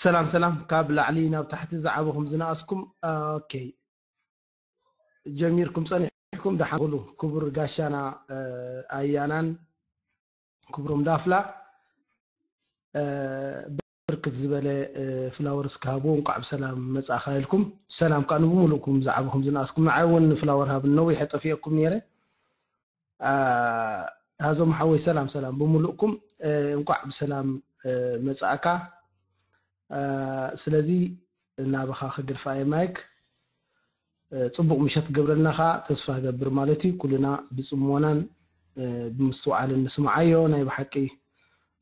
ሰላም ሰላም፣ ካብ ላዕሊ ናብ ታሕቲ ዝዓበኹም ዝነኣስኩም። ኦኬ፣ ጀሚርኩም ጸኒሕኩም ደሓን ኩሉ። ክቡር ጋሻና ኣያናን ክብሮም ዳፍላ፣ ብርክት ዝበለ ፍላወርስ ክሃብዎ፣ እንቋዕ ብሰላም መጻእካ ኢልኩም። ሰላም ከኣ ንብምሉእኩም ዝዓበኹም ዝነኣስኩም። ንዓይ እውን ፍላወር ሃብን፣ ነዊሕ ጠፊኤኩም ነይረ። ኣዞም ሓወይ ሰላም ሰላም ብምሉእኩም፣ እንቋዕ ብሰላም መጻእካ። ስለዚ ናባኻ ክግድፋ እየ ማይክ። ጽቡቕ ምሸት ክገብረልና ከኣ ተስፋ እገብር ማለት እዩ። ኩልና ብጽሞናን ብምስትውዓልን ንስምዓዮ። ናይ ብሓቂ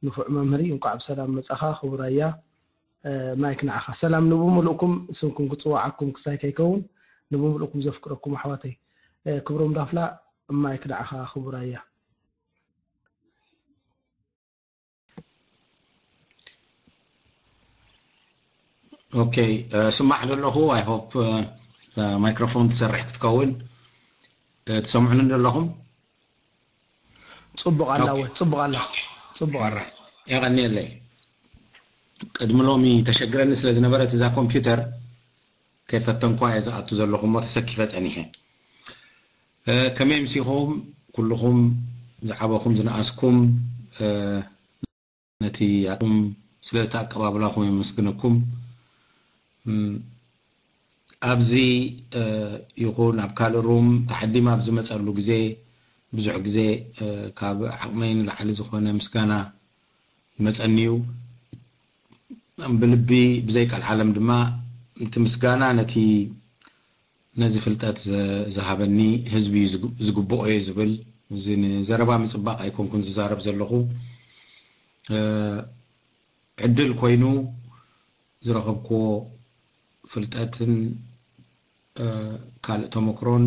ንፉዕ መምህር እዩ። እንቋዕ ብሰላም መጻኻ ክቡር ኣያ። ማይክ ንዓኻ። ሰላም ንብምሉእኩም፣ ስምኩም ክጽዋዓኩም ክሳይ ከይከውን ንብምሉእኩም ዘፍቅረኩም ኣሕዋተይ። ክብሮም ዳፍላ፣ ማይክ ንዓኻ ክቡር ኣያ። ኦኬ፣ ስማዕ ዘለኹ። I hope ማይክሮፎን ትሰርሕ ክትከውን። ትሰምዑኒ ዘለኹም? ጽቡቕ ኣላ ወይ ጽቡቕ ኣላ። ጽቡቕ ኣላ። የቐንየለይ። ቅድሚ ሎሚ ተሸግረኒ ስለ ዝነበረት እዛ ኮምፒውተር ከይፈተንኳ እየ ዝኣቱ ዘለኹ እሞ ተሰኪፈ ጸኒሐ። ከመይ ምሲኹም? ኩልኹም ዝዓበኹም ዝነኣስኩም፣ ነቲ ኣኩም ስለቲ ኣቀባብላኹም የመስግነኩም። ኣብዚ ይኹን ኣብ ካልእ ሩም ተዓዲም ኣብ ዝመፀሉ ግዜ ብዙሕ ግዜ ካብ ዓቕመይ ንላዕሊ ዝኾነ ምስጋና ይመፀኒ እዩ። ብልቢ ብዘይ ቃል ዓለም ድማ እቲ ምስጋና ነቲ ነዚ ፍልጠት ዝሃበኒ ህዝቢ እዩ ዝግብኦ እየ ዝብል። እዚ ንዘረባ ምፅባቕ ኣይኮንኩን ዝዛረብ ዘለኹ። ዕድል ኮይኑ ዝረኸብክዎ ፍልጠትን ካልእ ተመክሮን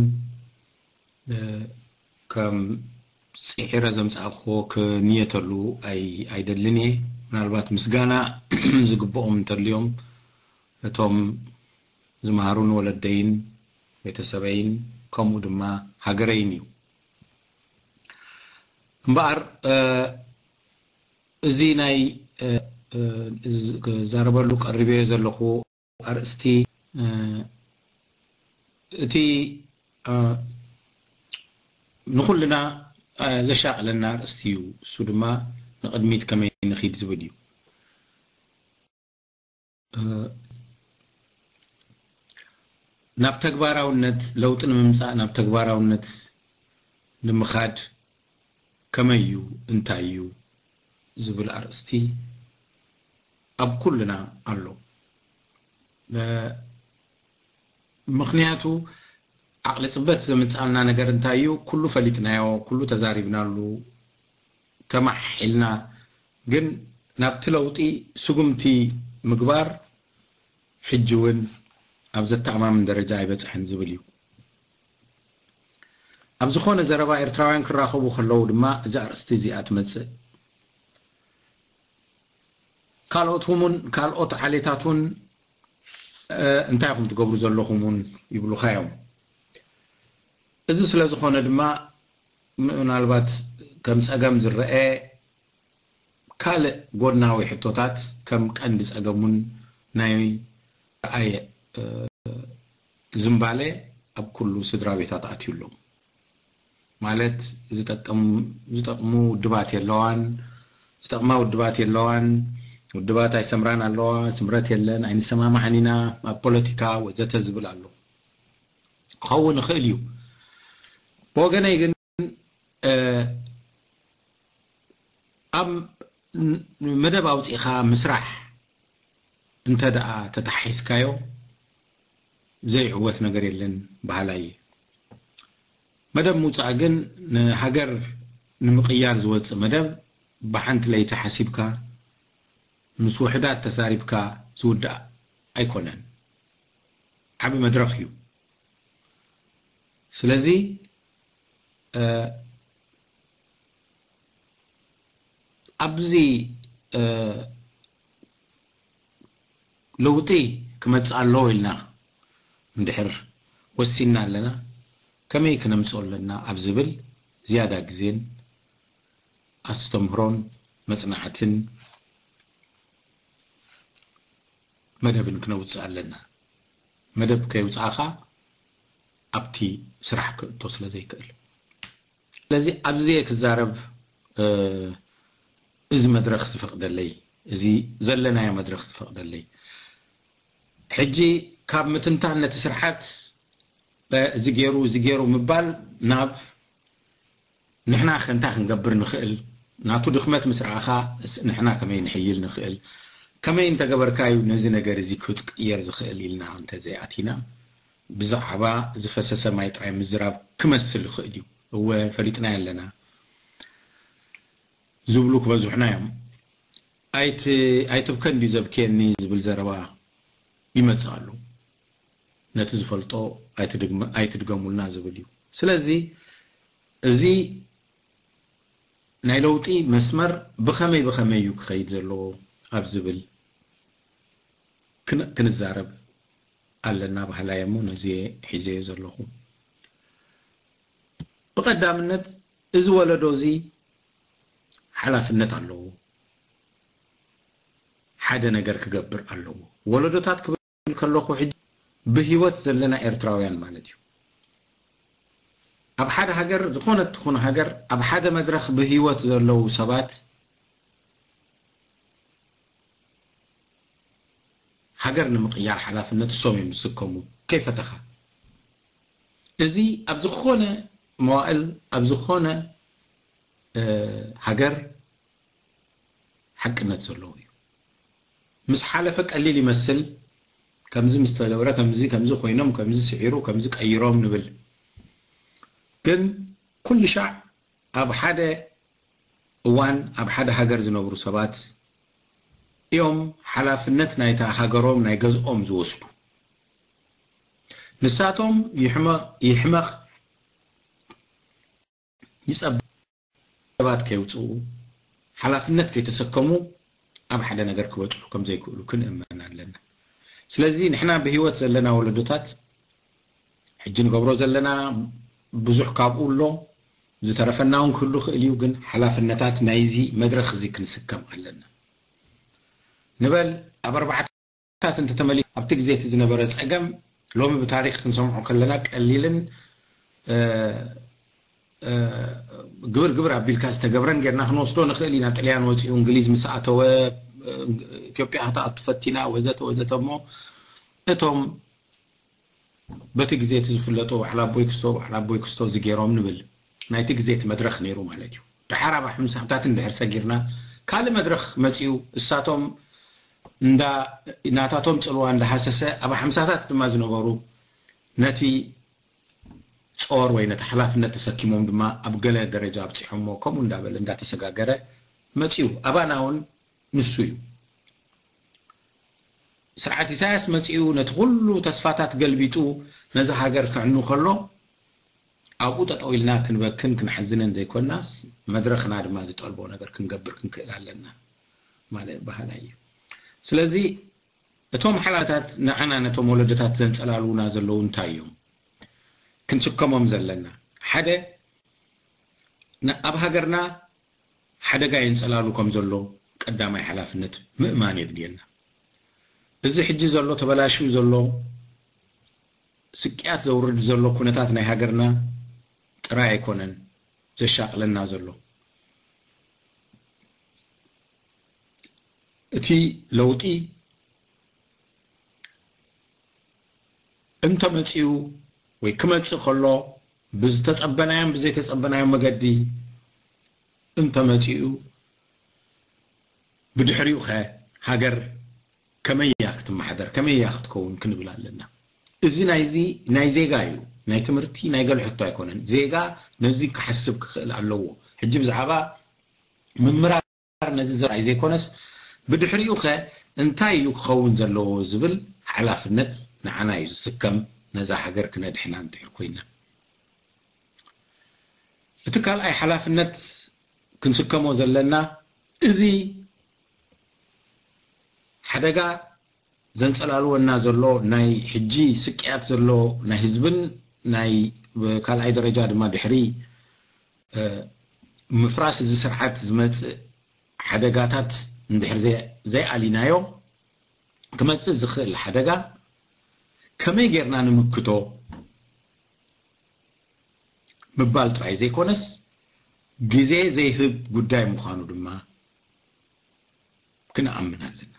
ከም ፅዒረ ዘምፃእክዎ ክንየተሉ ኣይደልን እየ። ምናልባት ምስጋና ዝግብኦም እንተልዮም እቶም ዝመሃሩን ወለደይን ቤተሰበይን ከምኡ ድማ ሃገረይን እዩ። እምበኣር እዚ ናይ ክዛረበሉ ቀሪበዮ ዘለኹ ኣርእስቲ እቲ ንኹልና ዘሻቕለና ኣርእስቲ እዩ። እሱ ድማ ንቕድሚት ከመይ ንኺድ ዝብል እዩ። ናብ ተግባራውነት ለውጢ ንምምፃእ ናብ ተግባራውነት ንምኻድ ከመይ እዩ እንታይ እዩ ዝብል ኣርእስቲ ኣብ ኩልና ኣሎ። ምኽንያቱ ዓቕሊ ፅበት ዘምፅኣልና ነገር እንታይ እዩ? ኩሉ ፈሊጥናዮ፣ ኩሉ ተዛሪብናሉ፣ ተማሒልና፣ ግን ናብቲ ለውጢ ስጉምቲ ምግባር ሕጂ እውን ኣብ ዘተኣማምን ደረጃ ኣይበፅሐን ዝብል እዩ። ኣብ ዝኾነ ዘረባ ኤርትራውያን ክራኸቡ ከለዉ ድማ እዛ ኣርእስቲ እዚኣ ትመፅእ። ካልኦት እውን ካልኦት ዓሌታት እውን እንታይ ኢኹም ትገብሩ ዘለኹም እውን ይብሉኻ እዮም። እዚ ስለ ዝኾነ ድማ ምናልባት ከም ፀገም ዝረአ ካልእ ጎድናዊ ሕቶታት ከም ቀንዲ ፀገም እውን ናይ ረኣየ ዝምባሌ ኣብ ኩሉ ስድራ ቤታት ኣትዩ ኣሎ። ማለት ዝጠቅም ዝጠቅሙ ውድባት የለዋን፣ ዝጠቅማ ውድባት የለዋን፣ ውድባት ኣይሰምራን ኣለዋ፣ ስምረት የለን፣ ኣይንሰማማዕን ኢና ኣብ ፖለቲካ ወዘተ ዝብል ኣሎ። ክኸውን ይኽእል እዩ። ብወገነይ ግን ኣብ መደብ ኣውፂእኻ ምስራሕ እንተ ደኣ ተታሒዝካዮ ዘይዕወት ነገር የለን በሃላይ እየ። መደብ ምውፃእ ግን ንሃገር ንምቕያር ዝወፅእ መደብ ብሓንቲ ለይቲ ሓሲብካ ምስ ውሕዳት ተዛሪብካ ዝውዳእ ኣይኮነን። ዓቢ መድረኽ እዩ። ስለዚ ኣብዚ ለውጢ ክመፅእ ኣለዎ ኢልና እንድሕር ወሲንና ኣለና፣ ከመይ ክነምፅኦ ኣለና ኣብ ዝብል ዝያዳ ግዜን ኣስተምህሮን መፅናዕትን መደብን ክነውፅእ ኣለና። መደብ ከይውፃእኻ ኣብቲ ስራሕ ክእቶ ስለ ዘይክእል፣ ስለዚ ኣብዚ ክዛረብ እዚ መድረኽ ዝፈቕደለይ፣ እዚ ዘለናዮ መድረኽ ዝፈቕደለይ፣ ሕጂ ካብ ምትንታን ነቲ ስርዓት እዚ ገይሩ እዚ ገይሩ ምባል ናብ ንሕና ከ እንታይ ክንገብር ንኽእል? ናቱ ድኽመት ምስ ረኣኻ ንሕና ከመይ ንሕይል ንኽእል? ከመይ እንተገበርካ እዩ ነዚ ነገር እዚ ክቅየር ዝኽእል ኢልና እንተዘይኣቲና፣ ብዛዕባ ዝፈሰሰ ማይ ጥራይ ምዝራብ ክመስል ይኽእል እዩ። እወ ፈሊጥናዮ ኣለና ዝብሉ ክበዝሑና እዮም። ኣይትብከ እንድዩ ዘብክየኒ ዝብል ዘረባ ይመጽእ ኣሎ። ነቲ ዝፈልጦ ኣይትድገሙልና ዝብል እዩ። ስለዚ እዚ ናይ ለውጢ መስመር ብኸመይ ብኸመይ እዩ ክኸይድ ዘለዎ ኣብ ዝብል ክንዛረብ ኣለና በሃላይ እሞ ነዚ ሒዘዮ ዘለኹ። ብቐዳምነት እዚ ወለዶ እዚ ሓላፍነት ኣለዎ። ሓደ ነገር ክገብር ኣለዎ። ወለዶታት ክብል ከለኹ ሕጂ ብህይወት ዘለና ኤርትራውያን ማለት እዩ። ኣብ ሓደ ሃገር፣ ዝኾነት ትኹን ሃገር፣ ኣብ ሓደ መድረኽ ብህይወት ዘለዉ ሰባት ሃገር ንምቕያር ሓላፍነት እሶም እዮም ዝስከሙ። ከይፈተኻ፣ እዚ ኣብ ዝኾነ መዋእል፣ ኣብ ዝኾነ ሃገር ሓቅነት ዘለዎ እዩ። ምስ ሓለፈ ቀሊል ይመስል፣ ከምዚ ምስ ተገብረ፣ ከምዚ ከምዚ ኮይኖም፣ ከምዚ ስዒሩ፣ ከምዚ ቀይሮም ንብል። ግን ኩሉ ሻዕ ኣብ ሓደ እዋን ኣብ ሓደ ሃገር ዝነብሩ ሰባት እዮም ሓላፍነት ናይታ ሃገሮም ናይ ገዝኦም ዝወስዱ። ንሳቶም ይሕመቕ ይሕመቕ ይጸብ ሰባት ከየውጽኡ ሓላፍነት ከይተሰከሙ ኣብ ሓደ ነገር ክበጽሑ ከም ዘይክእሉ ክንእመን ኣለና። ስለዚ ንሕና ብህይወት ዘለና ወለዶታት ሕጂ ንገብሮ ዘለና ብዙሕ ካብኡ ኣሎ፣ ዝተረፈና እውን ክህሉ ክእል እዩ። ግን ሓላፍነታት ናይዚ መድረኽ እዚ ክንስከም ኣለና። ንበል ኣብ ኣርባዕተ ታት እንተተመሊሱ ኣብቲ ግዜ እቲ ዝነበረ ጸገም ሎሚ ብታሪኽ ክንሰምዖ ከለና ቀሊልን ግብር ግብር ኣቢልካ ዝተገብረን ጌርና ክንወስዶ ንኽእል ኢና። ጥልያን ወፂኡ እንግሊዝ ምስ ኣተወ ኢትዮጵያ ክትኣቱ ፈቲና ወዘተ ወዘተ። እሞ እቶም በቲ ግዜ እቲ ዝፍለጡ በዓል ኣቦይ ክስቶ በዓል ኣቦይ ክስቶ እዚ ገይሮም ንብል ናይቲ ግዜ እቲ መድረኽ ነይሩ ማለት እዩ። ደሓር ኣብ ሓምሳታት እንድሕር ሰጊርና ካልእ መድረኽ መፂኡ እሳቶም እንዳ ናታቶም ፅልዋ እንዳሃሰሰ ኣብ ሓምሳታት ድማ ዝነበሩ ነቲ ጾር ወይ ነቲ ሓላፍነት ተሰኪሞም ድማ ኣብ ገለ ደረጃ ኣብፂሖሞ ከምኡ እንዳበለ እንዳተሰጋገረ መፂኡ። ኣባና እውን ንሱ እዩ። ስርዓት ኢሳያስ መፂኡ ነቲ ኩሉ ተስፋታት ገልቢጡ ነዚ ሃገር ከዕኑ ከሎ ኣብኡ ጠጠው ኢልና ክንበክን ክንሓዝንን ዘይኮናስ መድረኽና ድማ ዝጠልቦ ነገር ክንገብር ክንክእል ኣለና ማለት ባህና እዩ። ስለዚ እቶም ሓላታት ንዓና ነቶም ወለደታት ዘንጸላልውና ዘለዉ እንታይ እዮም ክንስከሞም ዘለና? ሓደ ኣብ ሃገርና ሓደጋ የንጸላሉ ከም ዘሎ ቀዳማይ ሓላፍነት ምእማን የድልየና። እዚ ሕጂ ዘሎ ተበላሽዩ ዘሎ ስቅያት ዘውርድ ዘሎ ኩነታት ናይ ሃገርና ጥራይ ኣይኮነን ዘሻቅለና ዘሎ። እቲ ለውጢ እንተመጺኡ ወይ ክመጽእ ከሎ ብዝተጸበናዮን ብዘይተጸበናዮን መገዲ እንተመጺኡ ብድሕሪኡ ከ ሃገር ከመይ እያ ክትመሓደር ከመይ እያ ክትከውን ክንብል ኣለና። እዚ ናይዚ ናይ ዜጋ እዩ፣ ናይ ትምህርቲ ናይ ገለ ሕቶ ኣይኮነን። ዜጋ ነዚ ክሓስብ ክኽእል ኣለዎ። ሕጂ ብዛዕባ ምምራር ነዚ ዘርኣይ ዘይኮነስ ብድሕሪኡ ከ እንታይ እዩ ክኸውን ዘለዎ ዝብል ሓላፍነት ንዓና እዩ ዝስከም። ነዛ ሃገር ክነድሕና እንድሕር ኮይና እቲ ካልኣይ ሓላፍነት ክንስከሞ ዘለና እዚ ሓደጋ ዘንጸላልወና ዘሎ ናይ ሕጂ ስቅያት ዘሎ ናይ ህዝብን ናይ ካልኣይ ደረጃ ድማ ድሕሪ ምፍራስ እዚ ስርዓት ዝመጽእ ሓደጋታት እንድሕር ዘይኣሊናዮ ክመጽእ ዝኽእል ሓደጋ ከመይ ጌርና ንምክቶ ምባል ጥራይ ዘይኮነስ፣ ግዜ ዘይህብ ጉዳይ ምዃኑ ድማ ክንኣምን ኣለና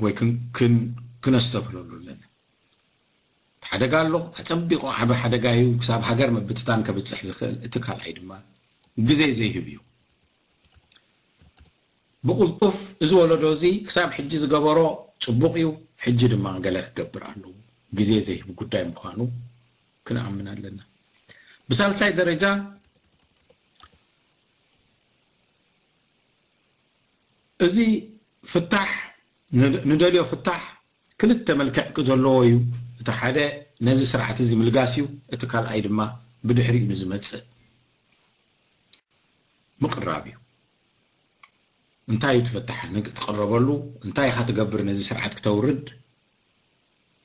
ወይ ክን- ክን- ክነስተብህለሉ ኣለና። ሓደጋ ኣሎ፣ ኣጸቢቑ ዓቢ ሓደጋ እዩ። ክሳብ ሃገር ምብትታን ከብጽሕ ዝኽእል፣ እቲ ካልኣይ ድማ ግዜ ዘይህብ እዩ። ብቕልጡፍ እዚ ወለዶ እዚ ክሳብ ሕጂ ዝገበሮ ጽቡቕ እዩ፣ ሕጂ ድማ ገለ ክገብር ኣለዎ። ግዜ ዘይህብ ጉዳይ ምዃኑ ክንኣምን ኣለና። ብሳልሳይ ደረጃ፣ እዚ ፍታሕ፣ ን- ንደልዮ ፍታሕ ክልተ መልክዕ ዘለዎ እዩ። እቲ ሓደ ነዚ ስርዓት እዚ ምልጋስ እዩ፣ እቲ ካልኣይ ድማ ብድሕሪኡ ንዝመጽእ ምቕራብ እዩ። እንታይ እዩ እቲ ፍታሕ ንትቕረበሉ? እንታይ ኢኻ ትገብር ነዚ ስርዓት ክተውርድ?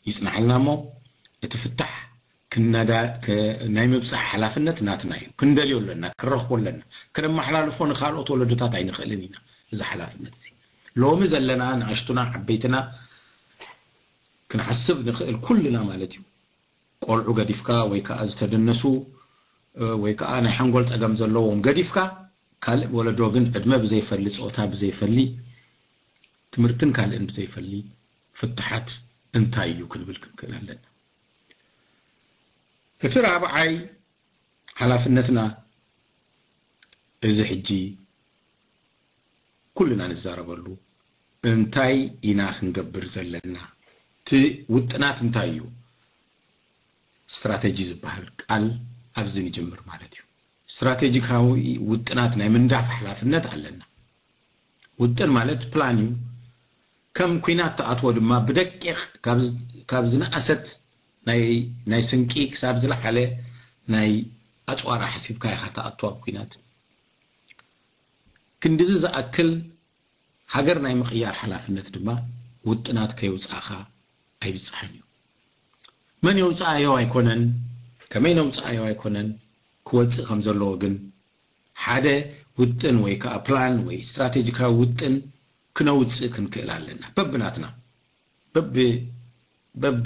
ይጽናሕልና እሞ፣ እቲ ፍታሕ ክነዳ- ክ- ናይ ምብጻሕ ሓላፍነት ናትና እዩ። ክንደልዮ ኣለና፣ ክንረኽቦ ኣለና፣ ከነመሓላልፎ ንኻልኦት ወለዶታት ኣይንኽእልን ኢና። እዚ ሓላፍነት እዚ ሎሚ ዘለና ንኣሽቱና ዓበይትና ክንሓስብ ንኽእል ኩልና ማለት እዩ። ቆልዑ ገዲፍካ ወይ ከዓ ዝተደነሱ እ፣ ወይ ከዓ ናይ ሓንጎል ጸገም ዘለዎም ገዲፍካ፣ ካልእ ወለዶ ግን ዕድመ ብዘይፈሊ፣ ጾታ ብዘይፈሊ፣ ትምህርትን ካልእን ብዘይፈሊ ፍትሓት እንታይ እዩ ክንብል ክንክእል ኣለና። እቲ ራብዓይ ሓላፍነትና እዚ ሕጂ ኩልና ንዛረበሉ እንታይ ኢና ክንገብር ዘለና? እቲ ውጥናት እንታይ እዩ? ስትራተጂ ዝበሃል ቃል ኣብዚ ንጅምር ማለት እዩ። ስትራቴጂካዊ ውጥናት ናይ ምንዳፍ ሓላፍነት ኣለና። ውጥን ማለት ፕላን እዩ። ከም ኲናት ትኣትዎ ድማ ብደቂቕ ካብ ዝ- ካብ ዝነኣሰት ናይ ናይ ስንቂ ክሳብ ዝለዓለ ናይ ኣጽዋር ሓሲብካ ኢኻ ትኣቱ ኣብ ኲናት። ክንድዚ ዝኣክል ሃገር ናይ ምቕያር ሓላፍነት ድማ ውጥናት ከየውጻእኻ ኣይብጽሕን እዩ። መን የውጻኣዮ ኣይኮነን፣ ከመይ ነውጻኣዮ ኣይኮነን፣ ክወጽእ ከም ዘለዎ ግን ሓደ ውጥን ወይ ከዓ ፕላን ወይ ስትራቴጂካዊ ውጥን ክነውጽእ ክንክእል ኣለና። በብናትና በብ በብ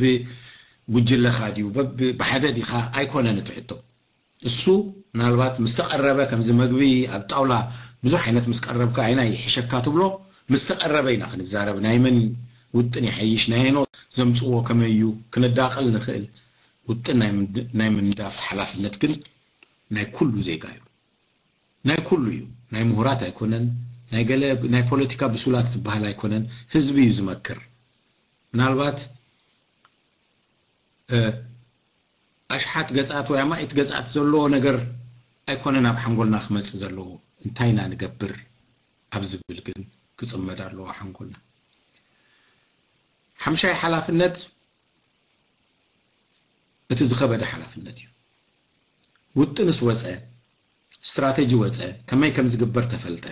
ጉጅለኻ ድዩ በብ ብሓደ ዲኻ ኣይኮነን እቲ ሕቶ። እሱ ምናልባት ምስ ተቐረበ ከምዚ መግቢ ኣብ ጣውላ ብዙሕ ዓይነት ምስ ቀረብካ ኣይና ይሕሸካ ትብሎ ምስ ተቐረበ ኢና ክንዛረብ ናይ መን ውጥን ይሓይሽ ናይ ኖ ዘምፅዎ ከመይ እዩ ክነዳቕል ንኽእል። ውጥን ናይ ምንድ- ናይ ምንዳፍ ሓላፍነት ግን ናይ ኩሉ ዜጋ እዩ። ናይ ኩሉ እዩ። ናይ ምሁራት ኣይኮነን፣ ናይ ገለ ናይ ፖለቲካ ብሱላት ዝበሃል ኣይኮነን። ህዝቢ እዩ ዝመክር። ምናልባት እ፣ ኣሽሓት ገጻት ወይ ኣማኢት ገጻት ዘለዎ ነገር ኣይኮነን ኣብ ሓንጎልና ክመጽእ ዘለዎ። እንታይ ኢና ንገብር ኣብ ዝብል ግን ክጽመድ ኣለዎ ሓንጎልና። ሓምሻይ ሓላፍነት እቲ ዝኸበደ ሓላፍነት እዩ። ውጥንስ ወጸ፣ ስትራተጂ ወጸ፣ ከመይ ከም ዝግበር ተፈልጠ፣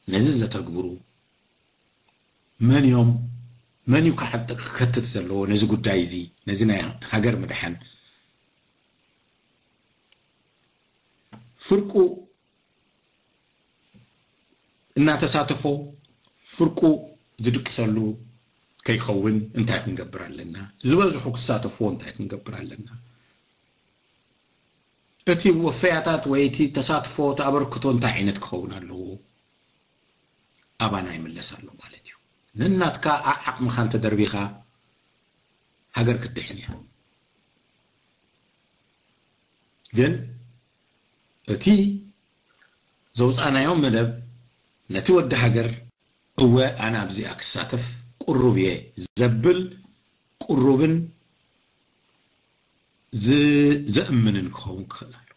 ነዚ ዘተግብሩ መን እዮም? መን እዩ ክዓጥቕ ክከትት ዘለዎ ነዚ ጉዳይ እዚ፣ ነዚ ናይ ሃገር ምድሓን? ፍርቁ እናተሳተፎ ፍርቁ ዝድቅሰሉ ከይኸውን እንታይ ክንገብር ኣለና? ዝበዝሑ ክሳተፍዎ እንታይ ክንገብር ኣለና? እቲ ወፈያታት ወይ እቲ ተሳትፎ፣ እቲ ኣበርክቶ እንታይ ዓይነት ክኸውን ኣለዎ? ኣባና ይምለስ ኣሎ ማለት እዩ። ነናትካ ዓዓቕምኻ እንተደርቢኻ ሃገር ክትድሕን እያ። ግን እቲ ዘውፃእናዮ መደብ ነቲ ወዲ ሃገር እወ ኣነ ኣብዚኣ ክሳተፍ ቅሩብ እየ ዘብል ቅሩብን ዝ- ዘእምንን ክኸውን ክኽእል ኣሎ።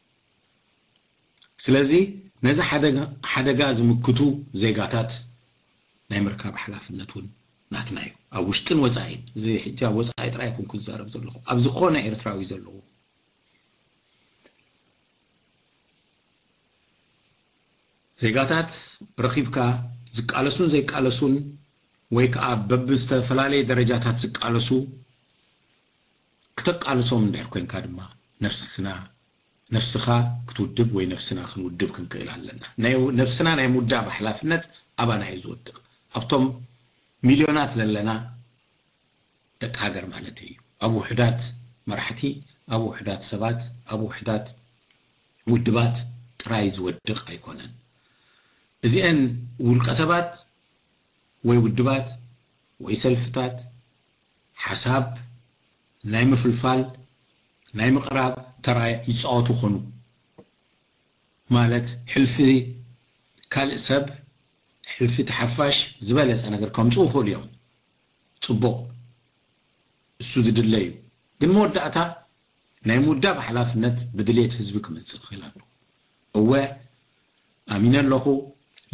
ስለዚ ነዚ ሓደጋ- ሓደጋ ዝምክቱ ዜጋታት ናይ ምርካብ ሓላፍነት እውን ናትና እዩ። ኣብ ውሽጥን ወፃኢን፣ እዚ ሕጂ ኣብ ወፃኢ ጥራይ ኣይኮንኩ ዝዛረብ ዘለኹ፣ ኣብ ዝኾነ ኤርትራዊ ዘለዎ ዜጋታት ረኺብካ ዝቃለሱን ዘይቃለሱን ወይ ከዓ በብዝተፈላለየ ደረጃታት ዝቃለሱ ክተቃልሶም እንድሕር ኮንካ ድማ ነፍስና ነፍስኻ ክትውድብ ወይ ነፍስና ክንውድብ ክንክእል ኣለና። ናይ ነፍስና ናይ ምውዳብ ሓላፍነት ኣባና እዩ ዝወድቕ። ኣብቶም ሚልዮናት ዘለና ደቂ ሃገር ማለት እዩ። ኣብ ውሕዳት መራሕቲ፣ ኣብ ውሕዳት ሰባት፣ ኣብ ውሕዳት ውድባት ጥራይ ዝወድቕ ኣይኮነን። እዚአን ውልቀ ሰባት ወይ ውድባት ወይ ሰልፍታት ሓሳብ ናይ ምፍልፋል ናይ ምቕራብ ተራ ይፃወቱ ይኾኑ። ማለት ሕልፊ ካልእ ሰብ፣ ሕልፊ ተሓፋሽ ዝበለፀ ነገር ከምፅኡ ይኽእሉ እዮም። ፅቡቕ፣ እሱ ዝድለ እዩ። ግን መወዳእታ ናይ ምውዳብ ሓላፍነት ብድሌት ህዝቢ ክመፅእ ክኽእል ኣለዎ። እወ ኣሚነ ኣለኹ፣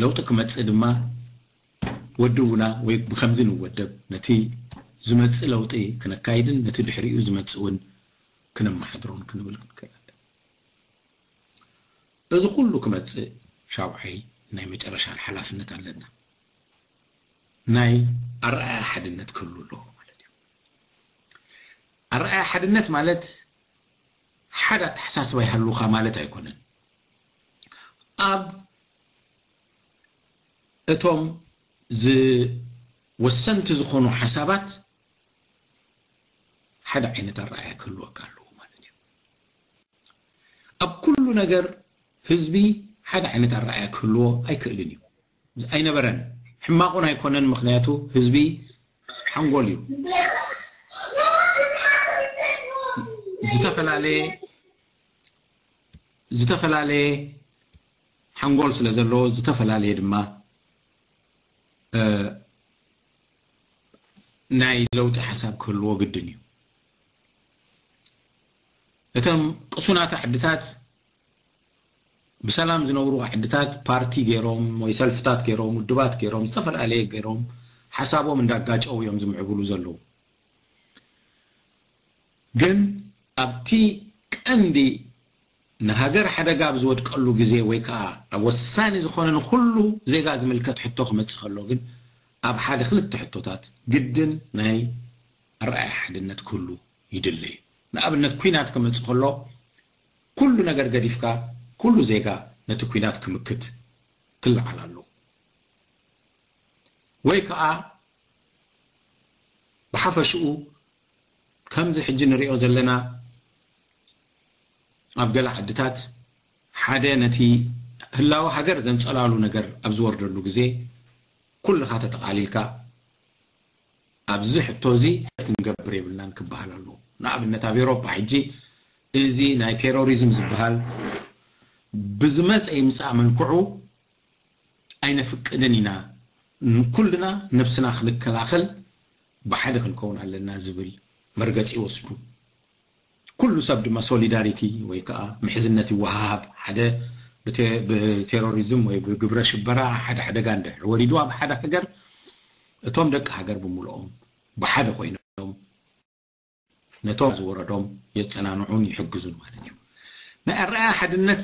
ለውጢ ክመፅእ ድማ ወድቡና ወይ ብከምዚ ንወደብ ነቲ ዝመፅእ ለውጢ ክነካይድን ነቲ ድሕሪኡ ዝመፅእ እውን ክነመሓድሮን ክንብል ክንክእል ኣለና። እዚ ኩሉ ክመፅእ ሻውዓይ ናይ መጨረሻን ሓላፍነት ኣለና። ናይ ኣረኣያ ሓድነት ክህሉ ኣለዎ ማለት እዩ። ኣረኣያ ሓድነት ማለት ሓደ ኣተሓሳስባ ይሃሉኻ ማለት ኣይኮነን። ኣብ እቶም ዝወሰንቲ ዝኾኑ ሓሳባት ሓደ ዓይነት ኣረኣያ ክህልወካ ኣለዎ ማለት እዩ። ኣብ ኩሉ ነገር ህዝቢ ሓደ ዓይነት ኣረኣያ ክህልዎ ኣይክእልን እዩ። ኣይነበረን። ሕማቑን ኣይኮነን፣ ምኽንያቱ ህዝቢ ሓንጎል እዩ። ዝተፈላለየ ዝተፈላለየ ሓንጎል ስለ ዘለዎ ዝተፈላለየ ድማ ናይ ለውጢ ሓሳብ ክህልዎ ግድን እዩ። እቶም ቅሱናት ዓድታት ብሰላም ዝነብሩ ዓድታት ፓርቲ ገይሮም ወይ ሰልፍታት ገይሮም ውድባት ገይሮም ዝተፈላለየ ገይሮም ሓሳቦም እንዳጋጨው እዮም ዝምዕብሉ ዘለዉ። ግን ኣብቲ ቀንዲ ንሃገር ሓደጋ ኣብ ዝወድቀሉ ግዜ ወይ ከዓ ኣብ ወሳኒ ዝኾነ ንኩሉ ዜጋ ዝምልከት ሕቶ ክመፅእ ከሎ ግን ኣብ ሓደ ክልተ ሕቶታት ግድን ናይ ኣረኣያ ሓድነት ክህሉ ይድለ እዩ። ንኣብነት ኩናት ክመፅእ ከሎ ኩሉ ነገር ገዲፍካ ኩሉ ዜጋ ነቲ ኩናት ክምክት ክለዓል ኣለዎ። ወይ ከዓ ብሓፈሽኡ ከምዚ ሕጂ ንሪኦ ዘለና ኣብ ገለ ዓድታት ሓደ ነቲ ህላወ ሃገር ዘንፀላሉ ነገር ኣብ ዝወርደሉ ግዜ ኩልኻ ተጠቓሊልካ ኣብዚ ሕቶ እዚ ክንገብር የብልናን ክበሃል ኣለዎ። ንኣብነት ኣብ ኤውሮጳ ሕጂ እዚ ናይ ቴሮሪዝም ዝበሃል ብዝመፀ ይምፃእ መልክዑ ኣይነፍቅድን ኢና። ኩልና ነብስና ክንከላኸል ብሓደ ክንከውን ኣለና ዝብል መርገፂ ይወስዱ። ኩሉ ሰብ ድማ ሶሊዳሪቲ ወይ ከዓ ምሕዝነት ይወሃሃብ። ሓደ ብቴሮሪዝም ወይ ብግብረ ሽበራ ሓደ ሓደጋ እንድሕር ወሪዱ ኣብ ሓደ ሃገር እቶም ደቂ ሃገር ብምልኦም ብሓደ ኮይኖም ነቶም ዝወረዶም የፀናንዑን ይሕግዙን ማለት እዩ። ናይ ኣረኣያ ሓድነት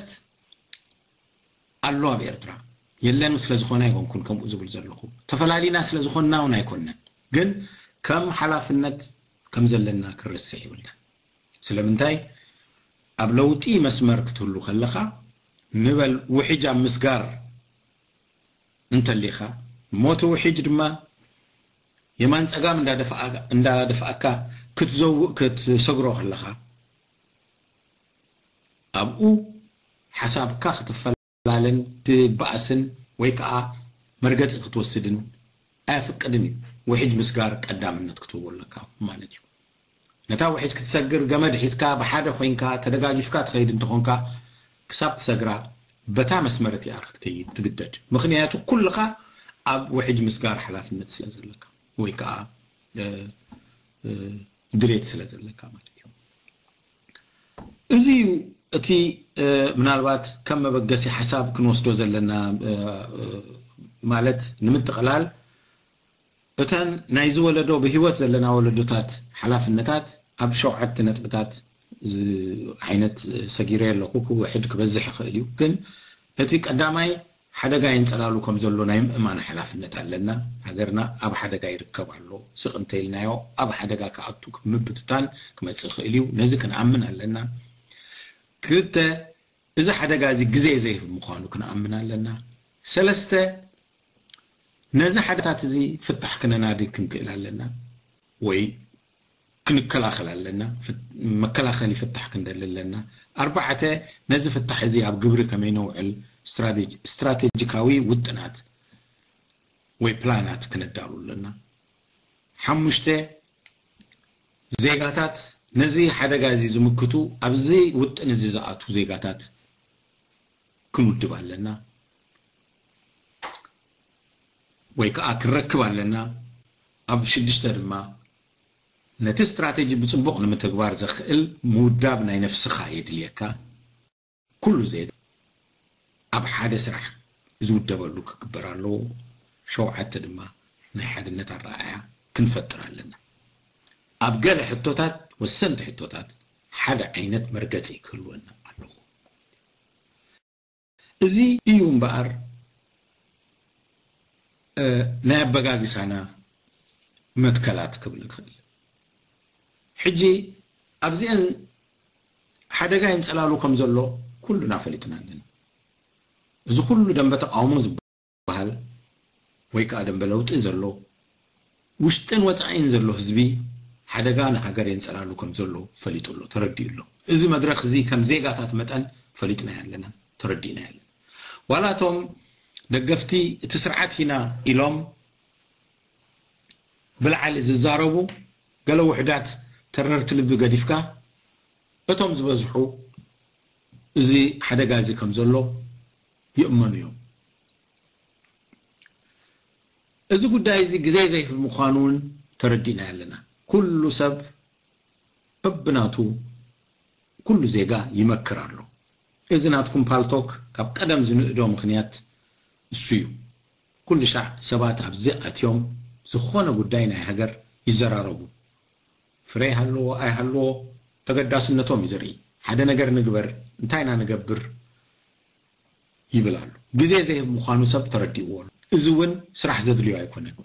ኣሎ ኣብ ኤርትራ የለን ስለ ዝኾነ ኣይኮንኩን ከምኡ ዝብል ዘለኹ። ተፈላሊና ስለ ዝኾንና እውን ኣይኮነን። ግን ከም ሓላፍነት ከም ዘለና ክረስዕ ይብልና። ስለምንታይ ኣብ ለውጢ መስመር ክትህሉ ከለኻ ንበል ውሕጅ ኣብ ምስጋር እንተሊኻ ሞቲ ውሕጅ ድማ የማን ጸጋም እንዳደፍኣካ ክትዘውእ ክትሰግሮ ከለኻ ኣብኡ ሓሳብካ ክትፈላለን ትበኣስን ወይ ከዓ መርገፂ ክትወስድን ኣየፍቅድን እዩ። ውሕጅ ምስጋር ቀዳምነት ክትህቦ ኣለካ ማለት እዩ። ነታ ውሕጅ ክትሰግር ገመድ ሒዝካ ብሓደ ኮይንካ ተደጋጊፍካ ትኸይድ እንተኾንካ ክሳብ ትሰግራ በታ መስመር እቲኣ ክትከይድ ትግደድ። ምኽንያቱ ኩልኻ ኣብ ውሕጅ ምስጋር ሓላፍነት ስለ ዘለካ ወይ ከዓ ድሌት ስለ ዘለካ ማለት እዩ። እዚ እዩ እቲ ምናልባት ከም መበገሲ ሓሳብ ክንወስዶ ዘለና ማለት ንምጥቕላል እተን ናይዚ ወለዶ ብህይወት ዘለና ወለዶታት ሓላፍነታት ኣብ ሸውዓተ ነጥብታት ዓይነት ሰጊረ ኣለኹ። ክውሕድ ክበዝሕ ይኽእል እዩ፣ ግን እቲ ቀዳማይ ሓደጋ የንጸላሉ ከም ዘሎ ናይ ምእማን ሓላፍነት ኣለና። ሃገርና ኣብ ሓደጋ ይርከብ ኣሎ። ስቕ እንተኢልናዮ ኣብ ሓደጋ ክኣቱ ምብትታን ክመጽእ ይኽእል እዩ። ነዚ ክንኣምን ኣለና። ክልተ፣ እዚ ሓደጋ እዚ ግዜ ዘይህብ ምዃኑ ክንኣምን ኣለና። ሰለስተ፣ ነዚ ሓደጋታት እዚ ፍታሕ ክነናዲ ክንክእል ኣለና ወይ ክንከላኸል ኣለና። ፍት-፣ መከላኸሊ ፍታሕ ክንደሊ ኣለና። ኣርባዕተ፣ ነዚ ፍታሕ እዚ ኣብ ግብሪ ከመይ ነውዕል ስትራቴጂ-፣ ስትራቴጂካዊ ውጥናት ወይ ፕላናት ክነዳሉ ኣለና። ሓሙሽተ፣ ዜጋታት ነዚ ሓደጋ እዚ ዝምክቱ ኣብዚ ውጥን እዚ ዝኣቱ ዜጋታት ክንውድብ ኣለና ወይ ከዓ ክንረክብ ኣለና። ኣብ ሽዱሽተ ድማ ነቲ ስትራቴጂ ብጽቡቕ ንምትግባር ዘኽእል ምውዳብ ናይ ነፍስኻ የድልየካ። ኩሉ ዜጋ ኣብ ሓደ ስራሕ ዝውደበሉ ክግበር ኣለዎ። ሸውዓተ ድማ ናይ ሓድነት ኣረኣእያ ክንፈጥር ኣለና። ኣብ ገለ ሕቶታት፣ ወሰንቲ ሕቶታት ሓደ ዓይነት መርገጺ ክህልወና ኣለዎ። እዚ እዩ እምበኣር፣ እ፣ ናይ ኣበጋግሳና መትከላት ክብል ንኽእል። ሕጂ ኣብዚአን ሓደጋ የንጸላሉ ከም ዘሎ ኩሉና ፈሊጥና ኣለና። እዚ ኩሉ ደንበ ተቃውሞ ዝበሃል ወይ ከዓ ደንበ ለውጢ ዘሎ፣ ውሽጥን ወጻኢን ዘሎ ህዝቢ ሓደጋ ንሃገር የንጸላሉ ከም ዘሎ ፈሊጡ ኣሎ፣ ተረዲኡ ኣሎ። እዚ መድረኽ እዚ ከም ዜጋታት መጠን ፈሊጥና ኣለና፣ ተረዲእና ኣለና። ዋላ እቶም ደገፍቲ እቲ ስርዓት ኢና ኢሎም ብላዕሊ ዝዛረቡ ገለ ውሕዳት ተረርቲ ልቢ ገዲፍካ፣ እቶም ዝበዝሑ እዚ ሓደጋ እዚ ከም ዘሎ ይእመኑ እዮም። እዚ ጉዳይ እዚ ግዜ ዘይህብ ምዃኑ እውን ተረዲእና ኣለና። ኩሉ ሰብ በብናቱ ኩሉ ዜጋ ይመክር ኣሎ። እዚ ናትኩም ፓልቶክ ካብ ቀደም ዝንእዶ ምኽንያት እሱ እዩ። ኩሉ ሻዕ ሰባት ኣብዚ ኣትዮም ዝኾነ ጉዳይ ናይ ሃገር ይዘራረቡ። ፍረ ይሃልዎ ኣይሃልዎ ተገዳስነቶም እዩ ዘርኢ። ሓደ ነገር ንግበር፣ እንታይ ኢና ንገብር ይብል ኣሎ። ግዜ ዘይህብ ምዃኑ ሰብ ተረዲእዎ ኣሎ። እዚ እውን ስራሕ ዘድልዮ ኣይኮነን።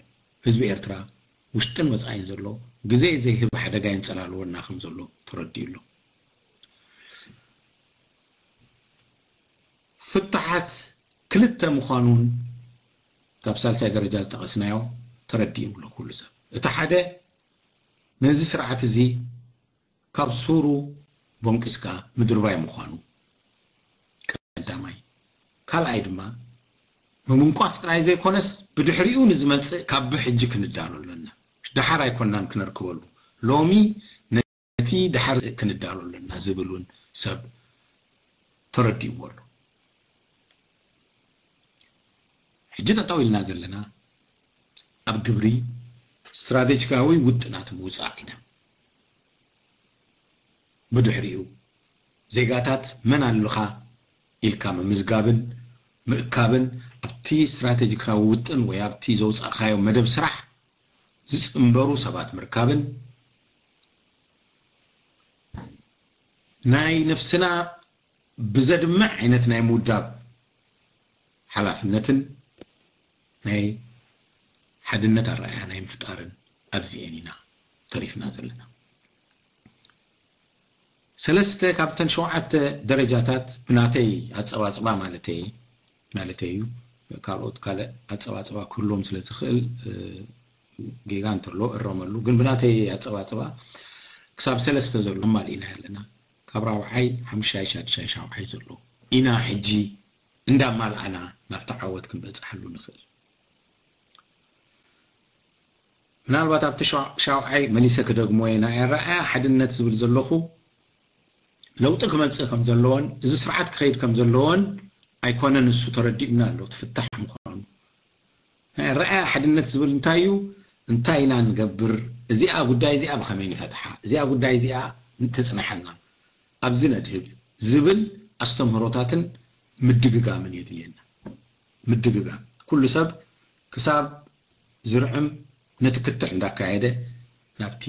ህዝቢ ኤርትራ ውሽጥን ወጻኢን ዘሎ ግዜ ዘይህብ ሓደጋ የንጸላልወና ከም ዘሎ ተረዲኡ ኣሎ። ፍታሓት ክልተ ምዃኑን ካብ ሳልሳይ ደረጃ ዝጠቐስናዮ ተረዲኡ ኣሎ ኩሉ ሰብ። እቲ ሓደ ነዚ ስርዓት እዚ ካብ ሱሩ ቦንቂስካ ምድርባይ ምዃኑ ቀዳማይ። ካልኣይ ድማ ምምንቋስ ጥራይ ዘይኮነስ ብድሕሪኡ ንዝመጽእ ካብ ብሕጂ ክንዳሎ ኣለና። ደሓር ኣይኮናን ክነርክበሉ። ሎሚ ነቲ ደሓር ክንዳሎ ኣለና ዝብል እውን ሰብ ተረዲእዎ ኣሎ። ሕጂ ጠጠው ኢልና ዘለና ኣብ ግብሪ ስትራቴጂካዊ ውጥናት ምውጻእ ኢና። ብድሕሪኡ ዜጋታት መን ኣለኻ ኢልካ ምምዝጋብን ምእካብን ኣብቲ ስትራቴጂካዊ ውጥን ወይ ኣብቲ ዘውጻእካዮ መደብ ስራሕ ዝጽንበሩ ሰባት ምርካብን ናይ ነፍስና ብዘድምዕ ዓይነት ናይ ምውዳብ ሓላፍነትን ናይ ሓድነት ኣረኣእያ ናይ ምፍጣርን ኣብዚኤን ኢና ተሪፍና ዘለና። ሰለስተ ካብተን ሸውዓተ ደረጃታት ብናተይ ኣጸባጽባ ማለተይ፣ ማለተይ እዩ። ካልኦት ካልእ ኣጸባጽባ ክህልዎም ስለ ዝኽእል፣ እ፣ ጌጋ እንተሎ እረመሉ። ግን ብናተይ ኣጸባጽባ ክሳብ ሰለስተ ዘሎ ኣማሊእና ኣለና። ካብ ራብዓይ፣ ሓምሻይ፣ ሻድሻይ፣ ሻውዓይ ዘሎ ኢና ሕጂ እንዳማልኣና ናብቲ ዓወት ክንበጽሓሉ ንኽእል። ምናልባት ኣብቲ ሻ-፣ ሻውዓይ መሊሰ ክደግሞ እየ። ናይ ኣረኣእያ ሓድነት ዝብል ዘለኹ ለውጢ ክመጽእ ከም ዘለዎን እዚ ስርዓት ክኸይድ ከም ዘለዎን ኣይኮነን፣ እሱ ተረዲኡና ኣሎ፣ ትፍታሕ ምዃኑ። ናይ ኣረኣእያ ሓድነት ዝብል እንታይ እዩ? እንታይ ኢና ንገብር? እዚኣ ጉዳይ እዚኣ ብኸመይ ንፈትሓ? እዚኣ ጉዳይ እዚኣ እንተጽናሓልና ኣብዚ ነድህብ ዝብል ኣስተምህሮታትን ምድግጋምን የድልየና። ምድግጋም። ኩሉ ሰብ ክሳብ ዝርዕም ነቲ ክትዕ እንዳካየደ ናብቲ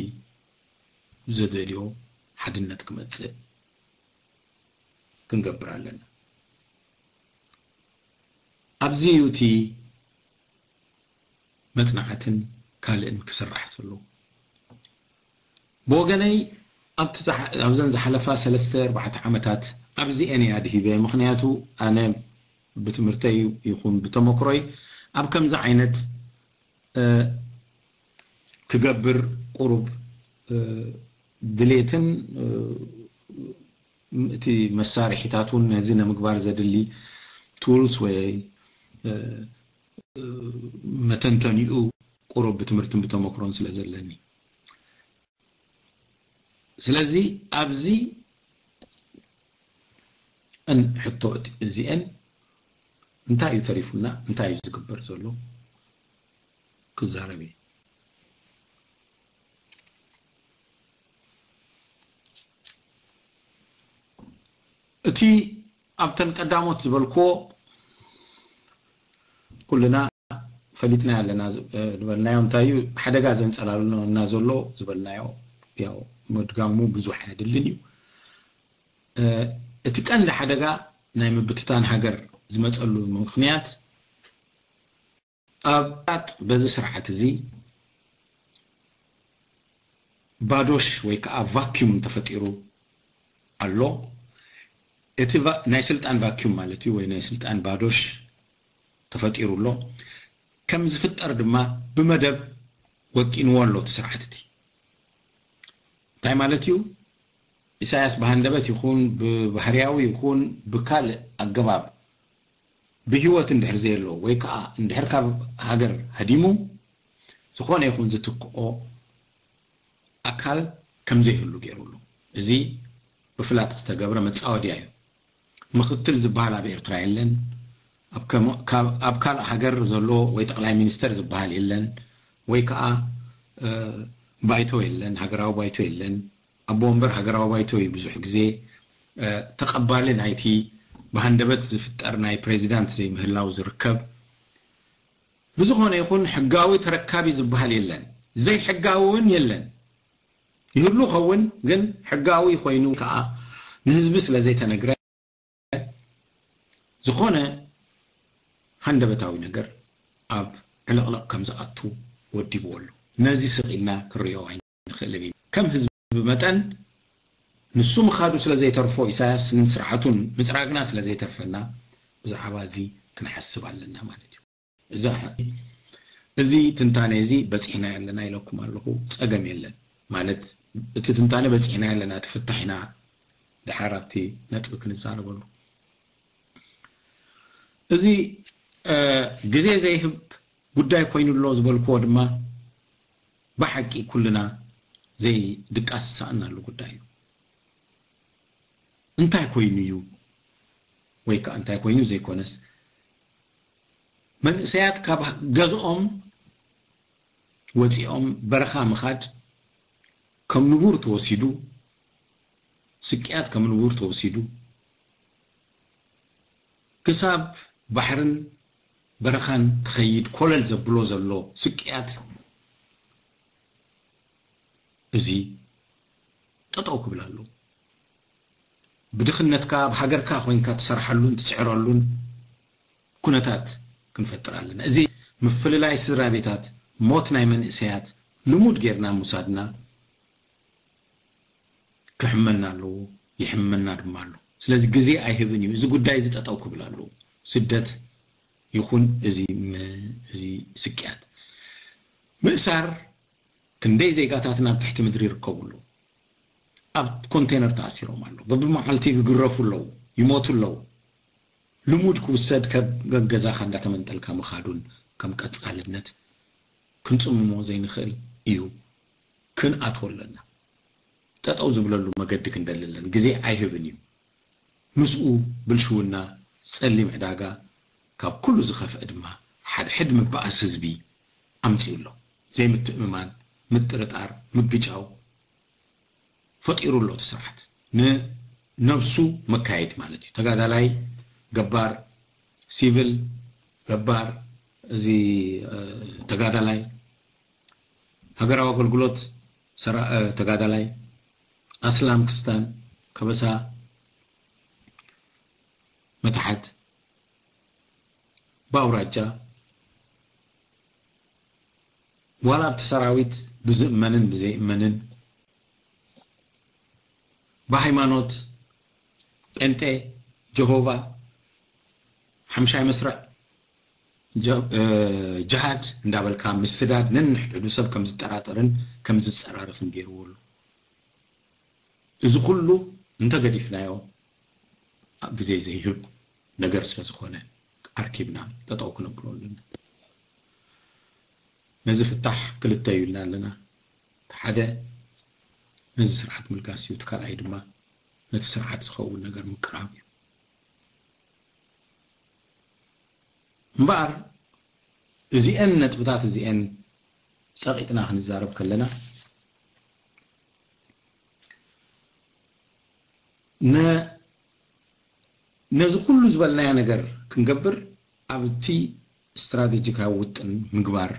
ዘደልዮ ሓድነት ክመጽእ ክንገብር ኣለና። ኣብዚ እዩ እቲ መጽናዕትን ካልእን ክስራሕ ዘለዎ። ብወገነይ ኣብቲ ዝሓ-፣ ኣብዘን ዝሓለፋ ሰለስተ ኣርባዕተ ዓመታት ኣብዚኤን እየ ኣድሂበ። ምኽንያቱ ኣነ ብትምህርተይ ይኹን ብተመክሮይ ኣብ ከምዚ ዓይነት፣ እ፣ ክገብር ቁሩብ ድሌትን እቲ መሳርሒታት እውን ነዚ ንምግባር ዘድሊ ቱልስ ወይ መተንተኒኡ ቁሩብ ብትምህርትን ብተመክሮን ስለ ዘለኒ። ስለዚ ኣብዚ እን ሕቶ እዚአን እንታይ እዩ ተሪፉና፣ እንታይ እዩ ዝግበር ዘሎ ክዛረብ እየ። እቲ ኣብተን ቀዳሞት ዝበልክዎ ኩልና ፈሊጥና ኣለና ዝበልናዮ እንታይ እዩ ሓደጋ ዘንጸላልና ዘሎ ዝበልናዮ ያው ምድጋሙ ብዙሕ ኣየድልን እዩ። እቲ ቀንዲ ሓደጋ ናይ ምብትታን ሃገር ዝመጸሉ ምኽንያት ኣብ በዚ ስርዓት እዚ ባዶሽ ወይ ከዓ ቫኪዩም ተፈጢሩ ኣሎ። እቲ ናይ ስልጣን ቫኪዩም ማለት እዩ ወይ ናይ ስልጣን ባዶሽ ተፈጢሩ ኣሎ። ከም ዝፍጠር ድማ ብመደብ ወጢንዎ ኣሎ እቲ ስርዓት እቲ። እንታይ ማለት እዩ? ኢሳያስ ብሃንደበት ይኹን ብባህርያዊ ይኹን ብካልእ ኣገባብ ብህይወት እንድሕር ዘየሎ ወይ ከዓ እንድሕር ካብ ሃገር ሃዲሙ ዝኾነ ይኹን ዝትክኦ ኣካል ከም ዘይህሉ ገይሩ ኣሎ። እዚ ብፍላጥ ዝተገብረ መጻወድያ እዩ። ምኽትል ዝበሃል ኣብ ኤርትራ የለን። ኣብ ካልእ ሃገር ዘሎ ወይ ጠቕላይ ሚኒስተር ዝበሃል የለን ወይ ከዓ ባይቶ የለን፣ ሃገራዊ ባይቶ የለን። ኣቦ ወንበር ሃገራዊ ባይቶ እዩ ብዙሕ ግዜ ተቐባሊ ናይቲ ብሃንደበት ዝፍጠር ናይ ፕሬዚዳንት ዘይምህላው ዝርከብ። ብዝኾነ ይኹን ሕጋዊ ተረካቢ ዝበሃል የለን፣ ዘይሕጋዊ እውን የለን። ይህሉ ኸውን ግን ሕጋዊ ኮይኑ ከዓ ንህዝቢ ስለ ዘይተነግረ ዝኾነ ሃንደበታዊ ነገር ኣብ ዕልቕልቕ ከም ዝኣቱ ወዲብዎ ኣሎ። ነዚ ስቕ ኢልና ክንሪኦ ኣይንኽእልን ኢና። ከም ህዝቢ መጠን ንሱ ምኻዱ ስለ ዘይተርፎ ኢሳያስን ስርዓቱን ምጽራግና ስለ ዘይተርፈና ብዛዕባ እዚ ክንሓስብ ኣለና ማለት እዩ። እዛ እዚ ትንታነ እዚ በጺሕና ኣለና ኢለኩም ኣለኹ። ጸገም የለን ማለት እቲ ትንታነ በጺሕና ኣለና፣ እቲ ፍታሕ ኢና ድሓር ኣብቲ ነጥቢ ክንዛረበሉ። እዚ ግዜ ዘይህብ ጉዳይ ኮይኑ ኣሎ ዝበልክዎ ድማ ብሓቂ ኩልና ዘይድቃስ ዝሰኣናሉ ጉዳይ እዩ። እንታይ ኮይኑ እዩ ወይ ከዓ እንታይ ኮይኑ ዘይኮነስ መንእሰያት ካብ ገዝኦም ወፂኦም በረኻ ምኻድ ከም ንቡር ተወሲዱ፣ ስቅያት ከም ንቡር ተወሲዱ ክሳብ ባሕርን በረኻን ክኸይድ ኮለል ዘብሎ ዘሎ ስቅያት እዚ ጠጠው ክብል ኣለዎ። ብድኽነትካ ኣብ ሃገርካ ኮይንካ ትሰርሓሉን ትፅዕረሉን ኩነታት ክንፈጥር ኣለና። እዚ ምፍልላይ ስድራ ቤታት፣ ሞት ናይ መንእሰያት ልሙድ ጌርና ምውሳድና ክሕመና ኣለዎ፣ ይሕመና ድማ ኣሎ። ስለዚ ግዜ ኣይህብን እዩ። እዚ ጉዳይ እዚ ጠጠው ክብል ኣለዎ። ስደት ይኹን እዚ እዚ ስቅያት ምእሳር ክንደይ ዜጋታትና ኣብ ትሕቲ ምድሪ ይርከቡ ኣለዉ። ኣብ ኮንቴነር ተኣሲሮም ኣለዉ። በብመዓልቲ ይግረፉ ኣለዉ፣ ይሞቱ ኣለዉ። ልሙድ ክውሰድ ከብ ገገዛኻ እንዳተመንጠልካ ምኻዱን ከም ቀጻልነት ክንጽምሞ ዘይንኽእል እዩ። ክንኣትዎ ኣለና። ጠጠው ዝብለሉ መገዲ ክንደሊ ኣለና። ግዜ ኣይህብን እዩ። ምስኡ ብልሽውና፣ ጸሊም ዕዳጋ፣ ካብ ኩሉ ዝኸፍአ ድማ ሓድሕድ ምብኣስ ህዝቢ ኣምጺኡ ኣሎ። ዘይምትእምማን፣ ምጥርጣር፣ ምግጫው ፈጢሩ ኣሎ እቲ ስርዓት። ንነብሱ መካየዲ ማለት እዩ። ተጋዳላይ፣ ገባር፣ ሲቪል፣ ገባር፣ እዚ ተጋዳላይ፣ ሃገራዊ ኣገልግሎት ተጋዳላይ፣ ኣስላም ክስታን፣ ከበሳ፣ መታሓት፣ ብኣውራጃ፣ ዋላ ኣብቲ ሰራዊት ብዝእመንን ብዘይእመንን፣ ብሃይማኖት፣ ጴንጤ፣ ጀሆቫ፣ ሓምሻይ መስርዕ፣ ጀሃድ እንዳበልካ ምስዳድ ነንሕድሕዱ ሰብ ከም ዝጠራጠርን ከም ዝፀራረፍን ገይርዎ ኣሎ። እዚ ኩሉ እንተገዲፍናዮ ኣብ ግዜ ዘይህብ ነገር ስለዝኾነ ኣርኪብና ጠጠው ክነብሎ ኣለና። ነዚ ፍታሕ ክልተ እዩ ኢልና ኣለና። ሓደ ነዚ ስርዓት ምልጋስ እዩ፣ እቲ ካልኣይ ድማ ነቲ ስርዓት ዝኸውን ነገር ምቅራብ እዩ። እምበኣር እዚአን ነጥብታት እዚአን ጸቒጥና ክንዛረብ ከለና ነዚ ኩሉ ዝበልናዮ ነገር ክንገብር ኣብቲ ስትራቴጂካዊ ውጥን ምግባር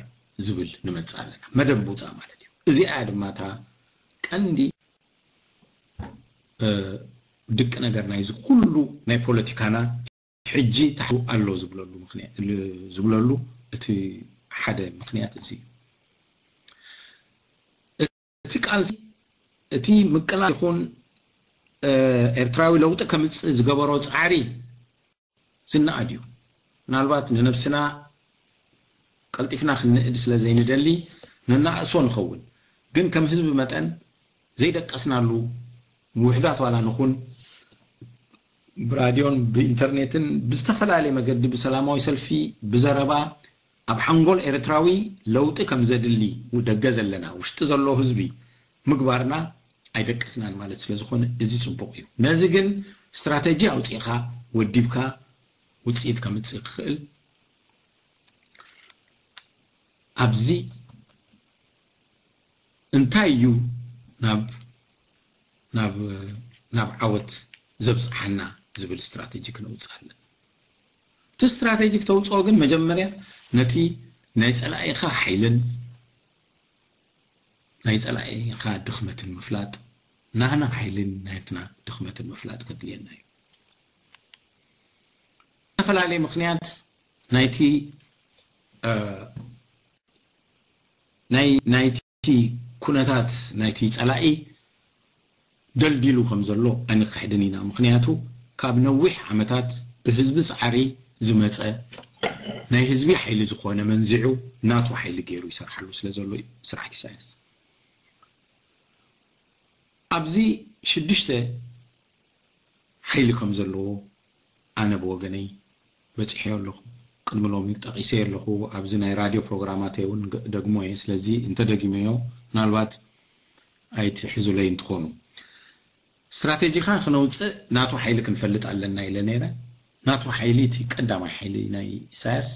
ዝብል ንመጽእ ኣለና። መደብ ምውጻእ ማለት እዩ። እዚኣ ድማ እታ ቀንዲ ድቂ ነገር ናይዚ ኩሉ ናይ ፖለቲካና ሕጂ ታሕቱ ኣሎ ዝብለሉ እቲ ሓደ ምኽንያት እዚ እዩ። እቲ ቃልሲ እቲ ምቅላል ይኹን ኤርትራዊ ለውጢ ከምፅእ ዝገበሮ ፃዕሪ ዝነኣድ እዩ። ምናልባት ንነብስና ቀልጢፍና ክንንእድ ስለ ዘይንደሊ ንናእሶ ንኸውን፣ ግን ከም ህዝቢ መጠን ዘይደቀስናሉ ውሕዳት ዋላ ንኹን ብራድዮን ብኢንተርኔትን ብዝተፈላለየ መገዲ ብሰላማዊ ሰልፊ ብዘረባ ኣብ ሓንጎል ኤርትራዊ ለውጢ ከም ዘድሊ ደገ ዘለና ውሽጢ ዘሎ ህዝቢ ምግባርና ኣይደቀስናን ማለት ስለ ዝኾነ እዚ ጽቡቕ እዩ። ነዚ ግን ስትራተጂ ኣውጺእኻ ወዲብካ ውጽኢት ከምጽእ ክኽእል ኣብዚ እንታይ እዩ ናብ ናብ ናብ ዓወት ዘብጽሓና ዝብል ስትራቴጂ ክነውጽእ ኣለና። እቲ ስትራቴጂ ክተውፅኦ ግን መጀመርያ ነቲ ናይ ፀላኢኻ ሓይልን ናይ ፀላኢኻ ድኽመትን ምፍላጥ ናህና ሓይልን ናትና ድኽመትን ምፍላጥ ከድልየና እዩ። ዝተፈላለየ ምክንያት ናይቲ ናይቲ ኩነታት ናይቲ ፀላኢ ደልዲሉ ከም ዘሎ ኣይንክሕድን ኢና። ምክንያቱ ካብ ነዊሕ ዓመታት ብህዝቢ ፃዕሪ ዝመፀ ናይ ህዝቢ ሓይሊ ዝኾነ መንዚዑ ናቱ ሓይሊ ገይሩ ይሰርሓሉ ስለ ዘሎ እዩ ስርዓት ኢሳያስ። ኣብዚ ሽዱሽተ ሓይሊ ከም ዘለዎ ኣነ ብወገነይ በፂሐዮ ኣለኹ። ቅድሚ ሎሚ ጠቒሰዮ ኣለኹ። ኣብዚ ናይ ራድዮ ፕሮግራማተይ እውን ግ- ደግሞ እየ። ስለዚ እንተደጊመዮ ምናልባት ኣይትሕዙለይ እንትኾኑ። ስትራቴጂኻ ክነውፅእ ናቱ ሓይሊ ክንፈልጥ ኣለና ኢለ ነይረ። ናቱ ሓይሊ እቲ ቀዳማይ ሓይሊ ናይ ኢሳያስ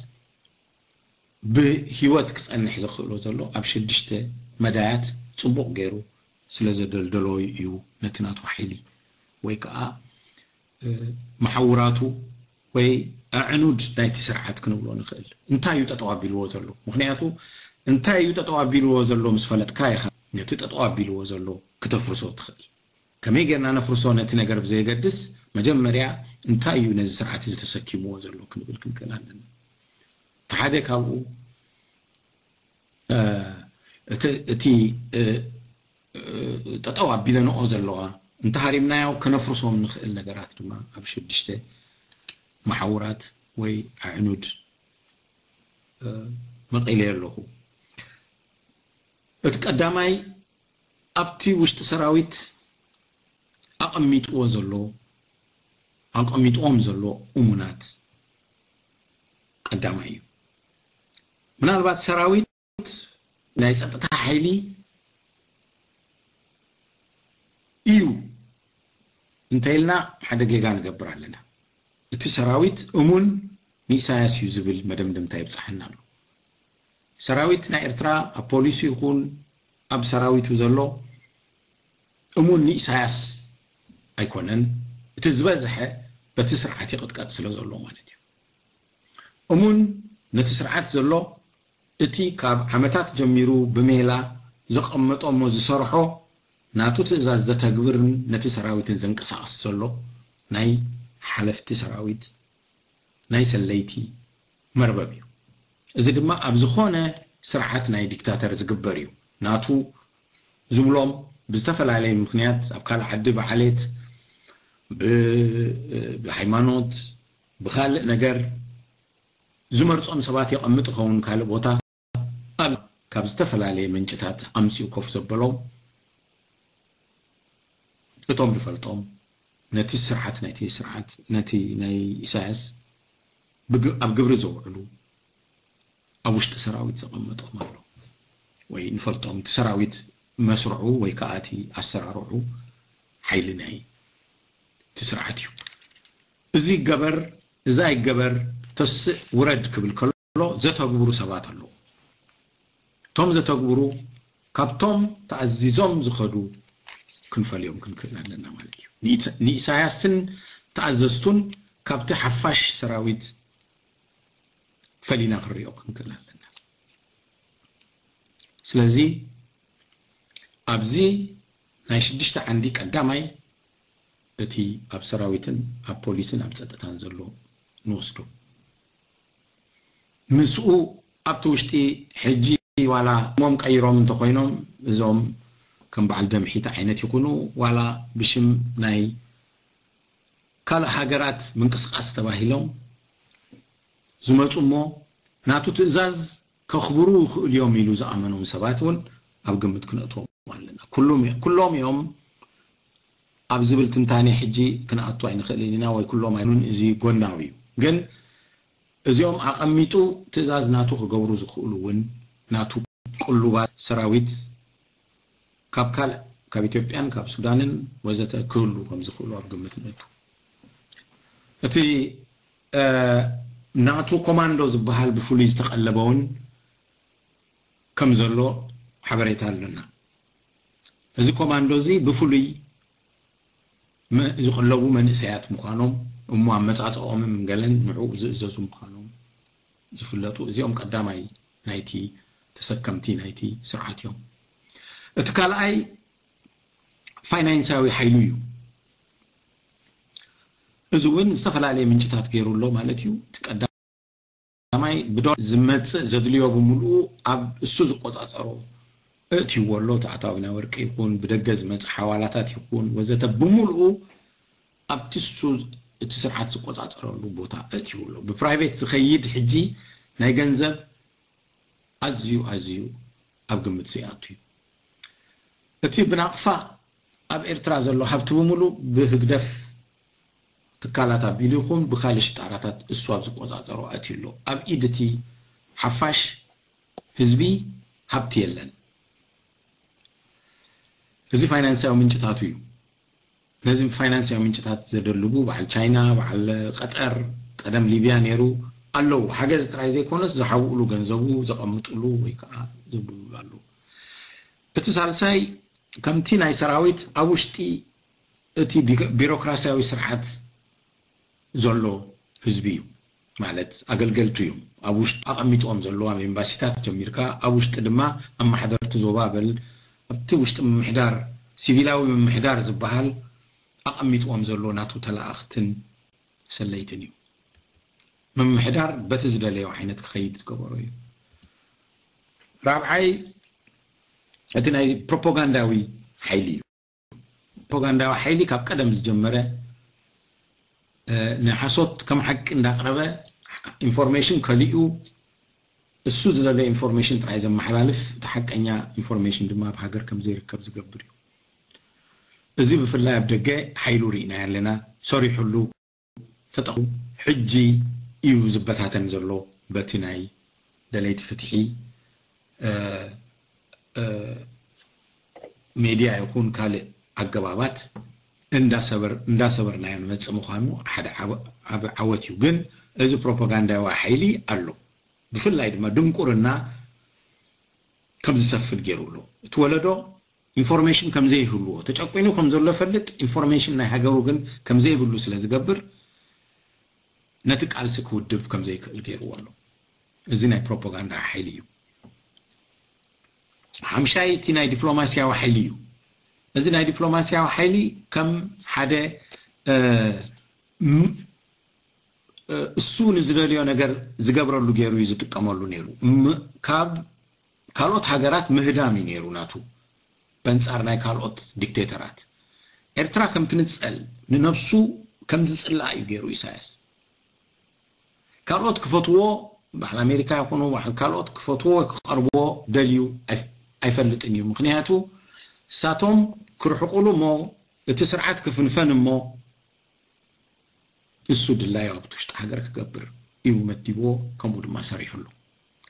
ብህይወት ክጸንሕ ዘኽእሎ ዘሎ ኣብ ሽዱሽተ መዳያት ጽቡቕ ገይሩ ስለ ዘደልደሎ እዩ ነቲ ናቱ ሓይሊ ወይ ከኣ መሓውራቱ ወይ ኣዕኑድ ናይቲ ስርዓት ክንብሎ ንኽእል። እንታይ እዩ ጠጠው ኣቢልዎ ዘሎ? ምኽንያቱ እንታይ እዩ ጠጠው ኣቢልዎ ዘሎ ምስ ፈለጥካ ኢኻ ነቲ ጠጠው ኣቢልዎ ዘሎ ክተፍርሶ ትኽእል። ከመይ ጌርና ነፍርሶ ነቲ ነገር ብዘየገድስ መጀመርያ እንታይ እዩ ነዚ ስርዓት እዚ ተሰኪምዎ ዘሎ ክንብል ክንክእል ኣለና። እቲ ሓደ ካብኡ እቲ ጠጠው ኣቢለንኦ ዘለዋ እንተሃሪምናዮ ከነፍርሶም ንኽእል ነገራት ድማ ኣብ ሽዱሽተ መሓውራት ወይ ኣዕኑድ መቒለ ኣለኹ። እቲ ቀዳማይ ኣብቲ ውሽጢ ሰራዊት ኣቐሚጥዎ ዘሎ ኣቐሚጥዎም ዘሎ እሙናት ቀዳማይ እዩ። ምናልባት ሰራዊት ናይ ጸጥታ ሓይሊ እዩ እንተኢልና ሓደ ጌጋ ንገብር ኣለና። እቲ ሰራዊት እሙን ንኢሳያስ እዩ ዝብል መደምደምታ ይብጽሓና ኣሎ። ሰራዊት ናይ ኤርትራ ኣብ ፖሊሱ ይኹን ኣብ ሰራዊቱ ዘሎ እሙን ንኢሳያስ ኣይኮነን። እቲ ዝበዝሐ በቲ ስርዓት ይቕጥቀጥ ስለ ዘሎ ማለት እዩ። እሙን ነቲ ስርዓት ዘሎ እቲ ካብ ዓመታት ጀሚሩ ብሜላ ዘቐመጦ እሞ ዝሰርሖ ናቱ ትእዛዝ ዘተግብርን ነቲ ሰራዊትን ዘንቀሳቕስ ዘሎ ናይ ሓለፍቲ ሰራዊት ናይ ሰለይቲ መርበብ እዩ። እዚ ድማ ኣብ ዝኾነ ስርዓት ናይ ዲክታተር ዝግበር እዩ። ናቱ ዝብሎም ብዝተፈላለየ ምኽንያት ኣብ ካልእ ዓዲ ብዓሌት፣ ብሃይማኖት፣ ብኻልእ ነገር ዝመርጾም ሰባት የቐምጥ ይኸውን ካልእ ቦታ። ኣብ ካብ ዝተፈላለየ ምንጭታት ኣምጺኡ ኮፍ ዘበሎም እቶም ዝፈልጦም ነቲ ስርዓት ናይቲ ስርዓት ነቲ ናይ ኢሳያስ ብግ- ኣብ ግብሪ ዘውዕሉ ኣብ ውሽጢ ሰራዊት ዘቐመጦም ኣሎ ወይ ንፈልጦም እቲ ሰራዊት መስርዑ ወይ ከዓ እቲ ኣሰራርዑ ሓይሊ ናይ እቲ ስርዓት እዩ። እዚ ይገበር እዛ ይገበር ተስእ ውረድ ክብል ከሎ ዘተግብሩ ሰባት ኣለዉ። እቶም ዘተግብሩ ካብቶም ተኣዚዞም ዝኸዱ ክንፈልዮም ክንክእል ኣለና ማለት እዩ። ንኢት- ንኢሳያስን ተኣዘዝቱን ካብቲ ሓፋሽ ሰራዊት ፈሊና ክንሪኦ ክንክእል ኣለና። ስለዚ ኣብዚ ናይ ሽዱሽተ ዓንዲ ቀዳማይ እቲ ኣብ ሰራዊትን ኣብ ፖሊስን ኣብ ጸጥታን ዘሎ ንወስዶ። ምስኡ ኣብቲ ውሽጢ ሕጂ ዋላ ሞም ቀይሮም እንተኮይኖም እዞም ከም በዓል ደምሒት ዓይነት ይኹኑ ዋላ ብሽም ናይ ካልእ ሃገራት ምንቅስቃስ ተባሂሎም ዝመፁ እሞ ናቱ ትእዛዝ ከኽብሩ ይኽእሉ እዮም ኢሉ ዝኣመኖም ሰባት እውን ኣብ ግምት ክነእትዎም ኣለና። ኩሎም እዮም ኣብ ዝብል ትንታኔ ሕጂ ክንኣቱ ኣይንኽእልን ኢና ወይ ኩሎም ኣይኑን እዚ ጎናዊ እዩ። ግን እዚኦም ኣቐሚጡ ትእዛዝ ናቱ ክገብሩ ዝኽእሉ እውን ናቱ ቅሉባት ሰራዊት ካብ ካልእ ካብ ኢትዮጵያን ካብ ሱዳንን ወዘተ ክህሉ ከም ዝኽእሉ ኣብ ግምት ንእቱ። እቲ ናቱ ኮማንዶ ዝበሃል ብፍሉይ ዝተቐለበ እውን ከም ዘሎ ሓበሬታ ኣለና። እዚ ኮማንዶ እዚ ብፍሉይ ዝቐለቡ መንእሰያት ምዃኖም እሞ ኣመፃፅኦምን ገለን ንዕኡ ዝእዘዙ ምዃኖም ዝፍለጡ እዚኦም ቀዳማይ ናይቲ ተሰከምቲ ናይቲ ስርዓት እዮም። እቲ ካልኣይ ፋይናንሳዊ ሓይሉ እዩ። እዚ እውን ዝተፈላለየ ምንጭታት ገይሩ ኣሎ ማለት እዩ። እቲ ቀዳማይ ብዶ ዝመፅእ ዘድልዮ ብምልኡ ኣብ እሱ ዝቆፃፀሮ እእትይዎ ኣሎ። እቲ ኣታዊ ናይ ወርቂ ይኹን ብደገ ዝመፅእ ሓዋላታት ይኹን ወዘተ ብምልኡ ኣብቲ እሱ እቲ ስርዓት ዝቆፃፀረሉ ቦታ እእትይዎ ኣሎ። ብፕራይቬት ዝኸይድ ሕጂ ናይ ገንዘብ ኣዝዩ ኣዝዩ ኣብ ግምት ዘይኣቱ እዩ። እቲ ብናቕፋ ኣብ ኤርትራ ዘሎ ሃብቲ ብምሉእ ብህግደፍ ትካላት ኣቢሉ ይኹን ብካልእ ሽጣራታት እሱ ኣብ ዝቆጻጸሮ ኣትዩ ኣሎ። ኣብ ኢድ እቲ ሓፋሽ ህዝቢ ሃብቲ የለን። እዚ ፋይናንሳዊ ምንጭታቱ እዩ። ነዚ ፋይናንሳዊ ምንጭታት ዘደልቡ በዓል ቻይና፣ በዓል ቀጠር፣ ቀደም ሊብያ ነይሩ ኣለዉ። ሓገዝ ጥራይ ዘይኮነስ ዝሓውእሉ ገንዘቡ ዘቐምጥሉ ወይ ከዓ ዝብልሉ ኣለዉ። እቲ ሳልሳይ ከምቲ ናይ ሰራዊት ኣብ ውሽጢ እቲ ቢ- ቢሮክራሲያዊ ስርዓት ዘሎ ህዝቢ እዩ። ማለት ኣገልገልቱ እዮም ኣብ ውሽጢ ኣቐሚጥዎም ዘለዉ ኣብ ኤምባሲታት ጀሚርካ ኣብ ውሽጢ ድማ ኣመሓደርቲ ዞባ በል ኣብቲ ውሽጢ ምምሕዳር ሲቪላዊ ምምሕዳር ዝበሃል ኣቐሚጥዎም ዘሎ ናቱ ተላኣኽትን ሰለይትን እዩ። ምምሕዳር በቲ ዝደለዮ ዓይነት ክኸይድ ዝገበሮ እዩ። ራብዓይ እቲ ናይ ፕሮፓጋንዳዊ ሓይሊ እዩ። ፕሮፓጋንዳዊ ሓይሊ ካብ ቀደም ዝጀመረ ንሓሶት ከም ሓቂ እንዳቅረበ ኢንፎርሜሽን ከሊኡ እሱ ዝደለየ ኢንፎርሜሽን ጥራይ ዘመሓላልፍ እቲ ሓቀኛ ኢንፎርሜሽን ድማ ኣብ ሃገር ከም ዘይርከብ ዝገብር እዩ። እዚ ብፍላይ ኣብ ደገ ሓይሉ ርኢና ኣለና። ሰሪሑሉ ተጠቕሙ ሕጂ እዩ ዝበታተን ዘሎ በቲ ናይ ደለይቲ ፍትሒ ሜድያ ይኹን ካልእ ኣገባባት እንዳሰበርናዮ ንመፅእ ምዃኑ ሓደ ዓቢ ዓወት እዩ። ግን እዚ ፕሮፓጋንዳዊ ሓይሊ ኣሎ። ብፍላይ ድማ ድንቁርና ከም ዝሰፍን ገይሩ ኣሎ። እቲ ወለዶ ኢንፎርሜሽን ከም ዘይህልዎ ተጨቂኑ ከም ዘሎ ፈልጥ ኢንፎርሜሽን ናይ ሃገሩ ግን ከም ዘይብሉ ስለ ዝገብር ነቲ ቃልሲ ክውድብ ከም ዘይክእል ገይርዎ ኣሎ። እዚ ናይ ፕሮፓጋንዳ ሓይሊ እዩ። ሓምሻይ እቲ ናይ ዲፕሎማሲያዊ ሓይሊ እዩ። እዚ ናይ ዲፕሎማሲያዊ ሓይሊ ከም ሓደ እሱ ንዝደልዮ ነገር ዝገብረሉ ገይሩ እዩ ዝጥቀመሉ ነይሩ። ካብ ካልኦት ሃገራት ምህዳም እዩ ነይሩ ናቱ በንጻር ናይ ካልኦት ዲክቴተራት። ኤርትራ ከም ትንጸል ንነብሱ ከም ዝጽላእ እዩ ገይሩ ኢሳያስ። ካልኦት ክፈትዎ በዓል ኣሜሪካ ይኹኑ በዓል ካልኦት ክፈትዎ ወይ ክቐርብዎ ደልዩ ኣይፍ- ኣይፈልጥን እዩ። ምክንያቱ እሳቶም ክርሕቁሉ እሞ እቲ ስርዓት ክፍንፈን እሞ እሱ ድላዩ ኣብቲ ውሽጢ ሃገር ክገብር እዩ መዲብዎ፣ ከምኡ ድማ ሰሪሕሉ።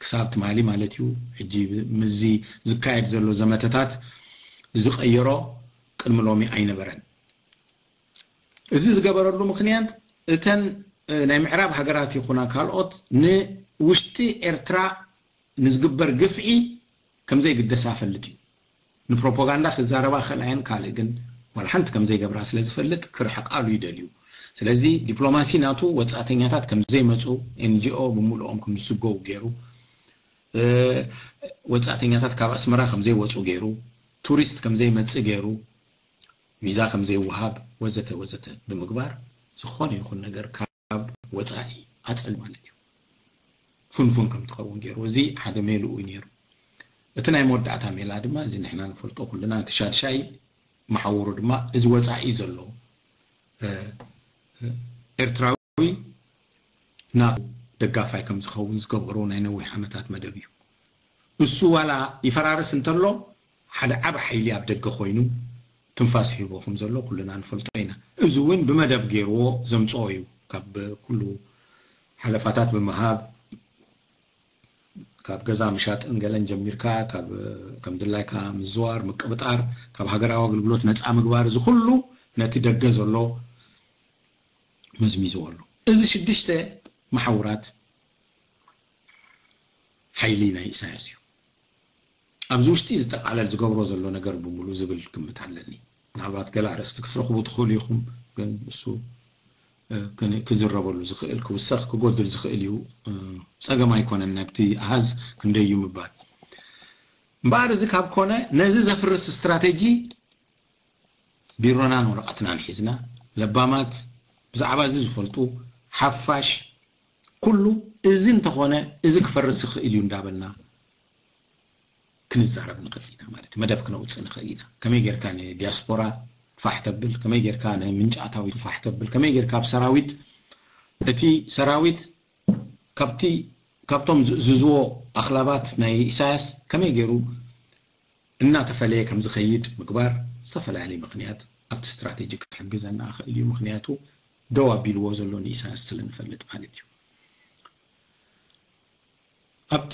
ክሳብ ትማሊ ማለት እዩ። ሕጂ ምዚ ዝካየድ ዘሎ ዘመተታት ዝቐየሮ ቅድሚ ሎሚ ኣይነበረን። እዚ ዝገበረሉ ምክንያት እተን ናይ ምዕራብ ሃገራት ይኹና ካልኦት ንውሽጢ ኤርትራ ንዝግበር ግፍዒ ከምዘይግደሳ ፈልጥ እዩ። ንፕሮፓጋንዳ ክዛረባ ከልኣየን ካልእ ግን ዋላ ሓንቲ ከምዘይገብራ ስለ ዝፈልጥ ክርሕቃሉ ይደልዩ። ስለዚ ዲፕሎማሲ ናቱ ወጻእተኛታት ከምዘይመፁ፣ ኤንጂኦ ብምሉኦም ከምዝስገው ገይሩ፣ ወጻእተኛታት ካብ ኣስመራ ከምዘይወፁ ገይሩ፣ ቱሪስት ከምዘይመፅእ ገይሩ፣ ቪዛ ከምዘይወሃብ ወዘተ ወዘተ ብምግባር ዝኾነ ይኹን ነገር ካብ ወፃኢ ኣፀል ማለት እዩ። ፍንፉን ከም ትኸውን ገይሩ። እዚ ሓደ ሜልኡ እዩ ነይሩ። እቲ ናይ መወዳእታ ሜላ ድማ እዚ ንሕና ንፈልጦ ኩልና እቲ ሻድሻይ መሓውሩ ድማ እዚ ወፃኢ ዘሎ ኤርትራዊ ናቱ ደጋፋይ ከም ዝኸውን ዝገበሮ ናይ ነዊሕ ዓመታት መደብ እዩ። እሱ ዋላ ይፈራርስ እንተሎ ሓደ ዓብ ሓይሊ ኣብ ደገ ኮይኑ ትንፋስ ሂቦ ከም ዘሎ ኩልና ንፈልጦ ኢና። እዚ እውን ብመደብ ገይርዎ ዘምፅኦ እዩ። ካብ ኩሉ ሓለፋታት ብምሃብ ካብ ገዛ ምሻጥን ገለን ጀሚርካ ካብ ከም ድላይካ ምዝዋር ምቅብጣር ካብ ሃገራዊ ኣገልግሎት ነፃ ምግባር እዚ ኩሉ ነቲ ደገ ዘሎ መዝሚዝዎ ኣሎ። እዚ ሽዱሽተ መሓውራት ሓይሊ ናይ ኢሳያስ እዩ። ኣብዚ ውሽጢ ዝጠቃለል ዝገብሮ ዘሎ ነገር ብምሉ ዝብል ግምት ኣለኒ። ምናልባት ገለ ኣርእስቲ ክትረኽቡ ትኽእሉ ኢኹም፣ ግን እሱ ክዝረበሉ ዝኽእል ክውሰኽ ክጎድል ዝኽእል እዩ። ፀገም ኣይኮነን ናብቲ ኣሃዝ ክንደይ እዩ ምባል። እምበኣር እዚ ካብ ኮነ ነዚ ዘፍርስ ስትራቴጂ ቢሮናን ወረቐትናን ሒዝና ለባማት ብዛዕባ እዚ ዝፈልጡ ሓፋሽ ኩሉ እዚ እንተኾነ እዚ ክፈርስ ይኽእል እዩ እንዳበልና ክንዛረብ ንኽእል ኢና ማለት እዩ። መደብ ክነውፅእ ንኽእል ኢና። ከመይ ጌርካ ንዲያስፖራ ፋሕ ተብል፣ ከመይ ጌርካ ንምንጫ ኣታዊ ፋሕ ተብል፣ ከመይ ጌርካ ኣብ ሰራዊት እቲ ሰራዊት ካብቲ ካብቶም ዝእዝዝዎ ኣኽላባት ናይ ኢሳያስ ከመይ ገይሩ እናተፈለየ ከም ዝኸይድ ምግባር ዝተፈላለየ ምኽንያት ኣብቲ ስትራቴጂ ክሕግዘና ክእል እዩ። ምኽንያቱ ደው ኣቢልዎ ዘሎ ንኢሳያስ ስለ ንፈልጥ ማለት እዩ። ኣብቲ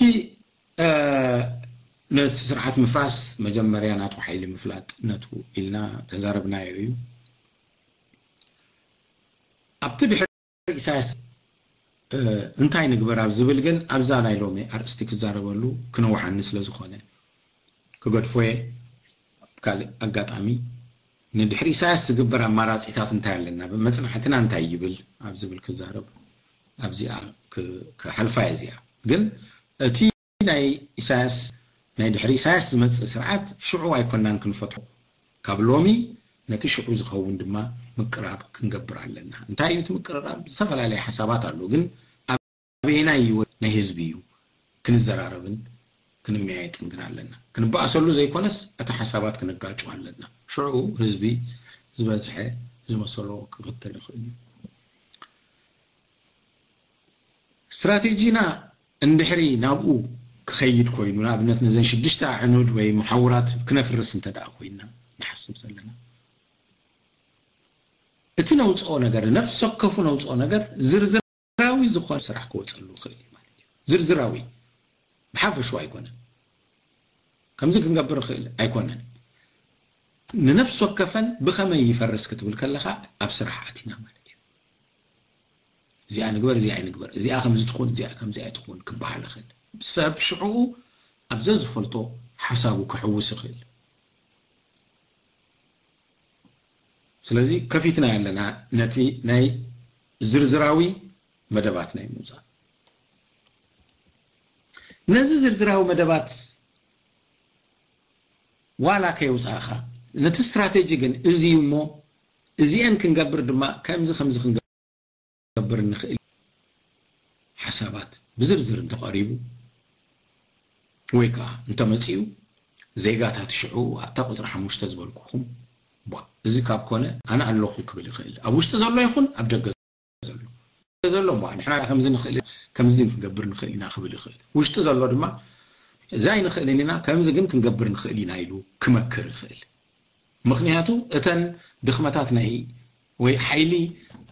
ነቲ ስርዓት ምፍራስ መጀመርያ ናቱ ሓይሊ ምፍላጥ ነቱ ኢልና ተዛረብናዮ እዩ። ኣብቲ ድሕሪ ኢሳያስ እንታይ ንግበር ኣብ ዝብል ግን ኣብዛ ናይ ሎሚ ኣርእስቲ ክዛረበሉ ክነውሓኒ ስለ ዝኾነ ክገድፎየ። ካልእ ኣጋጣሚ ንድሕሪ ኢሳያስ ዝግበር ኣማራፂታት እንታይ ኣለና፣ መፅናዕትና እንታይ ይብል ኣብ ዝብል ክዛረብ ኣብዚኣ ክሓልፋ እየ። እዚኣ ግን እቲ ናይ ኢሳያስ ናይ ድሕሪ ኢሳያስ ዝመፅእ ስርዓት ሽዑ ኣይኮናን ክንፈትሖ። ካብ ሎሚ ነቲ ሽዑ ዝኸውን ድማ ምቅራብ ክንገብር ኣለና። እንታይ እዩ እቲ ምቅርራብ? ዝተፈላለየ ሓሳባት ኣሎ፣ ግን ኣበየናይ ህይወት ናይ ህዝቢ እዩ ክንዘራረብን ክንመያየጥን ግን ኣለና። ክንበኣሰሉ ዘይኮነስ እቲ ሓሳባት ክነጋጩ ኣለና። ሽዑ ህዝቢ ዝበዝሐ ዝመሰሎ ክኽተል ይኽእል እዩ። ስትራቴጂና እንድሕሪ ናብኡ ክኸይድ ኮይኑ ንኣብነት ነዘን ሽዱሽተ ኣዕኑድ ወይ መሓውራት ክነፍርስ እንተ ደኣ ኮይንና ንሓስብ ዘለና እቲ ነውፅኦ ነገር ነፍሲ ወከፉ ነውፅኦ ነገር ዝርዝራዊ ዝኾነ ስራሕ ክወፀሉ ይኽእል እዩ ማለት እዩ። ዝርዝራዊ ብሓፈሹ ኣይኮነን። ከምዚ ክንገብር ንኽእል ኣይኮነን። ንነፍሲ ወከፈን ብኸመይ ይፈርስ ክትብል ከለኻ ኣብ ስራሕ ኣቲና ማለት እዩ። እዚኣ ንግበር፣ እዚኣ ኣይንግበር፣ እዚኣ ከምዚ ትኹን፣ እዚኣ ከምዚኣ ትኹን ክበሃል ይኽእል። ሰብ ሽዕኡ ኣብ ዘዝፈልጦ ሓሳቡ ክሕውስ ይኽእል። ስለዚ ከፊትና ኣለና ነቲ ናይ ዝርዝራዊ መደባት ናይ ምውፃእ። ነዚ ዝርዝራዊ መደባት ዋላ ከየውፃእኻ ነቲ ስትራቴጂ ግን እዚ እዩ እሞ እዚአን ክንገብር ድማ ከምዚ ከምዚ ክንገብር ንኽእል ሓሳባት ብዝርዝር እንተቐሪቡ ወይ ከዓ እንተመፅኡ ዜጋታት ሽዑ ኣብታ ቁፅሪ ሓሙሽተ ዝበልኩኹም ቧ እዚ ካብ ኮነ ኣነ ኣለኹ ክብል ይኽእል። ኣብ ውሽጢ ዘሎ ይኹን ኣብ ደገ ዘሎ ዘሎ እሞ ንሕና ከምዚ ንኽእል፣ ከምዚ ክንገብር ንኽእል ኢና ክብል ይኽእል። ውሽጢ ዘሎ ድማ እዚ ኣይንኽእልን ኢና፣ ከምዚ ግን ክንገብር ንኽእል ኢና ኢሉ ክመክር ይኽእል። ምኽንያቱ እተን ድኽመታት ናይ ወይ ሓይሊ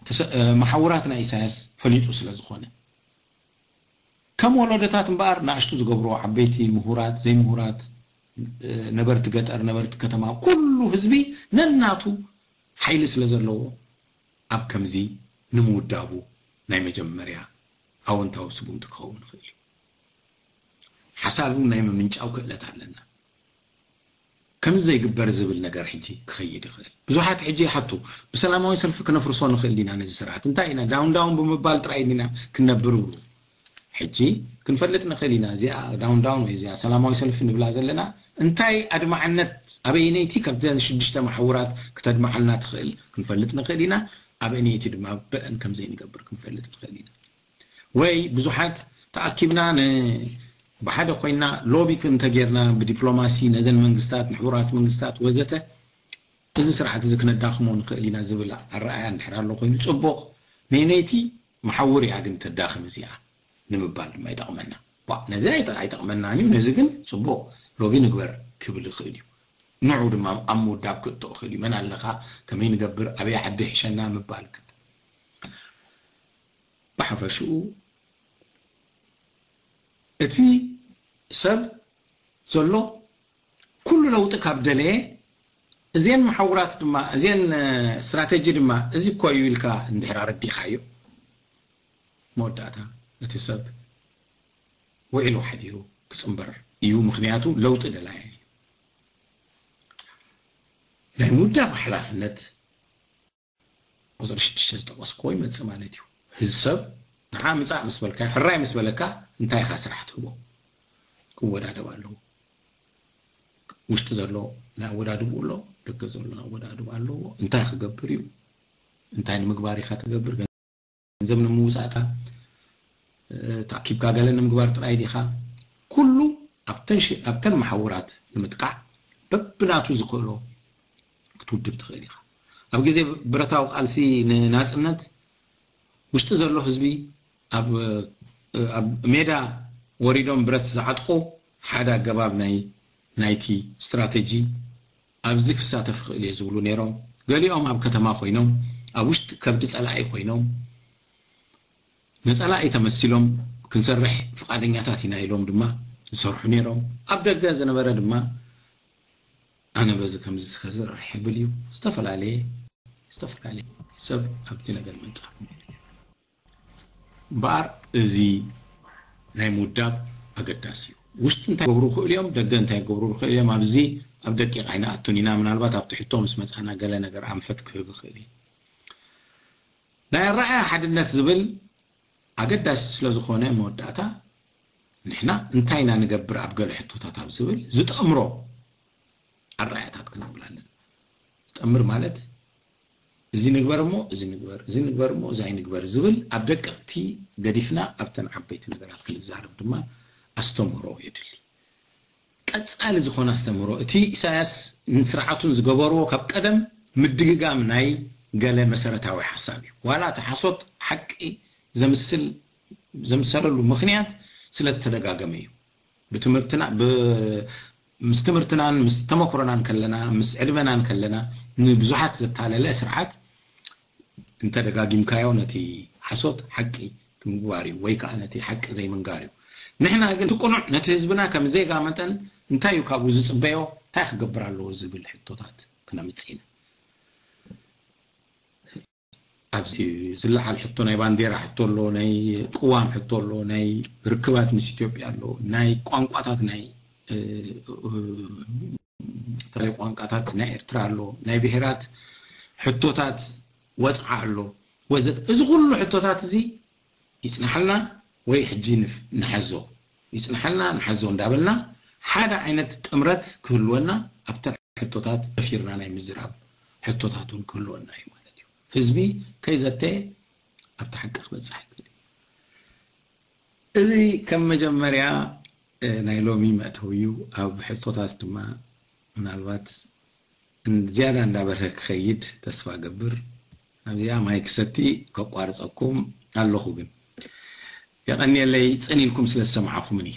ተሰ- እ፣ መሓውራት ናይ ኢሳያስ ፈሊጡ ስለ ዝኾነ። ከም ወለዶታት እምበኣር ንኣሽቱ ዝገብርዎ ዓበይቲ ምሁራት ዘይምሁራት እ፣ ነበርቲ ገጠር ነበርቲ ከተማ ኩሉ ህዝቢ ነናቱ ሓይሊ ስለ ዘለዎ ኣብ ከምዚ ንምውዳቡ ናይ መጀመርያ ኣወንታዊ ስጉምቲ ክኸውን ይኽእል እዩ። ሓሳብ እውን ናይ ምምንጫው ክእለት ኣለና። ከምዚ ዘይግበር ዝብል ነገር ሕጂ ክኸይድ ይኽእል። ብዙሓት ሕጂ ይሓቱ፣ ብሰላማዊ ሰልፊ ክነፍርሶ ንኽእል ዲና ነዚ ስርዓት? እንታይ ኢና ዳውን ዳውን ብምባል ጥራይ ዲና ክንነብር ይብሉ። ሕጂ ክንፈልጥ ንኽእል ኢና። እዚኣ ዳውን ዳውን ወይ እዚኣ ሰላማዊ ሰልፊ ንብላ ዘለና እንታይ ኣድማዕነት ኣበይነይቲ ካብተን ሽዱሽተ መሓውራት ክተድምዓልና ትኽእል ክንፈልጥ ንኽእል ኢና። ኣበይነይቲ ድማ በአን ከም ዘይንገብር ክንፈልጥ ንኽእል ኢና። ወይ ብዙሓት ተኣኪብና ን ብሓደ ኮይና ሎቢ እንተጌርና ብዲፕሎማሲ ነዘን መንግስታት ንሕቡራት መንግስታት ወዘተ እዚ ስርዓት እዚ ክነዳኽሞ ንኽእል ኢና ዝብል ኣረኣያ እንድሕር ኣሎ ኮይኑ ጽቡቕ። ነይነይቲ መሓውር እያ ግን ተዳኽም እዚኣ ንምባል ድማ ይጠቕመና። ዋ፣ ነዚ ኣይጠ- ኣይጠቕመናን እዩ፣ ነዚ ግን ጽቡቕ ሎቢ ንግበር ክብል ይኽእል እዩ። ንዑ ድማ ኣብ ምውዳብ ክእቶ ይኽእል እዩ። መን ኣለኻ፣ ከመይ ንገብር፣ ኣበይ ዓዲ ይሕሸና ምባል ግን ብሓፈሽኡ እቲ ሰብ ዘሎ ኩሉ ለውጢ ካብ ደለየ እዚን መሓውራት ድማ እዚን ስትራተጂ ድማ እዚ እኮ እዩ ኢልካ እንድሕር ኣረዲኻዮ መወዳእታ እቲ ሰብ ውዒሉ ሓዲሩ ክፅንበር እዩ። ምክንያቱ ለውጢ ደላየ እዩ። ናይ ምውዳብ ሓላፍነት ቁፅሪ ሽዱሽተ ዝጠቀስኩዎ ይመፅእ ማለት እዩ። ህዚ ሰብ ንዓ ምፃእ ምስ በልካ ሕራይ ምስ በለካ እንታይ ኢኻ ስራሕ ትህቦ? ክወዳደብ ኣለዎ። ውሽጢ ዘሎ ናይ ኣወዳድብኡ ኣሎ፣ ደገ ዘሎ ኣወዳድብ ኣለዎ። እንታይ ክገብር እዩ? እንታይ ንምግባር ኢኻ ትገብር? ገንዘብ ንምውፃእካ ተኣኪብካ ገለ ንምግባር ጥራይ ዲኻ? ኩሉ ኣብተን መሓውራት ንምጥቃዕ በብናቱ ዝኽእሎ ክትውድብ ትኽእል ኢኻ። ኣብ ግዜ ብረታዊ ቃልሲ ንናፅነት ውሽጢ ዘሎ ህዝቢ ኣብ ሜዳ ወሪዶም ብረት ዝዓጥቁ ሓደ ኣገባብ ናይ ናይቲ ስትራተጂ ኣብዚ ክሳተፍ ይኽእል እየ ዝብሉ ነይሮም። ገሊኦም ኣብ ከተማ ኮይኖም ኣብ ውሽጢ ከብዲ ፀላኢ ኮይኖም ንፀላኢ ተመሲሎም ክንሰርሕ ፍቓደኛታት ኢና ኢሎም ድማ ዝሰርሑ ነይሮም። ኣብ ደገ ዝነበረ ድማ ኣነ በዚ ከምዚ ከዝርሕ ይብል እዩ። ዝተፈላለየ ዝተፈላለየ ሰብ ኣብቲ ነገር ምንፃፍ እምበኣር እዚ ናይ ምውዳብ ኣገዳሲ እዩ። ውሽጢ እንታይ ገብሩ ይኽእሉ እዮም፣ ደገ እንታይ ገብሩ ይኽእሉ እዮም፣ ኣብዚ ኣብ ደቂቕ ኣይንኣቱን ኢና። ምናልባት ኣብቲ ሕቶ ምስ መፃና ገለ ነገር ኣንፈት ክህብ ይኽእል እዩ። ናይ ኣረኣያ ሓድነት ዝብል ኣገዳሲ ስለ ዝኾነ መወዳእታ ንሕና እንታይ ኢና ንገብር ኣብ ገለ ሕቶታት ኣብ ዝብል ዝጠምሮ ኣረኣያታት ክነብል ኣለና። ዝጠምር ማለት እዚ ንግበር እሞ እዚ ንግበር፣ እዚ ንግበር እሞ እዚ ኣይንግበር ዝብል ኣብ ደቀቕቲ ገዲፍና ኣብተን ዓበይቲ ነገራት ክንዛረብ ድማ ኣስተምህሮ የድሊ። ቀጻሊ ዝኾነ ኣስተምህሮ እቲ ኢሳያስ ንስርዓቱን ዝገበርዎ ካብ ቀደም ምድግጋም ናይ ገለ መሰረታዊ ሓሳብ እዩ። ዋላ እቲ ሓሶት ሓቂ ዘምስል ዘምሰለሉ ምኽንያት ስለ ዝተደጋገመ እዩ። ብትምህርትና ብ- ምስ ትምህርትናን ምስ ተመክሮናን ከለና ምስ ዕድመናን ከለና ንብዙሓት ዘታለለ ስርዓት እንተደጋጊምካዮ ነቲ ሓሶት ሓቂ ምግባር እዩ ወይ ከዓ ነቲ ሓቂ ዘይምንጋር እዩ። ንሕና ግን እቲ ቅኑዕ ነቲ ህዝብና ከም ዜጋ መጠን እንታይ እዩ ካብኡ ዝፅበዮ እንታይ ክገብር ኣለዎ ዝብል ሕቶታት ክነምፅእ ኢና። ኣብዚ ዝለዓል ሕቶ ናይ ባንዴራ ሕቶ ኣሎ፣ ናይ ቅዋም ሕቶ ኣሎ፣ ናይ ርክባት ምስ ኢትዮጵያ ኣሎ፣ ናይ ቋንቋታት ናይ ተለይ ቋንቋታት ናይ ኤርትራ ኣሎ፣ ናይ ብሄራት ሕቶታት ወፅዓ ኣሎ ወዘተ። እዚ ኩሉ ሕቶታት እዚ ይፅናሓልና ወይ ሕጂ ንሓዞ ይፅናሓልና ንሓዞ እንዳበልና ሓደ ዓይነት ጥምረት ክህልወና ኣብተን ሕቶታት ደፊርና ናይ ምዝራብ ሕቶታት እውን ክህልወና እዩ ማለት እዩ። ህዝቢ ከይዘተየ ኣብቲ ሓቂ ክበፅሕ ይክእል እዩ። እዚ ከም መጀመርያ ናይ ሎሚ መእተዊ እዩ። ኣብ ሕቶታት ድማ ምናልባት ዝያዳ እንዳበርሀ ክኸይድ ተስፋ ገብር። ኣብዚኣ ማይክ ክሰቲ ከቋርጸኩም ኣለኹ፣ ግን የቐንየለይ ጽን ኢልኩም ስለ ዝሰማዕኹምኒ።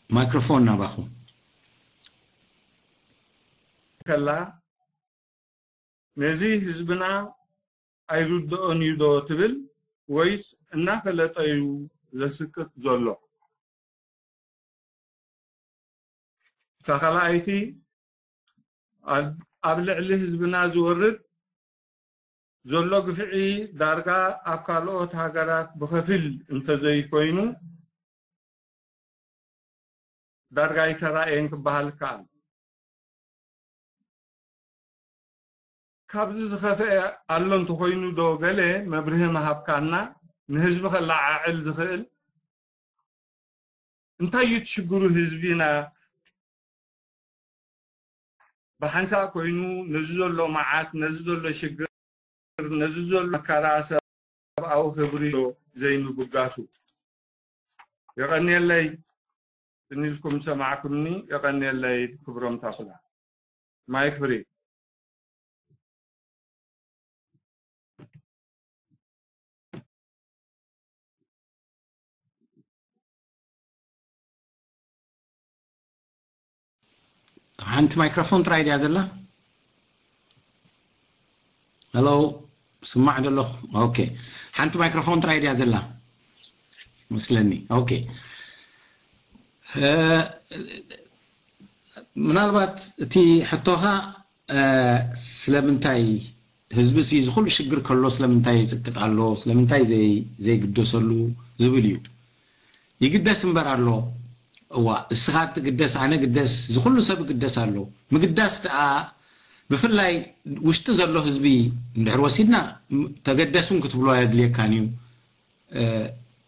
ማይክሮፎን ናባኹም። ከላ ነዚ ህዝብና ኣይርድኦን እዩ ዶ ትብል ወይስ እናፈለጠ እዩ ዘስቅጥ ዘሎ? እታ ካልኣይቲ ኣብ ልዕሊ ህዝብና ዝወርድ ዘሎ ግፍዒ ዳርጋ ኣብ ካልኦት ሃገራት ብኸፊል እንተዘይኮይኑ ዳርጋ ኣይተራእየን ክበሃል ይከኣል። ካብዚ ዝኸፍአ ኣሎ እንተኾይኑ ዶ ገለ መብርሂ ምሃብካና ንህዝቢ ከለዓዕል ዝኽእል? እንታይ እዩ እቲ ሽግሩ ህዝቢና ብሓንሳእ ኮይኑ ነዚ ዘሎ መዓት፣ ነዚ ዘሎ ሽግር፣ ነዚ ዘሎ መከራ ሰብኣዊ ክብሪ ዘይምብጋሱ? የቐንየለይ። ጽን ኢልኩም ሰማዕኩምኒ። የቐንየለይ ክብሮም ታፍላ። ማይክ ፍሪ። ሓንቲ ማይክሮፎን ጥራይ ድያ ዘላ? ሄሎ፣ ስማዕ ደሎ? ኦኬ። ሓንቲ ማይክሮፎን ጥራይ ድያ ዘላ? መስለኒ። ኦኬ። እ፣ ምናልባት እቲ ሕቶኻ፣ እ፣ ስለምንታይ ህዝቢ እዚ ኩሉ ሽግር ከሎ ስለምንታይ ይጽቅጥ ኣሎ፣ ስለምንታይ ዘይ-፣ ዘይግደሰሉ ዝብል እዩ። ይግደስ እምበር ኣሎ። እዋ፣ እስኻ ትግደስ፣ ኣነ ግደስ፣ እዚ ኩሉ ሰብ ይግደስ ኣሎ። ምግዳስ ደኣ ብፍላይ ውሽጢ ዘሎ ህዝቢ እንድሕር ወሲድና፣ ም-፣ ተገደሱን ክትብሎ ኣየድልየካን እዩ። እ፣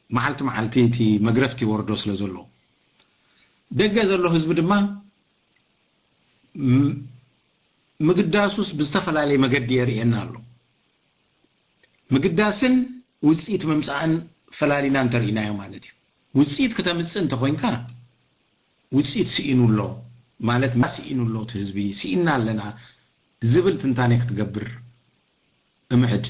መዓልቲ መዓልቲ እቲ መግረፍቲ ይወርዶ ስለ ዘሎ። ደገ ዘሎ ህዝቢ ድማ ም-፣ ምግዳሱስ ብዝተፈላለየ መገዲ የርእየና ኣሎ። ምግዳስን ውጽኢት ምምጻእን ፈላሊና እንተርኢናዮ ማለት እዩ። ውጽኢት ክተምጽእ እንተኾይንካ፣ ውጽኢት ስኢኑ ኣሎ ማለት፣ ስኢኑ ኣሎ እቲ ህዝቢ፣ ስኢና ኣለና ዝብል ትንታኔ ክትገብር እምዕድ።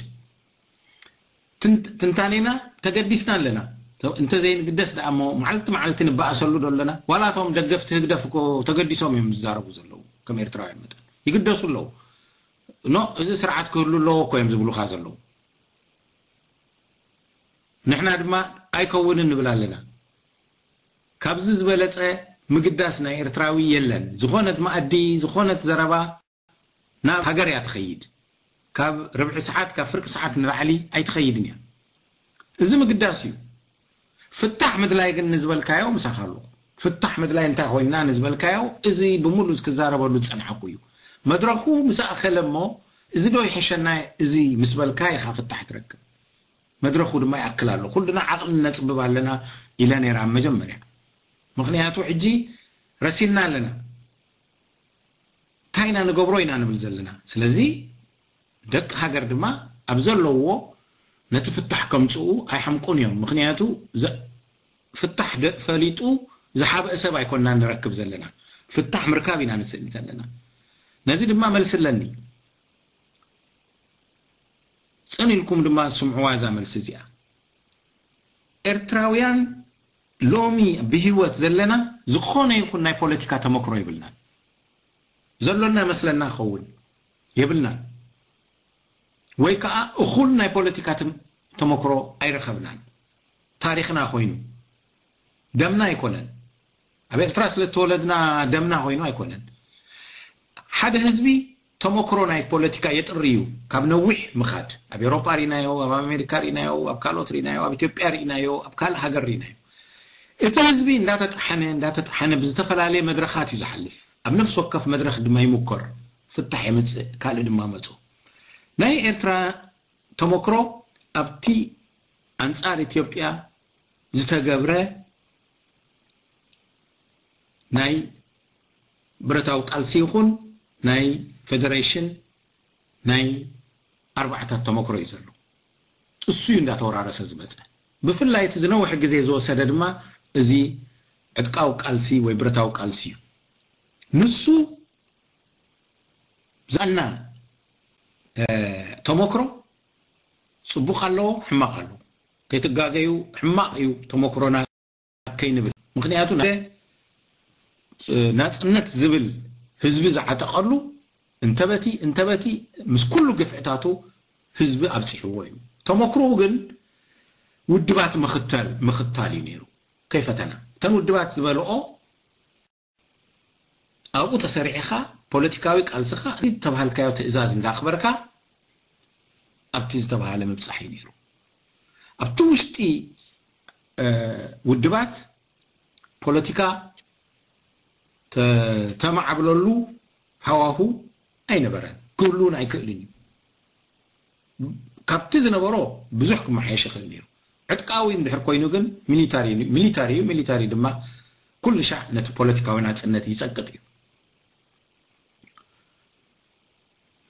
ትንት-፣ ትንታኔና ተገዲስና ኣለና። ተ-፣ እንተዘይንግደስ ደኣ እሞ መዓልቲ መዓልቲ ንበኣሰሉ ዶ ኣለና? ዋላ እቶም ደገፍቲ ህግደፍ እኮ ተገዲሶም እዮም ዝዛረቡ ዘለዉ፣ ከም ኤርትራውያን መጠን። ይግደሱ ኣለዉ። ኖ፣ እዚ ስርዓት ክህሉ ኣለዎ እኮ እዮም ዝብሉኻ ዘለዉ። ንሕና ድማ ኣይከውንን ንብል ኣለና። ካብዚ ዝበለጸ ምግዳስ ናይ ኤርትራዊ የለን። ዝኾነት መኣዲ፣ ዝኾነት ዘረባ ናብ ሃገር እያ ትኸይድ። ካብ ርብዒ ሰዓት፣ ካብ ፍርቂ ሰዓት ንላዕሊ ኣይትኸይድን እያ። እዚ ምግዳስ እዩ። ፍታሕ ምድላይ ግን ንዝበልካዮ ምሳኻ ኣለኹ። ፍታሕ ምድላይ እንታይ ኮይንና ንዝበልካዮ፣ እዚ ብምሉእ ክዛረበሉ ዝጸናሕኩ እዩ። መድረኹ ምስ ኣኸለ እሞ፣ እዚ ዶ ይሕሸና እዚ ምስ በልካ ኢኻ ፍታሕ ትረክብ። መድረኹ ድማ ይኣክል ኣሎ። ኩልና ዓቕሊ ነጽብብ ኣለና ኢለ ነይረ ኣብ መጀመርያ። ምኽንያቱ ሕጂ ረሲንና ኣለና። እንታይ ኢና ንገብሮ ኢና ንብል ዘለና። ስለዚ ደቂ ሃገር ድማ ኣብ ዘለውዎ ነቲ ፍታሕ ከምጽኡ ኣይሓምቁን እዮም። ምኽንያቱ ዘ-፣ ፍታሕ ደ-፣ ፈሊጡ ዝሓብአ ሰብ ኣይኮንና ንረክብ ዘለና። ፍታሕ ምርካብ ኢና ንስእን ዘለና። ነዚ ድማ መልሲ ኣለኒ። ጽን ኢልኩም ድማ ስምዕዋ እዛ መልሲ እዚኣ። ኤርትራውያን ሎሚ ብህይወት ዘለና ዝኾነ ይኹን ናይ ፖለቲካ ተመክሮ የብልናን። ዘሎና መስለና ክኸውን የብልናን። ወይ ከኣ እኹል ናይ ፖለቲካ ተም-፣ ተመክሮ ኣይረኸብናን። ታሪኽና ኮይኑ ደምና ኣይኮነን። ኣብ ኤርትራ ስለ እተወለድና ደምና ኮይኑ ኣይኮነን። ሓደ ህዝቢ ተመክሮ ናይ ፖለቲካ የጥሪ እዩ። ካብ ነዊሕ ምኻድ፣ ኣብ ኤውሮጳ ርኢናዮ፣ ኣብ ኣሜሪካ ርኢናዮ፣ ኣብ ካልኦት ርኢናዮ፣ ኣብ ኢትዮጵያ ርኢናዮ፣ ኣብ ካልእ ሃገር ርኢናዮ። እቲ ህዝቢ እንዳተጣሓነ፣ እንዳተጣሓነ ብዝተፈላለየ መድረኻት እዩ ዝሓልፍ። ኣብ ነፍሲ ወከፍ መድረኽ ድማ ይምኮር፣ ፍታሕ የምጽእ፣ ካልእ ድማ መጹ። ናይ ኤርትራ ተመክሮ ኣብቲ ኣንጻር ኢትዮጵያ ዝተገብረ ናይ ብረታዊ ቃልሲ ይኹን ናይ ፌደሬሽን ናይ ኣርባዕታት ተመክሮ እዩ ዘሎ። እሱ እዩ እንዳተወራረሰ ዝመጸ። ብፍላይ እቲ ዝነውሐ ግዜ ዝወሰደ ድማ እዚ ዕጥቃዊ ቃልሲ ወይ ብረታዊ ቃልሲ እዩ። ንሱ ዛና ተመክሮ ጽቡቕ ኣለዎ፣ ሕማቕ ኣለዎ። ከይትጋገዩ፣ ሕማቕ እዩ ተመክሮና ከይንብል። ምኽንያቱ ናጽነት ዝብል ህዝቢ ዝዓጠቐሉ እንተበቲ እንተበቲ ምስ ኩሉ ግፍዕታቱ ህዝቢ ኣብፂሕዎ እዩ። ተመክሮኡ ግን ውድባት ምኽታል ምኽታል እዩ ነይሩ። ከይፈተና እተን ውድባት ዝበልኦ ኣብኡ ተሰሪዕኻ ፖለቲካዊ ቃልስኻ ዝተባሃልካዮ ትእዛዝ እንዳኽበርካ ኣብቲ ዝተባሃለ ምብፃሕ እዩ ነይሩ። ኣብቲ ውሽጢ ውድባት ፖለቲካ ተማዓብለሉ ሃዋሁ ኣይነበረን፣ ክህልውን ኣይክእልን እዩ። ካብቲ ዝነበሮ ብዙሕ ክመሓየሽ ይኽእል ነይሩ። ዕጥቃዊ እንድሕር ኮይኑ ግን ሚሊታሪ እዩ፣ ሚሊታሪ እዩ። ሚሊታሪ ድማ ኩሉ ሻዕ ነቲ ፖለቲካዊ ናፅነት ይፀቅጥ እዩ።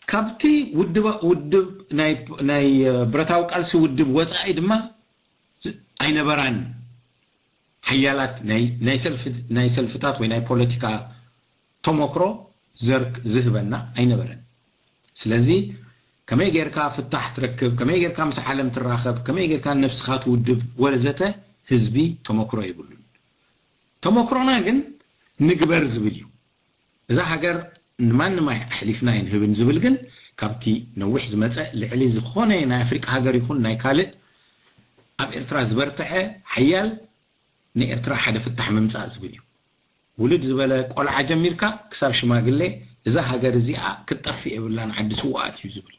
ካብቲ ውድብ ናይ ብረታዊ ቃልሲ ውድብ ወፃኢ ድማ ኣይነበራን። ሓያላት ናይ ሰልፍታት ወይ ናይ ፖለቲካ ተመክሮ ዘርክ ዝህበና ኣይነበረን። ስለዚ ከመይ ጌርካ ፍታሕ ትረክብ፣ ከመይ ጌርካ ምስ ዓለም ትራኸብ፣ ከመይ ጌርካ ነብስኻ ትውድብ ወዘተ ህዝቢ ተመክሮ የብሉን። ተመክሮና ግን ንግበር ዝብል እዩ። እዛ ሃገር ንማንም ኣሕሊፍና ኣይንህብን ዝብል ግን ካብቲ ነዊሕ ዝመፀ ልዕሊ ዝኾነ ናይ ኣፍሪቃ ሃገር ይኹን ናይ ካልእ ኣብ ኤርትራ ዝበርትዐ ሓያል ንኤርትራ ሓደ ፍታሕ ምምፃእ ዝብል እዩ። ውልድ ዝበለ ቆልዓ ጀሚርካ ክሳብ ሽማግሌ እዛ ሃገር እዚኣ ክትጠፍእ የብላን፣ ዓዲ ስውኣት እዩ ዝብል።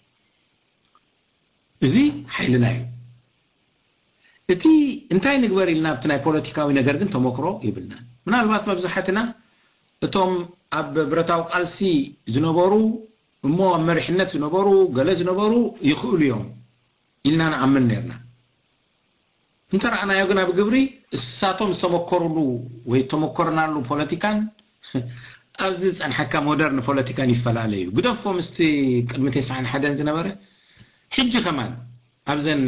እዚ ሓይልና እዩ። እቲ እንታይ ንግበር ኢልና ኣብቲ ናይ ፖለቲካዊ ነገር ግን ተመክሮ ይብልናን። ምናልባት መብዛሕትና እቶም ኣብ ብረታዊ ቃልሲ ዝነበሩ እሞ ኣብ መሪሕነት ዝነበሩ ገለ ዝነበሩ ይኽእሉ እዮም ኢልና ንኣምን ነርና። እንተረኣናዮ ግን ኣብ ግብሪ እሳቶም ዝተመከሩሉ ወይ ተመኮርናሉ ፖለቲካን ኣብዚ ዝፀንሐካ ሞደርን ፖለቲካን ይፈላለ እዩ። ግደፎ ምስቲ ቅድሚ ተስዓን ሓደን ዝነበረ ሕጂ ከማን ኣብዘን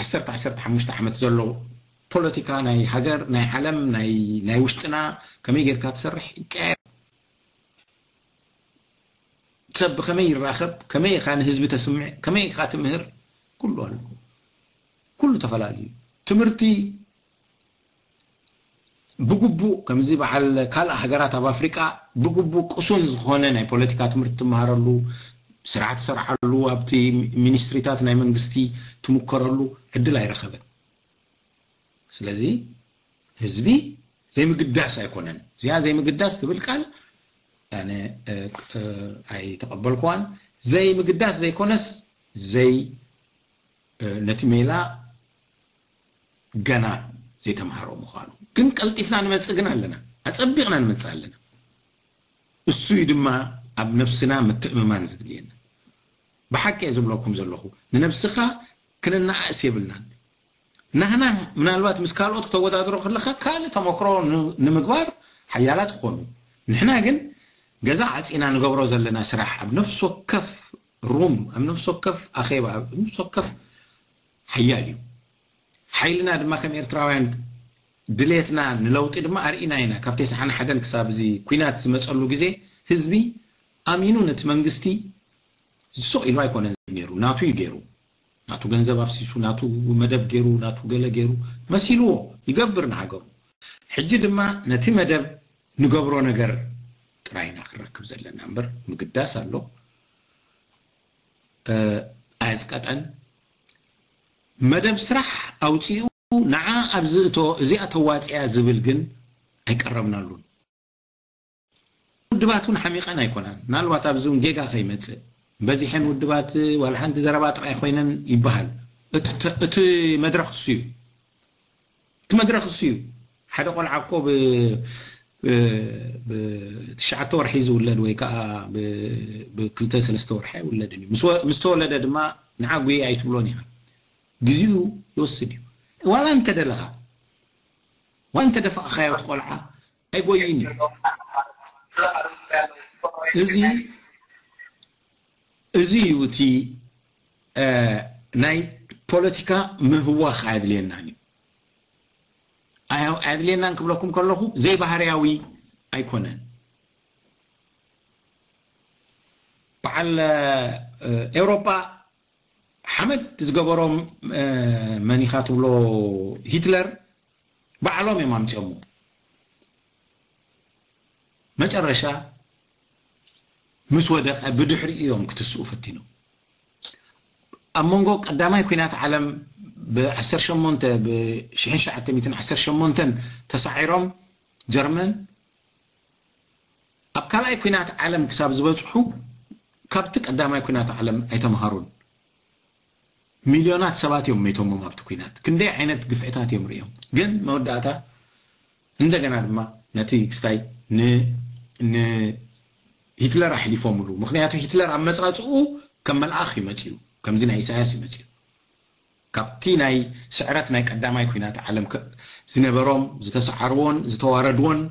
ዓሰርተ ዓሰርተ ሓሙሽተ ዓመት ዘሎ ፖለቲካ ናይ ሃገር ናይ ዓለም ናይ ውሽጥና ከመይ ጌርካ ትሰርሕ ይቀያየር። ሰብ ብኸመይ ይራኸብ፣ ከመይ ኢኻ ንህዝቢ ተስምዕ፣ ከመይ ኢኻ ትምህር፣ ኩሉ ኣሎ። ኩሉ ተፈላለዩ። ትምህርቲ ብግቡእ ከምዚ በዓል ካልእ ሃገራት ኣብ ኣፍሪቃ ብግቡእ ቅሱን ዝኾነ ናይ ፖለቲካ ትምህርቲ ትመሃረሉ፣ ስራሕ ትሰርሓሉ፣ ኣብቲ ሚኒስትሪታት ናይ መንግስቲ ትምከረሉ ዕድል ኣይረኸበን። ስለዚ ህዝቢ ዘይምግዳስ ኣይኮነን። እዚኣ ዘይምግዳስ ትብል ቃል ኣነ ኣይተቐበልኩዋን። ዘይምግዳስ ዘይኮነስ ዘይ ነቲ ሜላ ገና ዘይተምሃሮ ምዃኑ ግን ቀልጢፍና ንመጽእ ግን ኣለና፣ ኣጸቢቕና ንመጽእ ኣለና። እሱ እዩ ድማ ኣብ ነብስና ምትእምማን ዘድልየና። ብሓቂ እየ ዝብለኩም ዘለኹ፣ ንነብስኻ ክንነኣእስ የብልናን። ናህና ምናልባት ምስ ካልኦት ክተወዳድሮ ከለኻ ካልእ ተመክሮ ንምግባር ሓያላት ክኾኑ፣ ንሕና ግን ገዛ ዓፂና ንገብሮ ዘለና ስራሕ ኣብ ነፍሲ ወከፍ ሩም ኣብ ነፍሲ ወከፍ ኣኼባ ኣብ ነፍሲ ወከፍ ሓያል እዩ። ሓይልና ድማ ከም ኤርትራውያን ድሌትና ንለውጢ ድማ ኣርኢና ኢና። ካብ ተስዓን ሓደን ክሳብ እዚ ኲናት ዝመፀሉ ግዜ ህዝቢ ኣሚኑ ነቲ መንግስቲ ዝሱቕ ኢሉ ኣይኮነን ነይሩ፣ ናቱ እዩ ገይሩ። ናቱ ገንዘብ ኣፍሲሱ፣ ናቱ መደብ ገይሩ፣ ናቱ ገለ ገይሩ መሲልዎ ይገብር ንሃገሩ። ሕጂ ድማ ነቲ መደብ ንገብሮ ነገር ጥራይ ኢና ክንረክብ ዘለና እምበር ምግዳስ ኣሎ ኣየዝቀጠን። መደብ ስራሕ ኣውፂኡ ንዓ ኣብዚ እቶ እዚኣ ተዋፅያ ዝብል ግን ኣይቀረብናሉን። ውድባት እውን ሓሚቐን ኣይኮናን። ምናልባት ኣብዚ እውን ጌጋ ከይመፅእ በዚሐን ውድባት ዋላ ሓንቲ ዘረባ ጥራይ ኮይነን ይበሃል። እቲ መድረኽ እሱ እዩ። እቲ መድረኽ እሱ እዩ። ሓደ ቆልዓ እኮ ብትሽዓተ ወርሒ ዝውለድ ወይ ከዓ ብክልተ ሰለስተ ወርሒ ኣይውለድን እዩ። ምስ ተወለደ ድማ ንዓ ጉየ ኣይትብሎን ኢኻ። ግዜኡ ይወስድ እዩ። ዋላ እንተደለኻ ዋላ እንተደፋእኻዮ እቲ ቆልዓ ኣይጎይን እዩ። እዚ እዚ እዩ እቲ ናይ ፖለቲካ ምህዋኽ ኣየድልየናን እዩ። ኣየድልየናን ክብለኩም ከለኹ ዘይባህርያዊ ኣይኮነን። በዓል ኤውሮጳ ሓመድ ዝገበሮም መኒኻ ትብሎ ሂትለር ባዕሎም እዮም ኣምፅኦሞ። መጨረሻ ምስ ወደቐ ብድሕሪ እዮም ክትስኡ ፈቲኖም። ኣብ መንጎ ቀዳማይ ኩናት ዓለም ብ18 ብ1918 ተሳዒሮም ጀርመን ኣብ ካልኣይ ኩናት ዓለም ክሳብ ዝበፅሑ ካብቲ ቀዳማይ ኩናት ዓለም ኣይተምሃሩን። ሚልዮናት ሰባት እዮም መይቶሞም ኣብቲ ኩናት። ክንደይ ዓይነት ግፍዕታት እዮም ርእዮም። ግን መወዳእታ እንደገና ድማ ነቲ ክስታይ ንሂትለር ኣሕሊፎምሉ። ምክንያቱ ሂትለር ኣብ መፃፅኡ ከም መልኣኽ እዩ መፅኡ፣ ከምዚ ናይ ኢሳያስ እዩ መፅኡ። ካብቲ ናይ ስዕረት ናይ ቀዳማይ ኩናት ዓለም ዝነበሮም ዝተሰዓርዎን ዝተዋረድዎን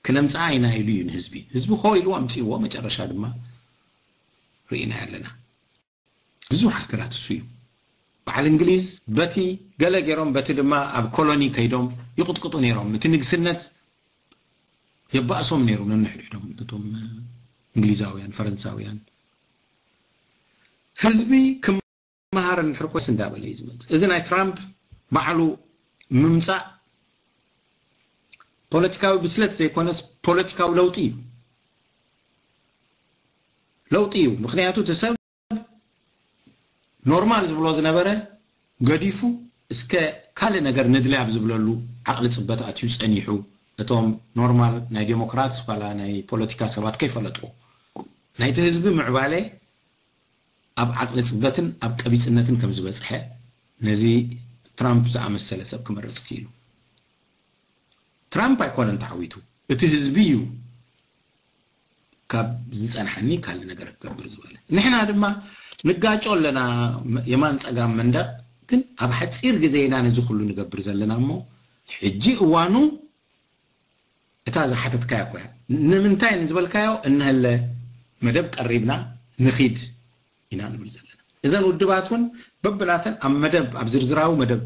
ክነምፅኣ ኢና ኢሉ እዩ ንህዝቢ። ህዝቢ ሆ ኢሉ ኣምፅእዎ። መጨረሻ ድማ ርኢና ኣለና። ብዙሕ ሃገራት እሱ እዩ። በዓል እንግሊዝ በቲ ገለ ገይሮም በቲ ድማ ኣብ ኮሎኒ ከይዶም ይቕጥቅጡ ነይሮም። እቲ ንግስነት የባእሶም ነይሩ ነንሕድሕዶም እቶም እንግሊዛውያን ፈረንሳውያን። ህዝቢ ክመሃር እንድሕር ኮይስ እንዳበለ እዩ ዝመፅእ። እዚ ናይ ትራምፕ ባዕሉ ምምፃእ ፖለቲካዊ ብስለት ዘይኮነስ ፖለቲካዊ ለውጢ እዩ። ለውጢ እዩ። ምክንያቱ እቲ ሰብ ኖርማል ዝብሎ ዝነበረ ገዲፉ እስከ ካልእ ነገር ንድለ ኣብ ዝብለሉ ዓቕሊ ፅበት ኣትዩ ፀኒሑ። እቶም ኖርማል ናይ ዴሞክራት ዋላ ናይ ፖለቲካ ሰባት ከይፈለጡ ናይቲ ህዝቢ ምዕባለ ኣብ ዓቕሊ ፅበትን ኣብ ቀቢፅነትን ከም ዝበፅሐ ነዚ ትራምፕ ዝኣመሰለ ሰብ ክመርፅ ክኢሉ። ትራምፕ ኣይኮነን ተዓዊቱ፣ እቲ ህዝቢ እዩ ካብ ዝፀንሐኒ ካልእ ነገር ክገብር ዝበለ። ንሕና ድማ ንጋጮ ኣለና የማን ፀጋም መንደቕ፣ ግን ኣብ ሓፂር ግዜ ኢና ነዚ ኩሉ ንገብር ዘለና እሞ ሕጂ እዋኑ እታ ዝሓተትካያ እኮ እያ። ንምንታይ ንዝበልካዮ እንሀለ መደብ ቀሪብና ንኺድ ኢና ንብል ዘለና። እዘን ውድባት እውን በብናተን ኣብ መደብ ኣብ ዝርዝራዊ መደብ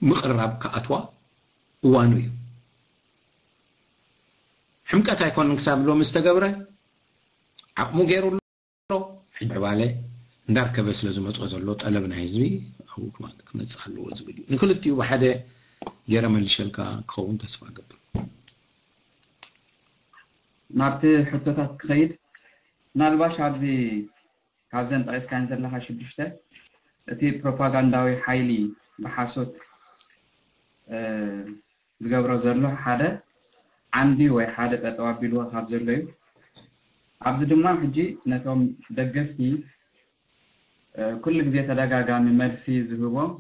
ምቕራብ ክኣትዋ እዋኑ እዩ። ሕምቀት ኣይኮንን ክሳብ ሎሚ ዝተገብረ ዓቕሙ ገይሩ ኣሎ። ሕጂ ዕባለ እንዳርከበ ስለ ዝመፅኦ ዘሎ ጠለብ ናይ ህዝቢ ኣብኡ ክመፅእ ኣለዎ ዝብል እዩ። ንክልቲኡ ብሓደ ገይረ መልሸልካ ክኸውን ተስፋ እገብር። ናብቲ ሕቶታት ክኸይድ ምናልባሽ ኣብዚ ካብዘን ጠቂስካን ዘለካ ሽዱሽተ እቲ ፕሮፓጋንዳዊ ሓይሊ ብሓሶት ዝገብሮ ዘሎ ሓደ ዓንዲ ወይ ሓደ ጠጠው ኣቢልዎ ካብ ዘሎ እዩ። ኣብዚ ድማ ሕጂ ነቶም ደገፍቲ ኩሉ ግዜ ተደጋጋሚ መልሲ ዝህቦም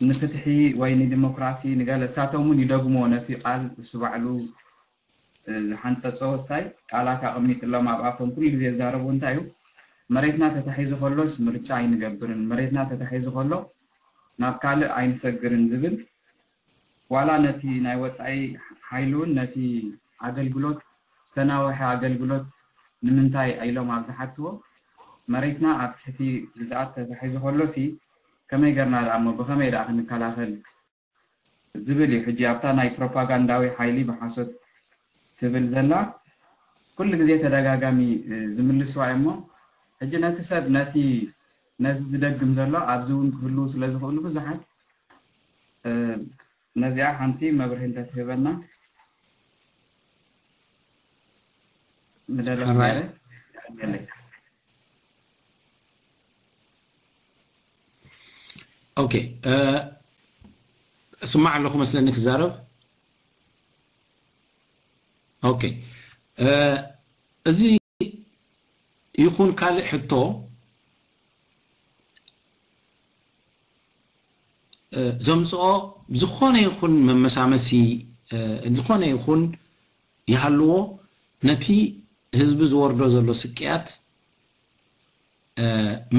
ንፍትሒ ወይ ንዲሞክራሲ ንገለ እሳቶም እውን ይደግሞ ነቲ ቃል እሱ ባዕሉ ዝሓንፀፆ ሳይ ቃላት ኣቐሚጥሎም ኣብ ኣፎም ኩሉ ግዜ ዝዛረቡ እንታይ እዩ መሬትና ተታሒዙ ከሎስ ምርጫ ኣይንገብርን መሬትና ተታሒዙ ከሎ ናብ ካልእ ኣይንሰግርን ዝብል ዋላ ነቲ ናይ ወፃኢ ሓይሊ እውን ነቲ ኣገልግሎት ዝተናወሐ ኣገልግሎት ንምንታይ ኢሎም ኣብ ዝሓትዎ መሬትና ኣብ ትሕቲ ግዝኣት ተታሒዙ ከሎሲ ከመይ ገርና ደኣ እሞ ብኸመይ ደኣ ክንከላኸል ዝብል እዩ ሕጂ ኣብታ ናይ ፕሮፓጋንዳዊ ሓይሊ ብሓሶት ትብል ዘላ ኩሉ ግዜ ተደጋጋሚ ዝምልስዋ እሞ ሕጂ ነቲ ሰብ ነቲ ነዚ ዝደግም ዘሎ ኣብዚ እውን ክህልው ስለ ዝኽእሉ ብዙሓት ነዚኣ ሓንቲ መብርሂ እንተትህበና ምደለኹ ኦኬ፣ እስማዕ ኣለኹ መስለኒ ክዛረብ። ኦኬ፣ እዚ ይኹን ካልእ ሕቶ ዘምፅኦ ዝኾነ ይኹን መመሳመሲ ዝኾነ ይኹን ይሃልዎ ነቲ ህዝቢ ዝወርዶ ዘሎ ስቅያት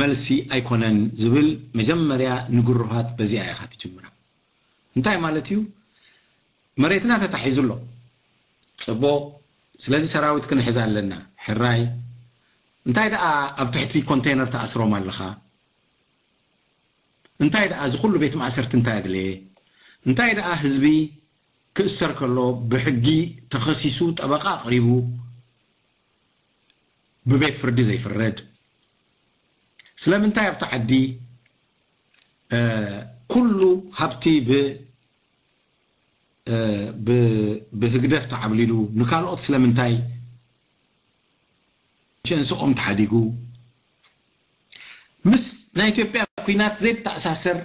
መልሲ ኣይኮነን ዝብል መጀመርያ ንግሩሃት በዚኣ ኢኻ ትጅምራ። እንታይ ማለት እዩ? መሬትና ተታሒዙ ኣሎ። ፅቡቕ። ስለዚ ሰራዊት ክንሕዝ ኣለና። ሕራይ። እንታይ ደኣ ኣብ ትሕቲ ኮንቴነር ተኣስሮም ኣለኻ? እንታይ ደኣ እዚ ኩሉ ቤት ማእሰርቲ እንታይ ኣድለየ? እንታይ ደኣ ህዝቢ ክእሰር ከሎ ብሕጊ ተኸሲሱ ጠበቃ ኣቕሪቡ ብቤት ፍርዲ ዘይፍረድ? ስለምንታይ ኣብቲ ዓዲ ኩሉ ሃብቲ ብህግደፍ ተዓብሊሉ? ንካልኦት ስለምንታይ ሸንስኦም ተሓዲጉ? ምስ ናይ ኢትዮጵያ ኩናት ዘይተኣሳሰር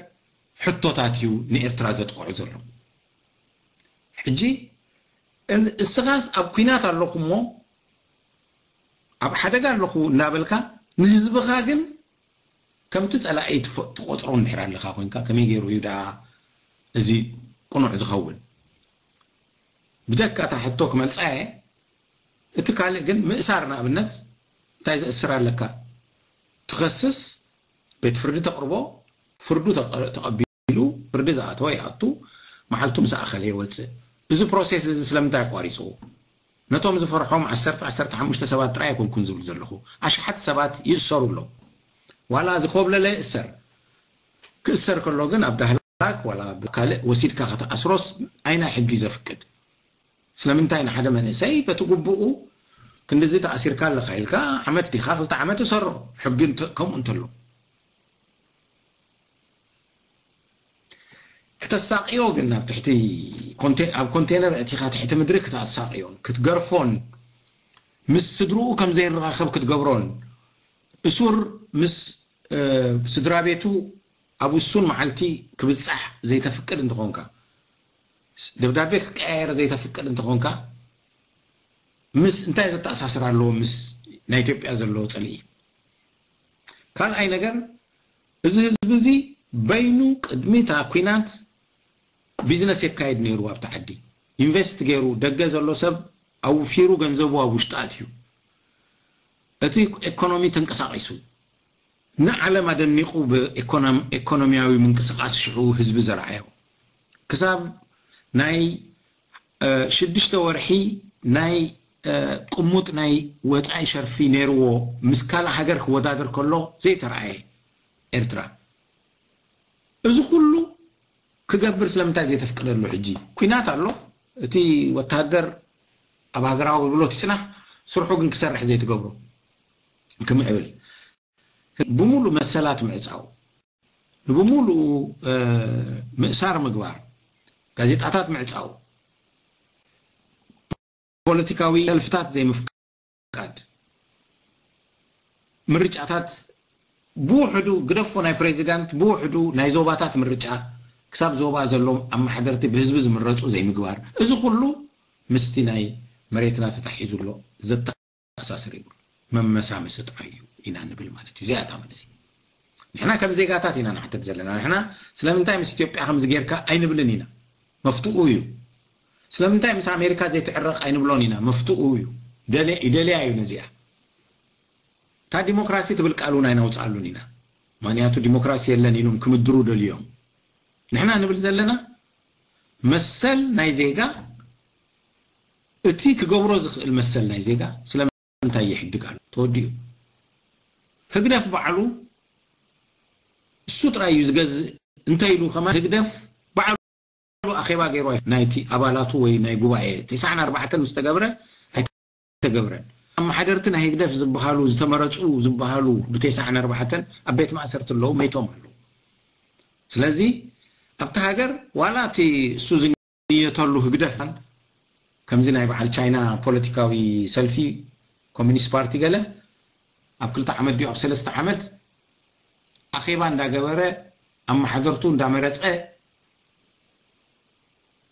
ሕቶታት እዩ ንኤርትራ ዘጥቅዑ ዘሎ። ሕጂ እስኻስ ኣብ ኩናት ኣለኹ እሞ፣ ኣብ ሓደጋ ኣለኹ እናበልካ፣ ንህዝብኻ ግን ከምቲ ጸላኢ ትቆጽሮ እንድሕር ኣለኻ ኮንካ፣ ከመይ ገይሩ እዩ ደኣ እዚ ቅኑዕ ዝኸውን? ብጀካ እታ ሕቶ ክመልጻ እየ። እቲ ካልእ ግን ምእሳር፣ ንኣብነት እንታይ ዘእስር ኣለካ? ትኸስስ፣ ቤት ፍርዲ ተቕርቦ፣ ፍርዱ ተቐቢሉ፣ ፍርዲ ዝኣተወ ይኣቱ፣ መዓልቱ ምስ ኣኸለ ይወጽእ። እዚ ፕሮሴስ እዚ ስለምንታይ ኣቋሪጽዎ? ነቶም ዝፈርሖም ዓሰርተ፣ ዓሰርተ ሓሙሽተ ሰባት ጥራይ ኣይኮንኩን ዝብል ዘለኹ። ኣሽሓት ሰባት ይእሰሩ ኣለዉ። ዋላ ዝኮብለለ ይእሰር። ክእሰር ከሎ ግን ኣብ ዳህላክ ዋላ ብካልእ ወሲድካ ከተኣስሮስ ኣይናይ ሕጊ ዘፍቅድ። ስለምንታይ ንሓደ መንእሰይ በቲ ግቡኡ ክንድዚ ተኣሲርካ ኣለኻ ኢልካ ዓመት ዲኻ ክልተ ዓመት እሰሮ፣ ሕጊ እንተ-፣ ከምኡ እንተሎ። ክተሳቕዮ ግን ኣብ ትሕቲ ኮንቴ-፣ ኣብ ኮንቴነር እቲኻ ትሕቲ ምድሪ ክተሳቕዮን ክትገርፎን ምስ ስድርኡ ከም ዘይራኸብ ክትገብሮን እሱር ምስ፣ እ፣ ስድራ ቤቱ ኣብ ውሱን መዓልቲ ክብጻሕ ዘይተፍቅድ እንተኾንካ፣ ደብዳቤ ክቀያየር ዘይተፍቅድ እንተኾንካ፣ ምስ እንታይ ዘተኣሳስር ኣለዎ ምስ ናይ ኢትዮጵያ ዘለዎ ጽልኢ? ካልኣይ ነገር፣ እዚ ህዝቢ እዚ በይኑ ቅድሚ እታ ኲናት ቢዝነስ የካይድ ነይሩ፣ ኣብቲ ዓዲ ኢንቨስት ገይሩ፣ ደገ ዘሎ ሰብ ኣውፊሩ ገንዘቡ ኣብ ውሽጢ ኣትዩ፣ እቲ ኢኮኖሚ ተንቀሳቒሱ፣ ንዓለም ኣደኒቑ ብኢኮኖም-፣ ኢኮኖሚያዊ ምንቅስቓስ ሽዑ ህዝቢ ዘርኣዮ። ክሳብ ናይ፣ እ፣ ሽዱሽተ ወርሒ ናይ፣ እ፣ ቅሙጥ ናይ ወጻኢ ሸርፊ ነይርዎ፣ ምስ ካልእ ሃገር ክወዳደር ከሎ ዘይተረኣየ ኤርትራ። እዚ ኩሉ ክገብር ስለምንታይ ዘይተፍቅደሉ? ሕጂ ኲናት ኣሎ። እቲ ወተሃደር ኣብ ሃገራዊ ኣገልግሎት ይጽናሕ፣ ስርሑ ግን ክሰርሕ ዘይትገብሮ፣ ክምዕብል፣ ብምሉእ መሰላት ምዕጻው፣ ንብምሉኡ፣ እ፣ ምእሳር ምግባር፣ ጋዜጣታት ምዕጻው፣ ፖለቲካዊ ሰልፍታት ዘይምፍቃድ፣ ምርጫታት ብውሕዱ ግደፎ፣ ናይ ፕሬዚዳንት ብውሕዱ ናይ ዞባታት ምርጫ፣ ክሳብ ዞባ ዘሎ ኣመሓደርቲ ብህዝቢ ዝምረጹ ዘይምግባር፣ እዚ ኩሉ ምስቲ ናይ መሬትና ተታሒዙ ኣሎ፣ ዘተኣሳስር ይብሉ። መመሳመሲ ጥራይ እዩ ኢና ንብል ማለት እዩ። እዚኣ እታ መልሲ። ንሕና ከም ዜጋታት ኢና ንሓተት ዘለና። ንሕና ስለምንታይ ምስ ኢትዮጵያ ከምዚ ጌርካ ኣይንብልን ኢና። መፍትኡ እዩ። ስለምንታይ ምስ ኣሜሪካ ዘይትዕረቕ ኣይንብሎን ኢና። መፍትኡ እዩ። ደለ-፣ ይደልያ እዩ ነዚኣ። እታ ዲሞክራሲ ትብል ቃል እውን ኣይነውፅኣሉን ኢና። ምኽንያቱ ዲሞክራሲ የለን ኢሉም ክምድሩ ደልዮም። ንሕና ንብል ዘለና መሰል ናይ ዜጋ፣ እቲ ክገብሮ ዝኽእል መሰል ናይ ዜጋ ስለምንታይ ይሕድግ ኣሎ? ተወዲኡ። ህግደፍ ባዕሉ እሱ ጥራይ እዩ ዝገዝእ እንተ ኢሉ ከማን ህግደፍ ባዕሉ ኣኼባ ገይሩ ኣይ-፣ ናይቲ ኣባላቱ ወይ ናይ ጉባኤ ተስዓን ኣርባዕተን ምስ ተገብረ ኣይተገብረን። ኣመሓደርቲ ናይ ህግደፍ ዝበሃሉ ዝተመረጹ ዝበሃሉ ብተስዓን ኣርባዕተን ኣብ ቤት ማእሰርቲ ኣለዉ፣ መይቶም ኣለዉ። ስለዚ ኣብቲ ሃገር ዋላ እቲ እሱ ዝንየተሉ ህግደፍ ከምዚ ናይ በዓል ቻይና ፖለቲካዊ ሰልፊ ኮሚኒስት ፓርቲ ገለ ኣብ ክልተ ዓመት ድዩ ኣብ ሰለስተ ዓመት ኣኼባ እንዳገበረ ኣመሓደርቱ እንዳመረጸ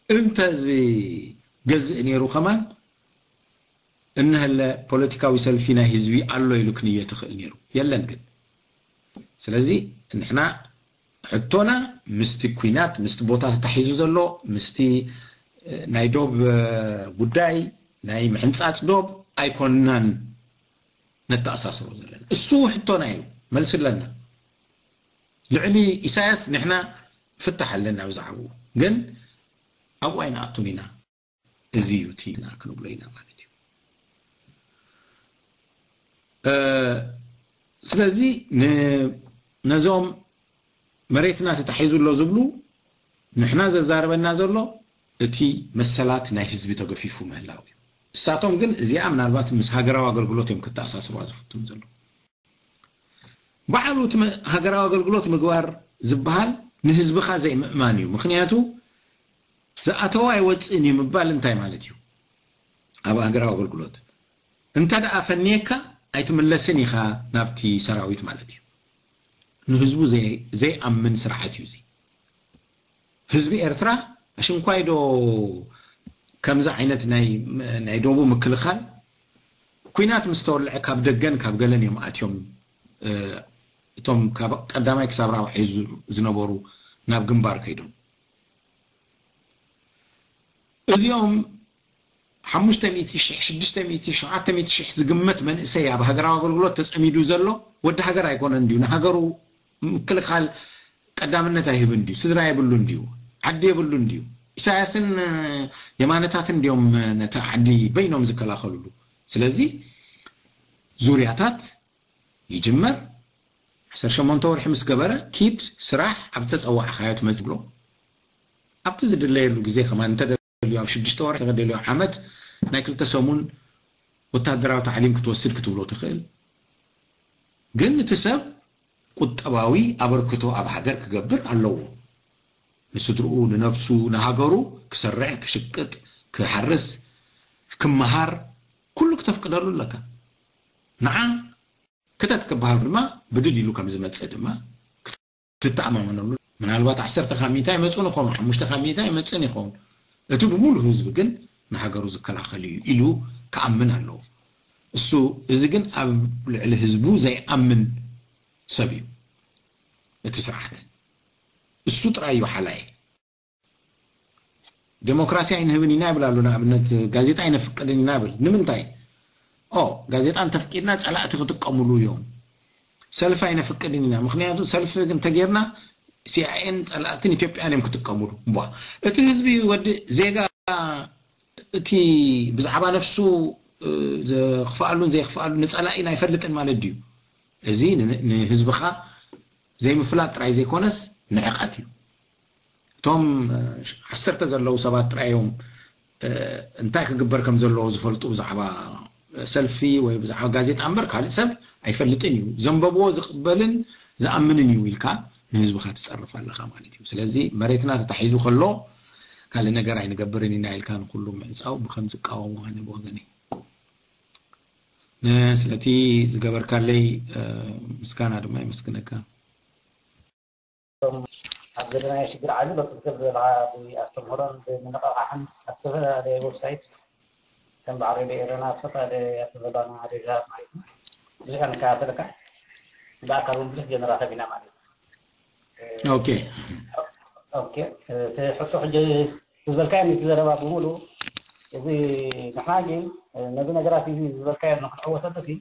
እንተ ዝገዝእ ነይሩ ከማን እንሀለ ፖለቲካዊ ሰልፊ ናይ ህዝቢ ኣሎ ኢሉ ክንየ ትኽእል ነይሩ። የለን ግን። ስለዚ ንሕና ሕቶና ምስቲ ኲናት፣ ምስቲ ቦታ ተታሒዙ ዘሎ፣ ምስቲ፣ እ፣ ናይ ዶብ፣ እ፣ ጉዳይ፣ ናይ ምሕንጻጽ ዶብ ኣይኮንናን ነተኣሳስሮ ዘለና። እሱ ሕቶና እዩ፣ መልሲ ኣለና። ልዕሊ ኢሳያስ ንሕና ፍታሕ ኣለና ብዛዕባኡ። ግን ኣብኡ ኣይንኣቱን ኢና። እዚ እዩ እቲ ኢና ክንብሎ ኢና ማለት እዩ። እ፣ ስለዚ ን-፣ ነዞም መሬትና ተታሒዙ ኣሎ ዝብሉ ንሕና ዘዛርበና ዘሎ እቲ መሰላት ናይ ህዝቢ ተገፊፉ ምህላው እዩ። እሳቶም ግን እዚኣ ምናልባት ምስ ሃገራዊ ኣገልግሎት እዮም ክተኣሳስሩዋ ዝፍትኑ ዘለዉ። ባዕሉ እቲ መ- ሃገራዊ ኣገልግሎት ምግባር ዝበሃል ንህዝብኻ ዘይምእማን እዩ። ምክንያቱ ዝኣተወ ኣይወፅእን እዩ ምባል እንታይ ማለት እዩ? ኣብ ሃገራዊ ኣገልግሎት እንተ ደኣ ፈንየካ ኣይትምለስን ኢኻ ናብቲ ሰራዊት ማለት እዩ። ንህዝቡ ዘይ- ዘይኣምን ስርዓት እዩ እዚ። ህዝቢ ኤርትራ ኣሽንኳይ ዶ ከምዚ ዓይነት ናይ ናይ ደቡብ ምክልኻል ኲናት ምስ ተወልዐ ካብ ደገን ካብ ገለን እዮም ኣትዮም። እቶም ካብ ቀዳማይ ክሳብ ራብዓይ ዝነበሩ ናብ ግንባር ከይዶም። እዚኦም ሓሙሽተ ሚእቲ ሽሕ ሽዱሽተ ሚእቲ ሸውዓተ ሚእቲ ሽሕ ዝግመት መንእሰይ ኣብ ሃገራዊ ኣገልግሎት ተጸሚዱ ዘሎ ወዲ ሃገር ኣይኮነን ድዩ? ንሃገሩ ምክልኻል ቀዳምነት ኣይህብን ድዩ? ስድራ የብሉን ድዩ? ዓዲ የብሉን ድዩ? ኢሳያስን የማነታትን ድዮም ነቲ ዓዲ በይኖም ዝከላኸልሉ? ስለዚ ዙርያታት ይጅመር። ዓሰርተ ሸሞንተ ወርሒ ምስ ገበረ ኪድ ስራሕ ኣብ ተጸዋዕካዮ ትመጽእ ብሎ ኣብቲ ዝድለየሉ ግዜ ከማን እንተደልዩ ኣብ ሽዱሽተ ወርሒ እንተደልዩ ዓመት ናይ ክልተ ሰሙን ወታደራዊ ታዕሊም ክትወስድ ክትብሎ ትኽእል። ግን እቲ ሰብ ቁጠባዊ ኣበርክቶ ኣብ ሃገር ክገብር ኣለዎ። ንስድርኡ፣ ንነብሱ፣ ንሃገሩ ክሰርሕ፣ ክሽቅጥ፣ ክሓርስ፣ ክመሃር ኩሉ ክተፍቅደሉ ኣለካ። ንዓ ክተት ክበሃል ድማ ብድድ ኢሉ ከም ዝመጽእ ድማ ክትተኣማመነሉ። ምናልባት ዓሰርተ ካብ ሚእታ ይመጽኡን ይኾኑ፣ ሓሙሽተ ካብ ሚእታ ይመጽእን ይኸውን። እቲ ብምሉእ ህዝቢ ግን ንሃገሩ ዝከላኸል እዩ ኢሉ ክኣምን ኣለዎ። እሱ እዚ ግን ኣብ ልዕሊ ህዝቡ ዘይኣምን ሰብ እዩ። እቲ ስርዓት እሱ ጥራይ እዩ ሓላይ። ዴሞክራሲ ኣይንህብን ኢና ይብል ኣሎ። ንኣብነት ጋዜጣ ኣይነፍቅድን ኢና ይብል። ንምንታይ? ኦ ጋዜጣ እንተፍቂድና ጸላእቲ ክጥቀምሉ እዮም። ሰልፊ ኣይነፍቅድን ኢና፣ ምክንያቱ ሰልፊ እንተጌርና ሲኣይኤን ጸላእትን ኢትዮጵያን እዮም ክጥቀምሉ። ቧ እቲ ህዝቢ ወዲ ዜጋ እቲ ብዛዕባ ነፍሱ ዘኽፍኣሉን ዘየኽፍኣሉ ንጸላኢን ኣይፈልጥን ማለት ድዩ? እዚ ንህዝብኻ ዘይምፍላጥ ጥራይ ዘይኮነስ ንዕቐት እዩ። እቶም ዓሰርተ ዘለዉ ሰባት ጥራይ እዮም እንታይ ክግበር ከም ዘለዎ ዝፈልጡ ብዛዕባ ሰልፊ ወይ ብዛዕባ ጋዜጣ እምበር ካልእ ሰብ ኣይፈልጥን እዩ። ዘንበብዎ ዝቕበልን ዝኣምንን እዩ ኢልካ ንህዝብኻ ትጸርፍ ኣለኻ ማለት እዩ። ስለዚ መሬትና ተታሒዙ ከሎ ካልእ ነገር ኣይንገብርን ኢና ኢልካ ንኩሉ ምዕጻው ብከም ዝቃወሙ ኣነ ብወገነይ ስለቲ ዝገበርካለይ ምስጋና ድማ የመስግነካ። ኣብ ዘለናዮ ሽግር ዓቢ ለውጢ ክትገብር ዘለኻ ብኣስተምህሮን ብምንቕቓሕን ኣብ ዝተፈላለየ ዌብሳይት ከም በዓል ሬድዮ ኤረና ኣብ ዝተፈላለየ ኣብ ተዘባና ሬድዮታት ማለት እዩ ብዙሕ ንከታተለካ ብኣካል እውን ብዙሕ ጀነራተብ ኢና ማለት እዩ። ኦኬ ኦኬ እቲ ሕቶ ሕጂ ዝበልካዮ እቲ ዘረባ ብምሉ እዚ ንሕና ግን ነዚ ነገራት እዚ ዝበልካዮ ንክትዕወተሉ ሲ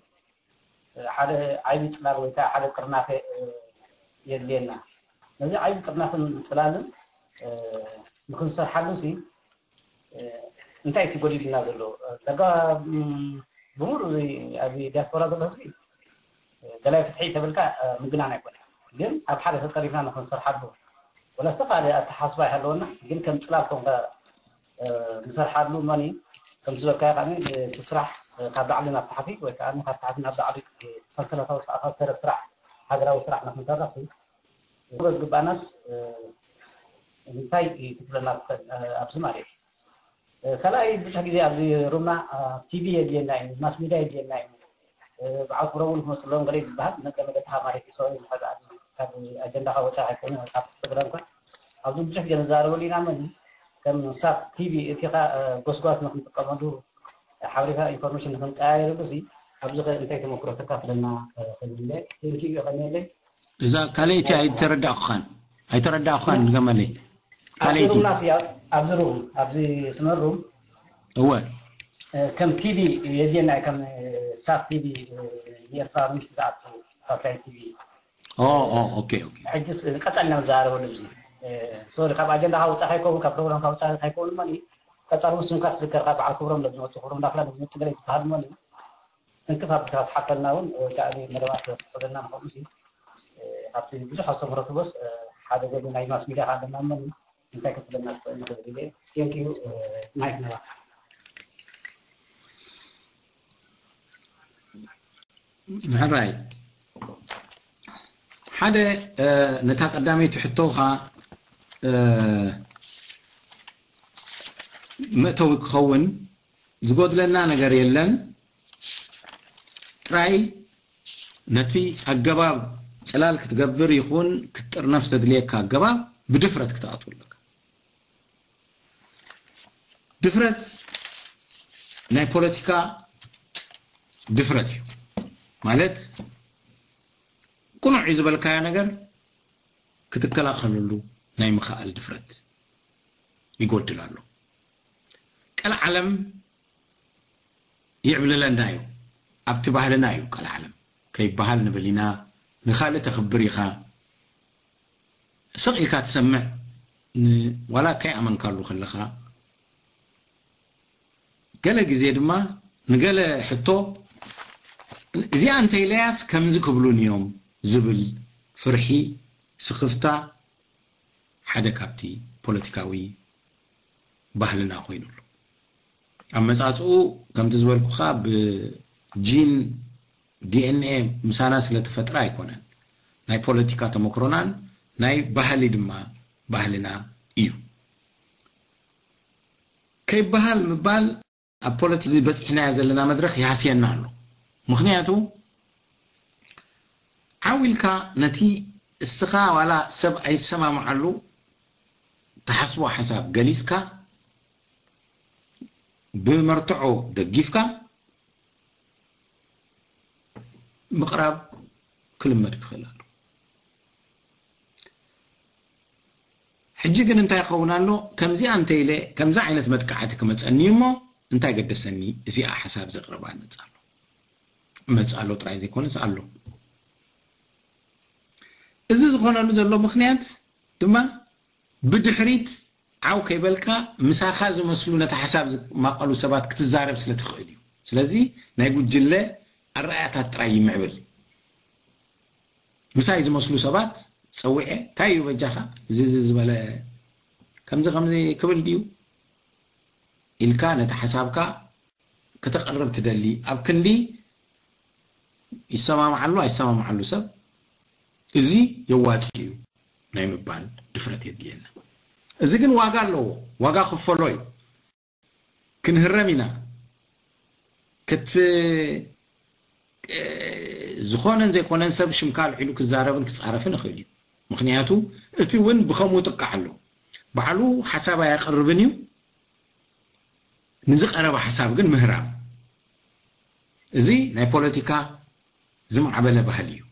ሓደ ዓይቢ ፅላል ወይ ከዓ ሓደ ጥርናፈ የድልየና። ነዚ ዓይቢ ጥርናፍን ፅላልን ንክንሰርሓሉ ሲ እንታይ እቲ ጎዲሉና ዘሎ ዳጋ ብምሉ ኣብዚ ዲያስፖራ ዘሎ ህዝቢ ደላይ ፍትሒ ተብልካ ምግናን ኣይኮነ ግን ኣብ ሓደ ተጠሪፍና ንክንሰርሓሉ ወላ ዝተፈላለየ ኣተሓስባ ይሃለወና ግን ከም ፅላል ኮንካ ንሰርሓሉ መኒ ከም ዝበልካዮ ከዓ እቲ ስራሕ ካብ ላዕሊ ናብ ታሕቲ ወይ ከዓ ካብ ታሕቲ ናብ ላዕሊ ሰንሰለታዊ ስርዓት ሰረ ስራሕ ሃገራዊ ስራሕ ንክንሰርሕ ሲ ዝግባናስ እንታይ ክትብለና ትኽእል ኣብዚ ማለት እዩ ካልኣይ ብዙሕ ግዜ ኣብዚ ሩምና ቲቪ የድልየና እዩ ማስ ሚድያ የድልየና እዩ በዓል ክብረ እውን ክመፅሎም ገለ ዝበሃል መገመገትካ ማለት እዩ ሰው ካብ ኣጀንዳካ ወፃ ኣይኮነ ካብ ትግረ እንኳን ኣብዚ ብዙሕ ግዜ ንዛረበሉ ኢና መን ከም ሳት ቲቪ እቲካ ጎስጓስ ንክንጥቀመሉ ሓበሬታ ኢንፎርሜሽን ንክንቀያየረሉ ሲ ኣብዚ ከ እንታይ ተመክሮ ተካፍለና ፈልዝለ ቴንኪዩ ከመየለይ እዛ ካልኣይቲ ኣይተረዳእኩኻን ኣይተረዳእኩኻን ድገመለይ ካልኣይቲ ኣብዚ ሩም ኣብዚ ስመር ሩም እወ ከም ቲቪ የድልየና ከም ሳት ቲቪ ንኤርትራ ምሽቲ ዝኣቱ ሳተላይት ቲቪ ኦ ኦ ኦኬ ኦኬ ሕጅስ ቀጻልና ንዛረበሉ እዚ ሶሪ ካብ ኣጀንዳ ካውጻ ካይከውን ካብ ፕሮግራም ካውጻ ካይከውን ማለት ቀጻሉ ስምካ ትዝከር ካብ በዓል ክብሮም ለዝመጡ ክብሮም ዳፍላ ለዝመጽእ ገለ ዝበሃል ማለት እንክፋት ካብ ሓፈልና እውን ወይ ከዓ መደባት ክሕዘና ንኸምኡ ሲ ኣብቲ ብዙሕ ኣስተምህሮ ትበስ ሓደ ገሉ ናይ ማስ ሚድያ ኣለና ማለት እንታይ ክትብለና ትኽእል ንኽእል ኢለ ቴንክ ዩ ማይክ ነባ ምሕራይ ሓደ ነታ ቀዳመይቲ ሕቶኻ መእተዊ ክኸውን ዝጎድለና ነገር የለን። ጥራይ ነቲ ኣገባብ ጽላል ክትገብር ይኹን ክትጥርነፍ ዘድልየካ ኣገባብ ብድፍረት ክትኣትወለካ። ድፍረት ናይ ፖለቲካ ድፍረት እዩ። ማለት ቅኑዕ እዩ ዝበልካዮ ነገር ክትከላኸለሉ ናይ ምኽኣል ድፍረት ይጎድል ኣሎ። ቀልዓለም ይዕብልለና እዩ። ኣብቲ ባህልና እዩ ቀልዓለም። ከይበሃል ንብል ኢና። ንኻልእ ተኽብር ኢኻ። ስቕ ኢልካ ትሰምዕ። ዋላ ከይኣመንካሉ ከለኻ፣ ገለ ግዜ ድማ ንገለ ሕቶ እዚኣ እንተኢለያስ ከምዚ ክብሉን እዮም ዝብል ፍርሒ፣ ስኽፍታ ሓደ ካብቲ ፖለቲካዊ ባህልና ኮይኑ ኣሎ። ኣመጻጽኡ ከምቲ ዝበልኩኻ ብጂን ዲኤንኤ ምሳና ስለተፈጥረ ኣይኮነን። ናይ ፖለቲካ ተመክሮናን ናይ ባህሊ ድማ ባህልና እዩ። ከይበሃል ምባል ኣብ ፖለቲካ በፂሕናዮ ዘለና መድረኽ ይሃስየና ኣሎ። ምኽንያቱ ዓው ኢልካ ነቲ እስኻ ዋላ ሰብ ኣይሰማምዓሉ ትሓስቦ ሓሳብ ገሊፅካ ብመርትዖ ደጊፍካ ምቕራብ ክልመድ ክኽእል ኣሎ። ሕጂ ግን እንታይ ይኸውን ኣሎ? ከምዚኣ እንተ ኢለ ከምዚ ዓይነት መጥቃዕቲ ክመፀኒ እዩ እሞ እንታይ ገደሰኒ? እዚኣ ሓሳብ ዘቕርባ እመፅ ኣሎ እመፅ ኣሎ ጥራይ ዘይኮነስ ኣሎ። እዚ ዝኾነሉ ዘሎ ምኽንያት ድማ ብድሕሪት ዓው ከይበልካ ምሳኻ ዝመስሉ ነቲ ሓሳብ ዝማቐሉ ሰባት ክትዛረብ ስለ ትኽእል እዩ። ስለዚ ናይ ጉጅለ ኣረኣእያታት ጥራይ ይምዕብል። ምሳይ ዝመስሉ ሰባት ፀዊዐ እንታይ እዩ በጃኻ እዚ እዚ ዝበለ ከምዚ ከምዚ ክብል ድዩ ኢልካ ነቲ ሓሳብካ ከተቕርብ ትደሊ ኣብ ክንዲ ይሰማምዓሉ ኣይሰማምዓሉ ሰብ እዚ የዋፂ እዩ ናይ ምባል ድፍረት የድልየና። እዚ ግን ዋጋ ኣለዎ፣ ዋጋ ክፈሎ እዩ። ክንህረም ኢና። ክት ዝኾነን ዘይኮነን ሰብ ሽምካ ኣልዒሉ ክዛረብን ክፃረፍን ይኽእል እዩ። ምኽንያቱ እቲ እውን ብኸምኡ ጥቃዕ ኣሎ። ባዕሉ ሓሳብ ኣያቕርብን እዩ፣ ንዝቐረበ ሓሳብ ግን ምህራም። እዚ ናይ ፖለቲካ ዝማዕበለ ባህሊ እዩ።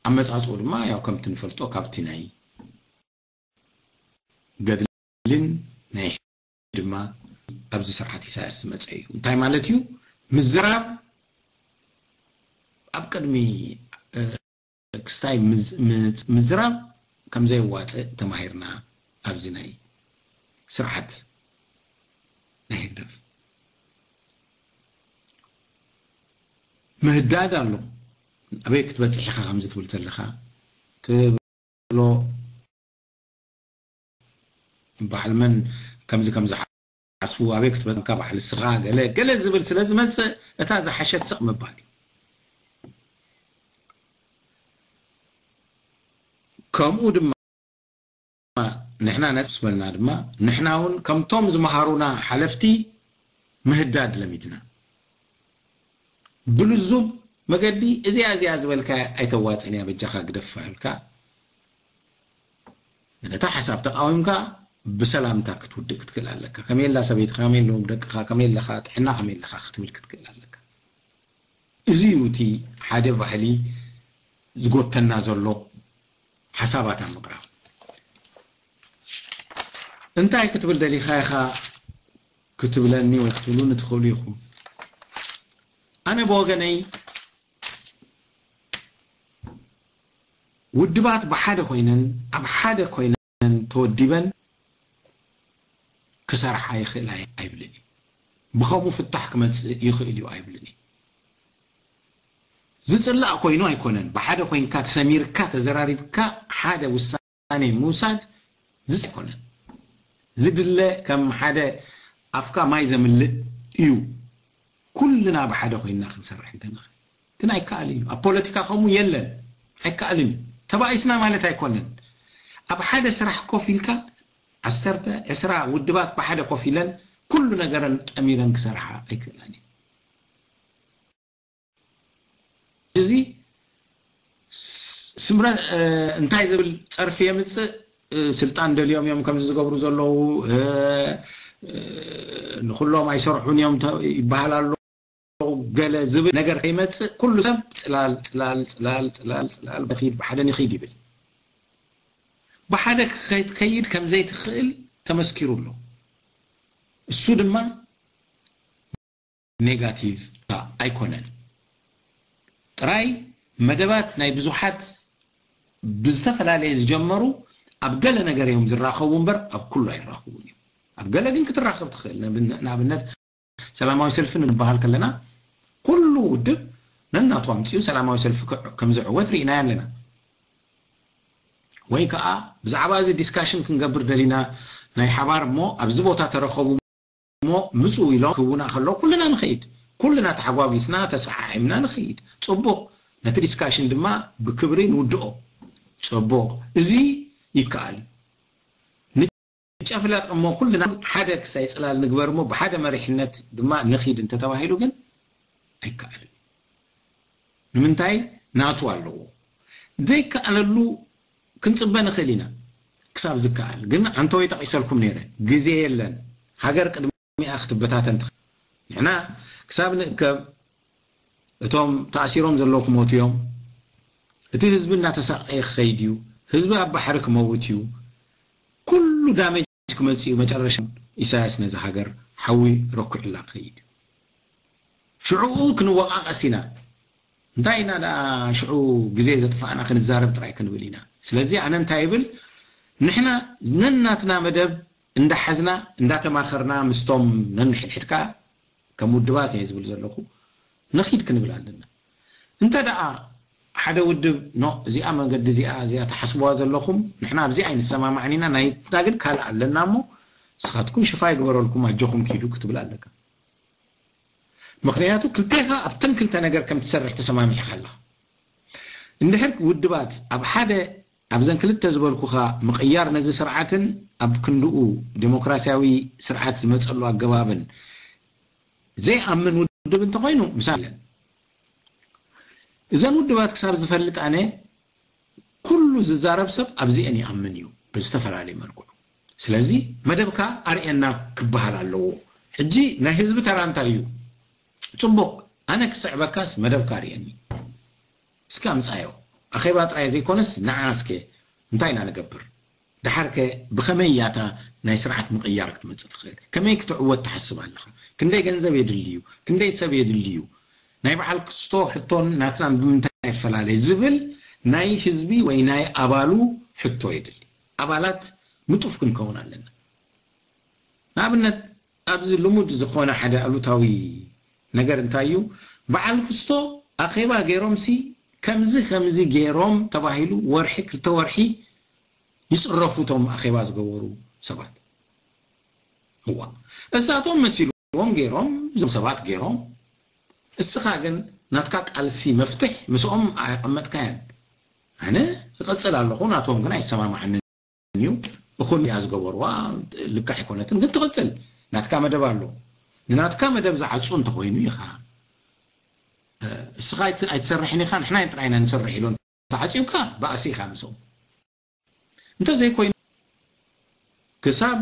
ኣመፃፅኡ ድማ ያው ከምቲ ንፈልጦ ካብቲ ናይ ገድልን ናይ ድማ ኣብዚ ስርዓት ኢሳያስ ዝመፀ እዩ። እንታይ ማለት እዩ? ምዝራብ ኣብ ቅድሚ ክስታይ ምዝራብ ከም ዘየዋፅእ ተማሂርና ኣብዚ ናይ ስርዓት ናይ ህግደፍ ምህዳድ ኣሎ። ኣበይ ክትበፅሕ ኢኻ ከምዚ ትብል ዘለኻ ትብሎ በዓል መን ከምዚ ከምዚ ሓስቡ ኣበይ ክትበፅካ በዓል እስኻ ገለ ገለ ዝብል ስለ ዝመፅእ እታ ዝሓሸት ስቕ ምባል እዩ። ከምኡ ድማ ንሕና ነፃ ምስ በልና ድማ ንሕና እውን ከምቶም ዝመሃሩና ሓለፍቲ ምህዳድ ለሚድና። ብልዙብ መገዲ እዚኣ እዚኣ ዝበልካ ኣይተዋፅን እያ በጃኻ ግደፋ ኢልካ ነታ ሓሳብ ተቃዊምካ ብሰላምታ ክትውድእ ክትክእል ኣለካ። ከመይ ኣላ ሰበይትኻ፣ ከመይ ኣለዎም ደቅኻ፣ ከመይ ኣለኻ፣ ጥዕና ከመይ ኣለኻ ክትብል ክትክእል ኣለካ። እዚ እዩ እቲ ሓደ ባህሊ ዝጎተና ዘሎ ሓሳባት ኣብ ምቕራብ። እንታይ ክትብል ደሊኻ ኢኻ ክትብለኒ ወይ ክትብሉኒ ትኽእሉ ኢኹም። ኣነ ብወገነይ ውድባት ብሓደ ኮይነን ኣብ ሓደ ኮይነን ተወዲበን ክሰርሓ ይኽእላ ኣይብልን። ብኸምኡ ፍታሕ ክመፅእ ይኽእል እዩ ኣይብልን። ዝፅላእ ኮይኑ ኣይኮነን። ብሓደ ኮይንካ ተሰሚርካ ተዘራሪብካ ሓደ ውሳኔ ምውሳድ ዝፅ ኣይኮነን። ዝድለ ከም ሓደ ኣፍካ ማይ ዘምልእ እዩ። ኩልና ብሓደ ኮይንና ክንሰርሕ እንተንኽእል። ግን ኣይከኣልን እዩ። ኣብ ፖለቲካ ከምኡ የለን፣ ኣይከኣልን እዩ። ተባኢስና ማለት ኣይኮነን። ኣብ ሓደ ስራሕ ኮፍ ኢልካ ዓሰርተ ዕስራ ውድባት ብሓደ ኮፍ ኢለን ኩሉ ነገረን ጠሚረን ክሰርሓ ኣይክእላን እዩ። እዚ ስምረ እንታይ ዝብል ጸርፊ የምጽእ? ስልጣን ደልዮም እዮም ከምዚ ዝገብሩ ዘለዉ፣ ንኩሎም ኣይሰርሑን እዮም ይበሃል ኣሎ። ገለ ዝብል ነገር ከይመጽእ ኩሉ ሰብ ጽላል ጽላል ጽላል ጽላል ጽላል በኺድ ብሓደ ንኺድ ይብል። ብሓደ ክትከይድ ከም ዘይትኽእል ተመስኪሩ ኣሎ። እሱ ድማ ኔጋቲቭ ኣይኮነን። ጥራይ መደባት ናይ ብዙሓት ብዝተፈላለየ ዝጀመሩ ኣብ ገለ ነገር እዮም ዝራኸቡ እምበር ኣብ ኩሉ ኣይራኸቡን እዮም። ኣብ ገለ ግን ክትራኸብ ትኽእል። ንኣብነት ሰላማዊ ሰልፊ ንበሃል ከለና ኩሉ ውድብ ነናቱ ኣምፅኡ ሰላማዊ ሰልፊ ከም ዝዕወት ርኢናዮ ኣለና። ወይ ከዓ ብዛዕባ እዚ ዲስካሽን ክንገብር ደሊና ናይ ሓባር እሞ ኣብዚ ቦታ ተረኸቡ እሞ ምፁ ኢሎም ክህቡና ከለዉ ኩልና ንኸይድ፣ ኩልና ተሓጓጊስና ተሰዓዒምና ንኸይድ። ፅቡቕ፣ ነቲ ዲስካሽን ድማ ብክብሪ ንውድኦ። ፅቡቕ፣ እዚ ይከኣል። ንጨፍለቕ እሞ ኩልና ሓደ ክሳይ ፅላል ንግበር እሞ ብሓደ መሪሕነት ድማ ንኺድ እንተተባሂሉ ግን ኣይከኣልን። ንምንታይ? ናቱ ኣለዎ። ዘይከኣለሉ ክንፅበ ንኽእል ኢና ክሳብ ዝከኣል። ግን ዓንተወይ ጠቒሰልኩም ነይረ፣ ግዜ የለን። ሃገር ቅድሚኣ ክትበታተን ትኽእል። ንሕና ክሳብ ንእከብ እቶም ተኣሲሮም ዘለዉ ክሞቱ እዮም። እቲ ህዝቢ እናተሳቐየ ክኸይድ እዩ። ህዝቢ ኣብ ባሕሪ ክመውት እዩ። ኩሉ ዳሜጅ ክመጽእ እዩ። መጨረሻ ኢሳያስ ነዚ ሃገር ሓዊ ረኩዕላ ክኸይድ እዩ። ሽዕኡ ክንወቓቐስ ኢና። እንታይ ኢና ደኣ ሽዑ ግዜ ዘጥፋእና ክንዛረብ ጥራይ ክንብል ኢና። ስለዚ ኣነ እንታይ ይብል፣ ንሕና ነናትና መደብ እንዳሓዝና እንዳተማኸርና ምስቶም ነንሕድሕድካ ከም ውድባት እየ ዝብል ዘለኹ ነኺድ ክንብል ኣለና። እንተ ደኣ ሓደ ውድብ ኖ እዚኣ መገዲ እዚኣ እዚኣ ትሓስብዋ ዘለኹም ንሕና ኣብዚ ኣይንሰማማዕን ኢና ናይትና ግን ካልእ ኣለና እሞ ንስኻትኩም ሽፋ ይግበረልኩም ኣጆኹም ኪዱ ክትብል ኣለካ። ምኽንያቱ ክልቴኻ ኣብተን ክልተ ነገር ከም ትሰርሕ ተሰማሚዕካ ኣለኻ። እንድሕር ውድባት ኣብ ሓደ ኣብዘን ክልተ ዝበልኩኻ ምቕያር ነዚ ስርዓትን ኣብ ክንድኡ ዴሞክራሲያዊ ስርዓት ዝመፀሉ ኣገባብን ዘይኣምን ውድብ እንተኾይኑ ምሳለን እዘን ውድባት ክሳብ ዝፈልጥ ኣነ ኩሉ ዝዛረብ ሰብ ኣብዚአን ይኣምን እዩ ብዝተፈላለየ መልክዑ። ስለዚ መደብካ ኣርእየና ክበሃል ኣለዎ። ሕጂ ናይ ህዝቢ ተራ እንታይ እዩ? ፅቡቕ፣ ኣነ ክስዕበካስ መደብካ ኣርእየኒ እስኪ ኣምፃዮ። ኣኼባ ጥራይ ዘይኮነስ ንዓ እስከ እንታይ ኢና ንገብር? ደሓርከ ብኸመይ እያ እታ ናይ ስርዓት ምቕያር ክትመፅእ ትኽእል? ከመይ ክትዕወት ትሓስብ ኣለኻ? ክንደይ ገንዘብ የድሊ እዩ? ክንደይ ሰብ የድሊ እዩ? ናይ በዓል ክስቶ ሕቶን ናትናን ብምንታይ ይፈላለ ዝብል ናይ ህዝቢ ወይ ናይ ኣባሉ ሕቶ የድሊ። ኣባላት ንጡፍ ክንከውን ኣለና። ንኣብነት ኣብዚ ልሙድ ዝኾነ ሓደ ኣሉታዊ ነገር እንታይ እዩ? በዓል ክስቶ ኣኼባ ገይሮምሲ ከምዚ ከምዚ ገይሮም ተባሂሉ ወርሒ ክልተ ወርሒ ይፅረፉ እቶም ኣኼባ ዝገበሩ ሰባት። እዋ እሳቶም መሲልዎም ገይሮም እዞም ሰባት ገይሮም እስኻ ግን ናትካ ቃልሲ መፍትሕ ምስኦም ኣቐመጥካያን። ኣነ እቐፅል ኣለኹ ናቶም ግን ኣይሰማማዕንን እዩ። እኹን እያ ዝገበርዋ ልክዕ ኣይኮነትን ግን ትቕፅል ናትካ መደብ ኣሎ። ንናትካ መደብ ዝዓፁ እንተኾይኑ ኢኻ እስኻ ኣይትሰርሕን ኢኻ ንሕና ጥራይና ንሰርሕ ኢሎ ተዓፂውካ ባእሲ ኢኻ ምስኦም። እንተዘይኮይኑ ክሳብ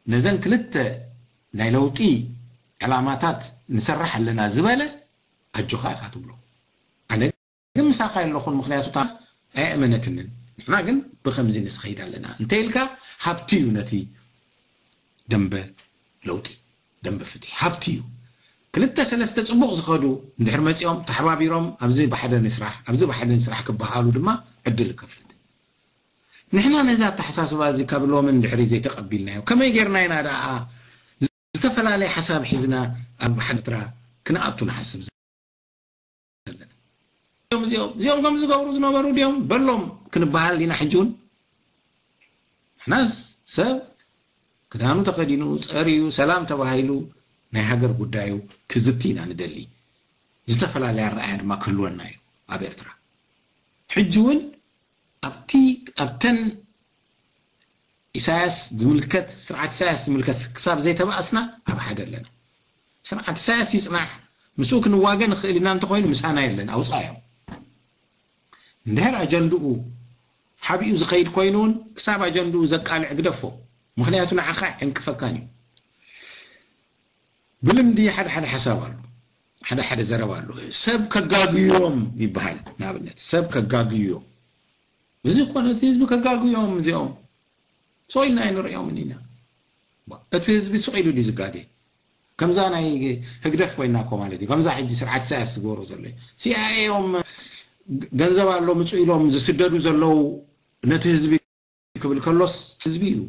ነዘን ክልተ ናይ ለውጢ ዕላማታት ንሰርሕ ኣለና ዝበለ ኣጆኻ ኢኻ ትብሎ። ኣነ ግን ምሳኻ የለኹን ምኽንያቱ እታ ኣይእመነትንን። ንሕና ግን ብኸምዚ ንስኸይድ ኣለና እንተ ኢልካ ሃብቲ እዩ ነቲ ደንበ ለውጢ ደንበ ፍትሒ ሃብቲ እዩ። ክልተ ሰለስተ ፅቡቕ ዝኸዱ እንድሕር መፂኦም ተሓባቢሮም ኣብዚ ብሓደ ንስራሕ ኣብዚ ብሓደ ንስራሕ ክበሃሉ ድማ ዕድል ይከፍት። ንሕና ነዚ ኣተሓሳስባ እዚ ካብ ሎምን ድሕሪ ዘይተቐቢልናዮ ከመይ ጌርና ኢና ደኣ ዝተፈላለየ ሓሳብ ሒዝና ኣብ ሓደ ኤርትራ ክንኣቱ ንሓስብ ዘለና? እዚኦም እዚኦም እዚኦም ከም ዝገብሩ ዝነበሩ ድዮም በሎም ክንበሃል ዲና ሕጂ እውን? ንሕናስ ሰብ ክዳኑ ተኸዲኑ ጸርዩ ሰላም ተባሂሉ ናይ ሃገር ጉዳዩ ክዝቲ ኢና ንደሊ። ዝተፈላለየ ኣረኣያ ድማ ክህልወና እዩ ኣብ ኤርትራ። ሕጂ እውን ኣብቲ ኣብተን ኢሳያስ ዝምልከት፣ ስርዓት ኢሳያስ ዝምልከት ክሳብ ዘይተባእስና ኣብ ሓደ ኣለና። ስርዓት ኢሳያስ ይጽናሕ፣ ምስኡ ክንዋገ ንኽእል ኢና፣ እንተኾይኑ ምሳና የለን፣ ኣውጻዮም። እንድሕር ኣጀንድኡ ሓቢኡ ዝኸይድ ኮይኑ እውን ክሳብ ኣጀንድኡ ዘቃልዕ ግደፎ። ምኽንያቱ ንዓኻ ዕንቅፈካን እዩ። ብልምዲ ሓደ ሓደ ሓሳብ ኣሎ፣ ሓደ ሓደ ዘረባ ኣሎ። ሰብ ከጋግዮም ይበሃል። ንኣብነት ሰብ ከጋግዮም፣ እዚ እኮ ነቲ ህዝቢ ከጋግዮም እዚኦም። ስቕ ኢልና ኣይንርእዮምን ኢና። እቲ ህዝቢ ስቕ ኢሉ ድዩ ዝጋገ? ከምዛ ናይ ህግደፍ ኮይና እኮ ማለት እዩ። ከምዛ ሕጂ ስርዓት ኢሳያስ ዝገብሮ ዘሎ እዩ። ሲኣይኤ እዮም፣ ገንዘብ ኣሎ ምጹ ኢሎም ዝስደዱ ዘለዉ ነቲ ህዝቢ ክብል ከሎስ ህዝቢ እዩ።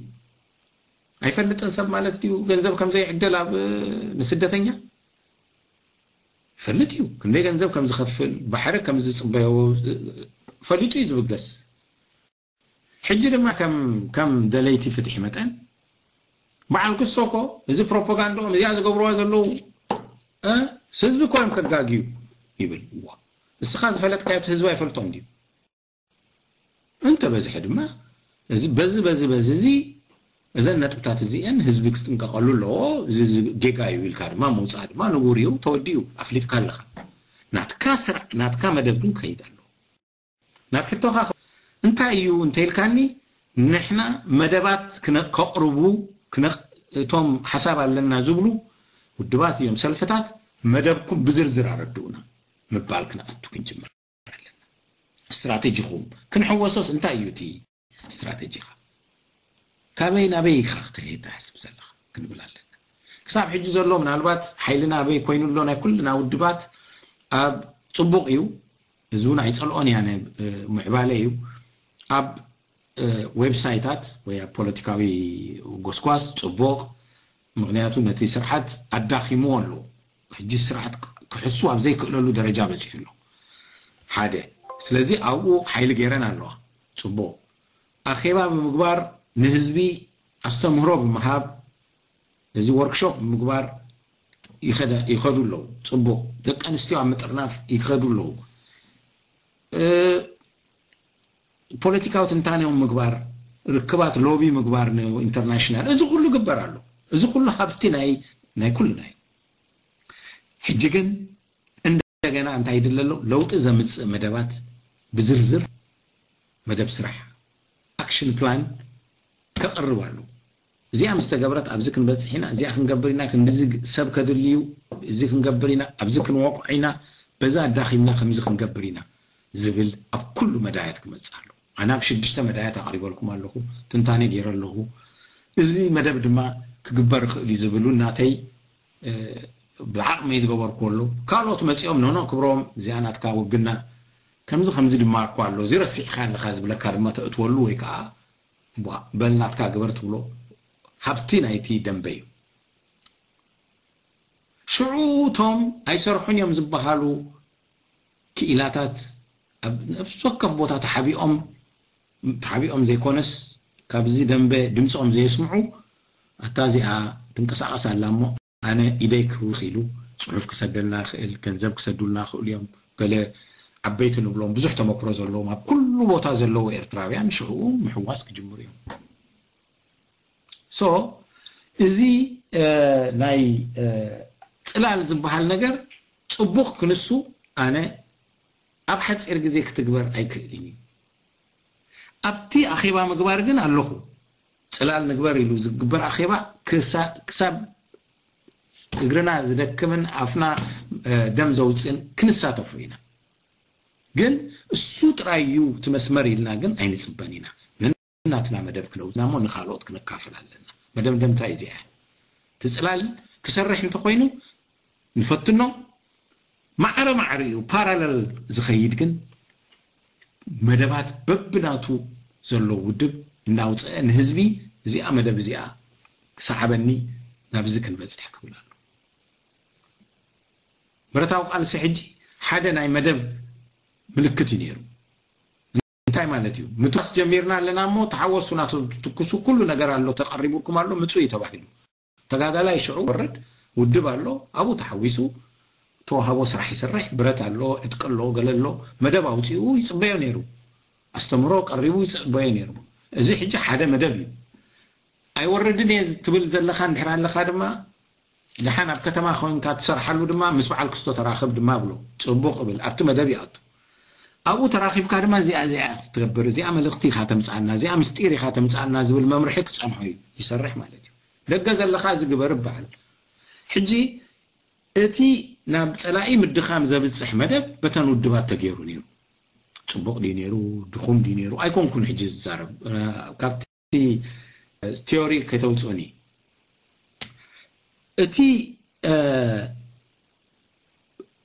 ኣይፈልጥን ሰብ ማለት ድዩ ገንዘብ ከም ዘይዕደል ኣብ ንስደተኛ? ይፈልጥ እዩ። ክንደይ ገንዘብ ከም ዝኸፍል፣ ባሕሪ ከም ዝጽበዮ ፈሊጡ እዩ ዝብገስ። ሕጂ ድማ ከም ከም ደለይቲ ፍትሒ መጠን በዓል ክስቶ እኮ እዚ ፕሮፓጋንዳኦም እዚኣ ዝገብርዋ ዘለዉ፣ እ፣ ህዝቢ እኮ እዮም ከጋግዩ ይብል። እዋ፣ እስኻ ዝፈለጥካዮ እቲ ህዝቢ ኣይፈልጦን ድዩ? እንተ በዝሐ ድማ እዚ በዚ በዚ በዚ እዚ እዘን ነጥብታት እዚአን ህዝቢ ክጥንቀቐሉ ኣለዎ። እዚ እዚ ጌጋ እዩ ኢልካ ድማ ምውፃእ ድማ ንቡር እዩ። ተወዲኡ ኣፍሊጥካ ኣለኻ። ናትካ ስራሕ ናትካ መደብ ግን ክኸይድ ኣለዎ። ናብ ሕቶኻ እንታይ እዩ እንተ ኢልካኒ፣ ንሕና መደባት ክነ- ከቕርቡ ክነ- እቶም ሓሳብ ኣለና ዝብሉ ውድባት እዮም ሰልፍታት መደብኩም ብዝርዝር ኣረድኡና ምባል ክንኣቱ ክንጅምር ኣለና። ስትራቴጂኹም ክንሕወሶስ እንታይ እዩ እቲ ስትራቴጂኻ? ካበይ ናበይ ኢኻ ክትሄድ ትሓስብ ዘለኻ ክንብል ኣለና። ክሳብ ሕጂ ዘሎ ምናልባት ሓይልና ኣበይ ኮይኑ ኣሎ ናይ ኩልና ውድባት ኣብ ጽቡቕ እዩ። እዚ እውን ኣይጸልኦን እያ፣ ናይ ምዕባለ እዩ። ኣብ ዌብሳይታት ወይ ኣብ ፖለቲካዊ ጎስጓስ ጽቡቕ፣ ምኽንያቱ ነቲ ስርዓት ኣዳኺምዎ ኣሎ። ሕጂ ስርዓት ክሕሱ ኣብ ዘይክእለሉ ደረጃ በጺሑ ኣሎ። ሓደ። ስለዚ ኣብኡ ሓይሊ ገይረን ኣለዋ። ጽቡቕ። ኣኼባ ብምግባር ንህዝቢ ኣስተምህሮ ብምሃብ፣ እዚ ወርክሾፕ ብምግባር ይኸደ- ይኸዱ ኣለዉ። ጽቡቕ። ደቂ ኣንስትዮ ኣብ ምጥርናፍ ይኸዱ ኣለዉ። እ፣ ፖለቲካዊ ትንታኔኦም ምግባር፣ ርክባት ሎቢ ምግባር ንኢንተርናሽናል፣ እዚ ኩሉ ግበር ኣሎ። እዚ ኩሉ ሃብቲ ናይ ናይ ኩልና እዩ። ሕጂ ግን እንደገና እንታይ ይድለ ኣሎ? ለውጢ ዘምጽእ መደባት ብዝርዝር መደብ ስራሕ፣ ኣክሽን ፕላን፣ ከቕርብ ኣሎ። እዚኣ ምስ ተገብረት ኣብዚ ክንበጽሕ ኢና፣ እዚኣ ክንገብር ኢና፣ ክንድዚ ሰብ ከድልዩ፣ እዚ ክንገብር ኢና፣ ኣብዚ ክንወቅዖ ኢና፣ በዛ ኣዳኺምና ከምዚ ክንገብር ኢና ዝብል ኣብ ኩሉ መዳያት ክመጽእ ኣሎ። ኣነ ኣብ ሽዱሽተ መዳያት ኣቕሪበልኩም ኣለኹ፣ ትንታኔ ገይረ ኣለኹ። እዚ መደብ ድማ ክግበር ይኽእል እዩ ዝብሉ ናተይ፣ እ፣ ብዓቕመይ ዝገበርኩዎ ኣሎ። ካልኦት መጺኦም፣ ኖኖ ክብሮም፣ እዚኣ ናትካ ውግና ከምዚ ከምዚ ድማ እኮ ኣሎ፣ እዚ ረሲዕካ ኣለኻ ዝብለካ ድማ ተእትወሉ ወይ ከዓ ቧ፣ በል ናትካ ግበር ትብሎ ሃብቲ ናይቲ ደንበ እዩ። ሽዑ እቶም ኣይሰርሑን እዮም ዝበሃሉ ክኢላታት ኣብ ነፍሲ ወከፍ ቦታ ተሓቢኦም፣ ተሓቢኦም ዘይኮነስ ካብዚ ደንበ ድምፆም ዘየስምዑ፣ ኣታ እዚኣ ትንቀሳቐስ ኣላ እሞ ኣነ ኢደይ ክህውኽ ኢሉ ጽሑፍ ክሰደልና ይኽእል፣ ገንዘብ ክሰዱልና ይኽእሉ እዮም። ገለ ዓበይቲ ንብሎም ብዙሕ ተመክሮ ዘለዎም ኣብ ኩሉ ቦታ ዘለዉ ኤርትራውያን ሽዕኡ ምሕዋስ ክጅምሩ እዮም። ሶ እዚ፣ እ፣ ናይ፣ እ፣ ጽላል ዝበሃል ነገር ጽቡቕ ክንሱ ኣነ ኣብ ሓጺር ግዜ ክትግበር ኣይክእልን እዩ። ኣብቲ ኣኼባ ምግባር ግን ኣለኹ። ጽላል ንግበር ኢሉ ዝግበር ኣኼባ ክሳ- ክሳብ እግርና ዝደክምን ኣፍና፣ እ፣ ደም ዘውጽእን ክንሳተፉ ኢና። ግን እሱ ጥራይ እዩ እቲ መስመር ኢልና ግን ኣይንጽበን ኢና። ነናትና መደብ ክነውጽና እሞ ንኻልኦት ክነካፍል ኣለና። መደምደምታ እዚኣ እያ። እቲ ጽላል ክሰርሕ እንተኾይኑ ንፈትኖ፣ ማዕረ ማዕረ እዩ ፓራለል ዝኸይድ፣ ግን መደባት በብናቱ ዘሎ ውድብ እናውፀአ ንህዝቢ እዚኣ መደብ እዚኣ ክሰዓበኒ ናብዚ ክንበፅሕ ክብል ኣሎ። ብረታዊ ቃልሲ ሕጂ ሓደ ናይ መደብ ምልክት እዩ ነይሩ። እንታይ ማለት እዩ? ምትኳስ ጀሚርና ኣለና እሞ ተሓወሱ፣ ናቱ ትኩሱ፣ ኩሉ ነገር ኣሎ፣ ተቐሪቡኩም ኣሎ፣ ምፁ እዩ ተባሂሉ። ተጋዳላይ ሽዑ ወርድ ውድብ ኣሎ፣ ኣብኡ ተሓዊሱ ተዋህቦ ስራሕ ይሰርሕ፣ ብረት ኣሎ፣ ዕጥቂ ኣሎ፣ ገለ ኣሎ፣ መደብ ኣውፂኡ ይፅበዮ ነይሩ። ኣስተምሮ ቀሪቡ ይፅበዮ ነይሩ። እዚ ሕጂ ሓደ መደብ እዩ። ኣይወርድን እየ ትብል ዘለኻ እንድሕር ኣለኻ ድማ፣ ደሓን ኣብ ከተማ ኮይንካ ትሰርሓሉ ድማ ምስ በዓል ክስቶ ተራኸብ ድማ ብሎ። ፅቡቕ እብል፣ ኣብቲ መደብ ይኣቱ። ኣብኡ ተራኺብካ ድማ እዚኣ እዚኣ ክትገብር፣ እዚኣ መልእኽቲ ኢኻ ተምፅኣና፣ እዚኣ ምስጢር ኢኻ ተምፅኣና ዝብል መምርሒ ክፀንሖ እዩ፣ ይሰርሕ ማለት እዩ። ደገ ዘለኻ እዚ ግበር ይበሃል። ሕጂ እቲ ናብ ፀላኢ ምድኻም ዘብፅሕ መደብ በተን ውድባት ተገይሩ ነይሩ። ፅቡቕ ድዩ ነይሩ፣ ድኹም ድዩ ነይሩ ኣይኮንኩን ሕጂ ዝዛረብ። ካብቲ ቲዮሪ ከተውፅኡኒ። እቲ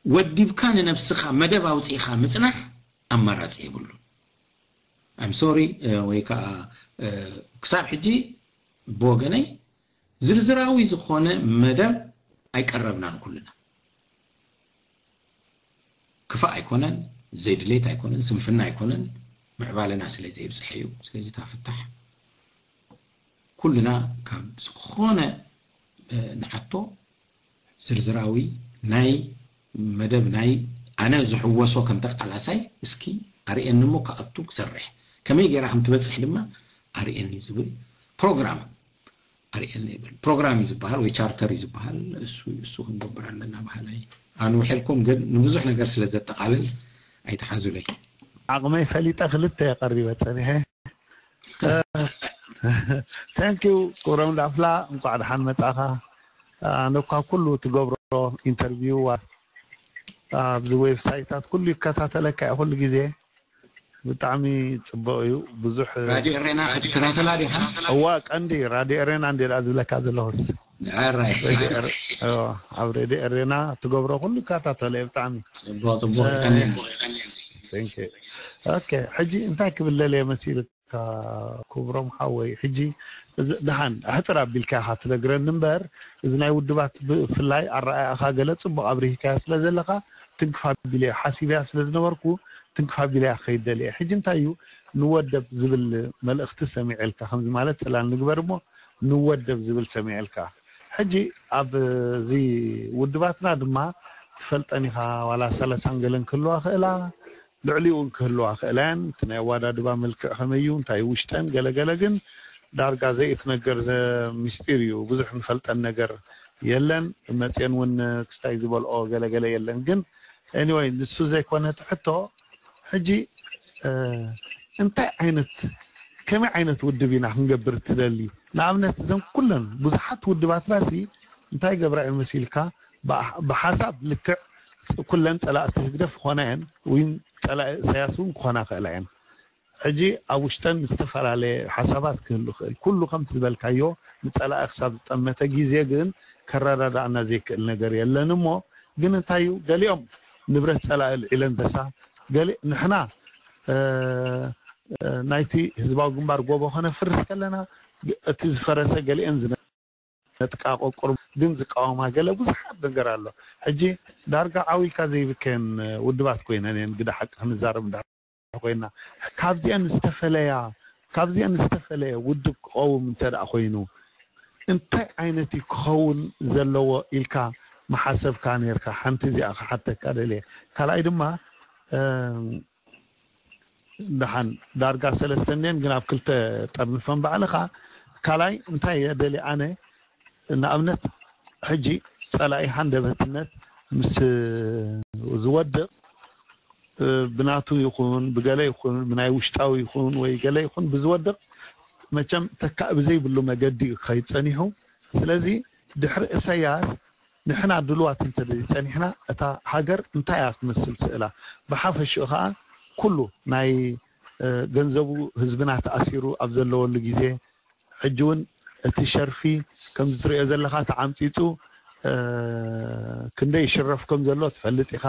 ወዲብካ ንነብስኻ መደብ ኣውፂእኻ ምፅናሕ ኣማራፂ የብሉ። ኣም ሶሪ፣ ወይ ከዓ ክሳብ ሕጂ ብወገነይ ዝርዝራዊ ዝኾነ መደብ ኣይቀረብናን ኩልና። ክፋእ ኣይኮነን፣ ዘይድሌት ኣይኮነን፣ ስንፍና ኣይኮነን፣ ምዕባለና ስለ ዘይብፅሐ እዩ። ስለዚ እታ ፍታሕ ኩልና ካብ ዝኾነ ንሓቶ ዝርዝራዊ ናይ መደብ ናይ ኣነ ዝሕወሶ ከም ተቃላሳይ እስኪ ኣርእየኒ እሞ ክኣቱ ክሰርሕ ከመይ ጌራ ከም ትበፅሕ ድማ ኣርእየኒ ዝብል ፕሮግራም ኣርእየኒ ይብል። ፕሮግራም እዩ ዝበሃል ወይ ቻርተር እዩ ዝበሃል። እሱ እሱ ክንገብር ኣለና ባህላይ ኣንውሕልኩም ግን ንብዙሕ ነገር ስለ ዘጠቃልል ኣይተሓዙለይ። ዓቕመይ ፈሊጠ ክልተ የቐሪበ ፀኒሐ። Thank you ክብሮም ዳፍላ፣ እንኳዕ ደሓን መጻኻ። ኣነ እኳ ኩሉ ትገብሮ ኢንተርቪው ኣብዚ ዌብሳይታት ኩሉ ይከታተለካ እየ ኩሉ ግዜ። ብጣዕሚ ጽቡቕ እዩ። ብዙሕ ራድዮ ኤሬና ክትከታተላ ዲኻ? እዋ ቀንዲ ራድዮ ኤሬና እንዴ ደኣ ዝብለካ ዘለኹስ። ኣራይ። ኣብ ሬድዮ ኤሬና ትገብሮ ኩሉ ይከታተለ እየ ብጣዕሚ። ጽቡቕ ጽቡቕ ይቀንየልና። Thank you። ኦኬ ሕጂ እንታይ ክብል ደልየ መሲሉ ክብሮም ሓወይ ሕጂ ደሓን ኣሕፅር ኣቢልካ ኢኻ ትነግረኒ እምበር እዚ ናይ ውድባት ብፍላይ ኣረኣእያኻ ገለ ፅቡቕ ኣብሪህካያ ስለ ዘለኻ ትንክፍ ኣቢለ ሓሲበያ ስለ ዝነበርኩ ትንክፍ ኣቢለያ ክኸይድ ደልየ ሕጂ እንታይ እዩ ንወደብ ዝብል መልእኽቲ ሰሚዐልካ ከምዚ ማለት ፅላል ንግበር እሞ ንወደብ ዝብል ሰሚዐልካ ሕጂ ኣብዚ ውድባትና ድማ ትፈልጠን ኢኻ ዋላ ሰለሳን ገለን ክህልዋ ክእላ ልዕሊኡ እውን ክህልዋ ክእላ እየን። እቲ ናይ ኣወዳድባ መልክዕ ከመይ እዩ፣ እንታይ ውሽጠን ገለገለ ግን ዳርጋ ዘይእትነገር ምስጢር እዩ። ብዙሕ ንፈልጠን ነገር የለን። መፅየን እውን ክስታይ ዝበልኦ ገለገለ የለን። ግን anyway ንሱ ዘይኮነ እቲ ሕቶ ሕጂ እንታይ ዓይነት ከመይ ዓይነት ውድብ ኢና ክንገብር ትደሊ? ንኣብነት እዘን ኩለን ብዙሓት ውድባትና ሲ እንታይ ገብራ እየን መሲልካ ብሓሳብ ልክዕ ኩለን ፀላእቲ ህግደፍ ክኾና እየን ወይ ፀላኢ እሳያስ እውን ክኾና ክእላ እየን። ሕጂ ኣብ ውሽጠን ዝተፈላለየ ሓሳባት ክህሉ ክእል ኩሉ ከምቲ ዝበልካዮ ንፀላኢ ክሳብ ዝጠመተ ግዜ ግን ከረዳዳእና ዘይክእል ነገር የለን እሞ ግን እንታይ እዩ ገሊኦም ንብረት ፀላኢ ልዒለን ተሳ ገሊ ንሕና ናይቲ ህዝባዊ ግንባር ጎቦ ከነፍርስ ከለና እቲ ዝፈረሰ ገሊአን ዝነጥቃ ቆቁር ግን ዝቃወማ ገለ ብዙሓት ነገር ኣሎ። ሕጂ ዳርጋ ዓው ኢልካ ዘይብከየን ውድባት ኮይነን እየን ግደ ሓቂ ክንዛረብ እንዳ ኮይና ካብዚአን ዝተፈለያ ካብዚአን ዝተፈለየ ውድብ ክቐውም እንተ ደኣ ኮይኑ እንታይ ዓይነት እዩ ክኸውን ዘለዎ ኢልካ መሓሰብካ ነርካ? ሓንቲ እዚኣ ክሓተካ ደልየ። ካልኣይ ድማ ደሓን ዳርጋ ሰለስተ እኒአን ግን ኣብ ክልተ ጠርንፈን ባዕልኻ ካልኣይ እንታይ እየ ደልየ ኣነ ንኣብነት ሕጂ ፀላኢ ሃንደበትነት ምስ ዝወድቕ ብናቱ ይኹን ብገለ ይኹን ብናይ ውሽጣዊ ይኹን ወይ ገለ ይኹን ብዝወድቕ መቸም ተካእ ብዘይብሉ መገዲ እዩ ክኸይድ ፀኒሑ። ስለዚ ድሕሪ እሰያስ ንሕና ድልዋት እንተደይ ፀኒሕና እታ ሃገር እንታይ እያ ክትመስል ስእላ ብሓፈሽኡ ከዓ ኩሉ ናይ ገንዘቡ ህዝብና ተኣሲሩ ኣብ ዘለወሉ ግዜ ሕጂ እውን እቲ ሸርፊ ከምዚ ትሪኦ ዘለኻ ተዓምፂፁ ክንደይ ይሽረፍ ከም ዘሎ ትፈልጥ ኢኻ።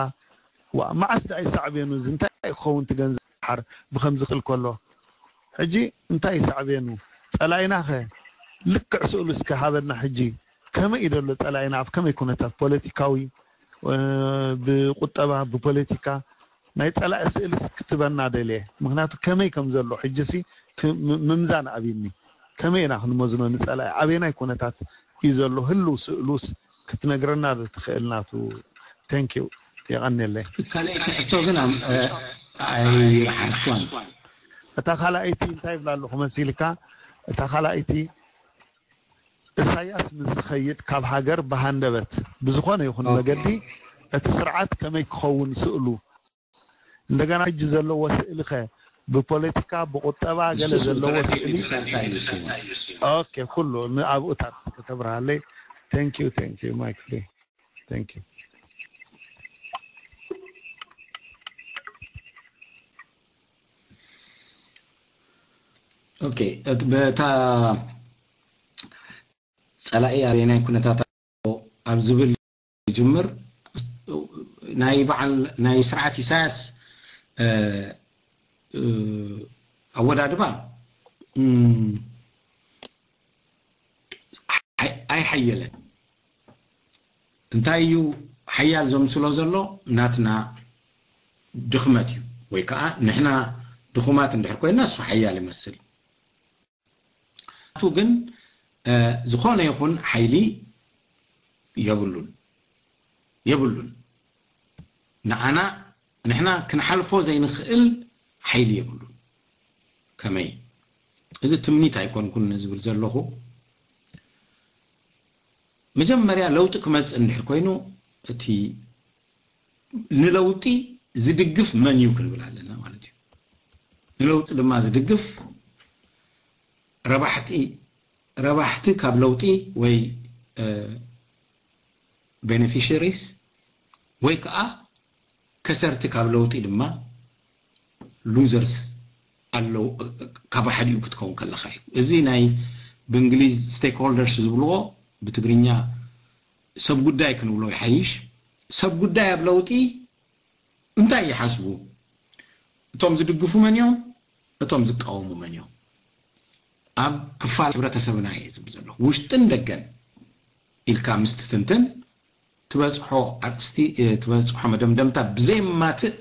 ዋ መዓስ ደኣ ይሳዕቤኑ እዚ እንታይ ክኸውን ትገንዘብ ሓር ብከምዚ ክል ከሎ ሕጂ እንታይ ይሳዕቤኑ ፀላኢና ከ ልክዕ ስእሉ እስከ ሃበና ሕጂ ከመይ እዩ ዘሎ ፀላኢና ኣብ ከመይ ኩነታት ፖለቲካዊ ብቁጠባ ብፖለቲካ ናይ ፀላኢ ስእልስ ክትበና ደልየ ምክንያቱ ከመይ ከም ዘሎ ሕጂ ሲ ምምዛን ኣብኒ ከመይ ኢና ክንመዝኖ ንፀላኢ ኣበየናይ ኩነታት እዩ ዘሎ ህልው ስእሉስ ክትነግረና ዶ ትኽእል ናቱ? Thank you። የቐንየለይ። ካልኣይቲ ሕቶ ግን ኣም- እ፣ ኣይሓዝኳን። እታ ካልኣይቲ እንታይ ይብላ ኣለኹ መሲልካ? እታ ካልኣይቲ ኢሳያስ ምስ ዝኸይድ ካብ ሃገር ብሃንደበት ብዝኾነ ይኹን ኦኬ። መገዲ እቲ ስርዓት ከመይ ክኸውን ስእሉ፣ እንደገና ሕጂ ዘለዎ ስእሊ ኸ ብፖለቲካ ብቁጠባ ገለ ንሱ ዘለዎ ተረዲኡ ስእሊ ንሳልሳይ እዩ ስሙ። ኦኬ ኩሉ ንኣብኡታት ከተብርሃለይ። Thank you thank you Mike free thank you። ኦኬ፣ እቲ በታ ጸላኢ ኣበየናይ ኩነታት ኣሎ ኣብ ዝብል ይጅምር። ናይ በዓል ናይ ስርዓት ኢሳያስ እ፣ እ፣ ኣወዳድባ እም፣ ኣይ- ኣይሓየለን። እንታይ እዩ ሓያል ዘምስሎ ዘሎ? ናትና ድኽመት እዩ፣ ወይ ከዓ ንሕና ድኹማት እንድሕር ኮይና እሱ ሓያል ይመስል። ቱ ግን እ፣ ዝኾነ ይኹን ሓይሊ የብሉን የብሉን ንዓና ንሕና ክንሓልፎ ዘይንኽእል ሓይሊ የብሉን። ከመይ? እዚ ትምኒት ኣይኮንኩን ዝብል ዘለኹ። መጀመርያ ለውጢ ክመጽእ እንድሕር ኮይኑ እቲ ንለውጢ ዝድግፍ መን እዩ ክንብል ኣለና ማለት እዩ። ንለውጢ ድማ ዝድግፍ ረባሕቲ ረባሕቲ ካብ ለውጢ ወይ እ፣ ቤኔፊሸሪስ ወይ ከዓ ከሰርቲ ካብ ለውጢ ድማ ሉዘርስ ኣለዉ። ካብ ሓዲኡ ክትከውን ከለካ እዩ። እዚ ናይ ብእንግሊዝ ስቴክሆልደርስ ዝብልዎ ብትግርኛ ሰብ ጉዳይ ክንብሎ ይሓይሽ። ሰብ ጉዳይ ኣብ ለውጢ እንታይ ይሓስቡ? እቶም ዝድግፉ መን እዮም? እቶም ዝቃወሙ መን እዮም? ኣብ ክፋል ሕብረተሰብና እየ ዝብል ዘለኹ። ውሽጥን ደገን ኢልካ ምስ ትትንትን ትበጽሖ ኣርእስቲ፣ እ፣ ትበጽሖ መደምደምታ ብዘየማትእ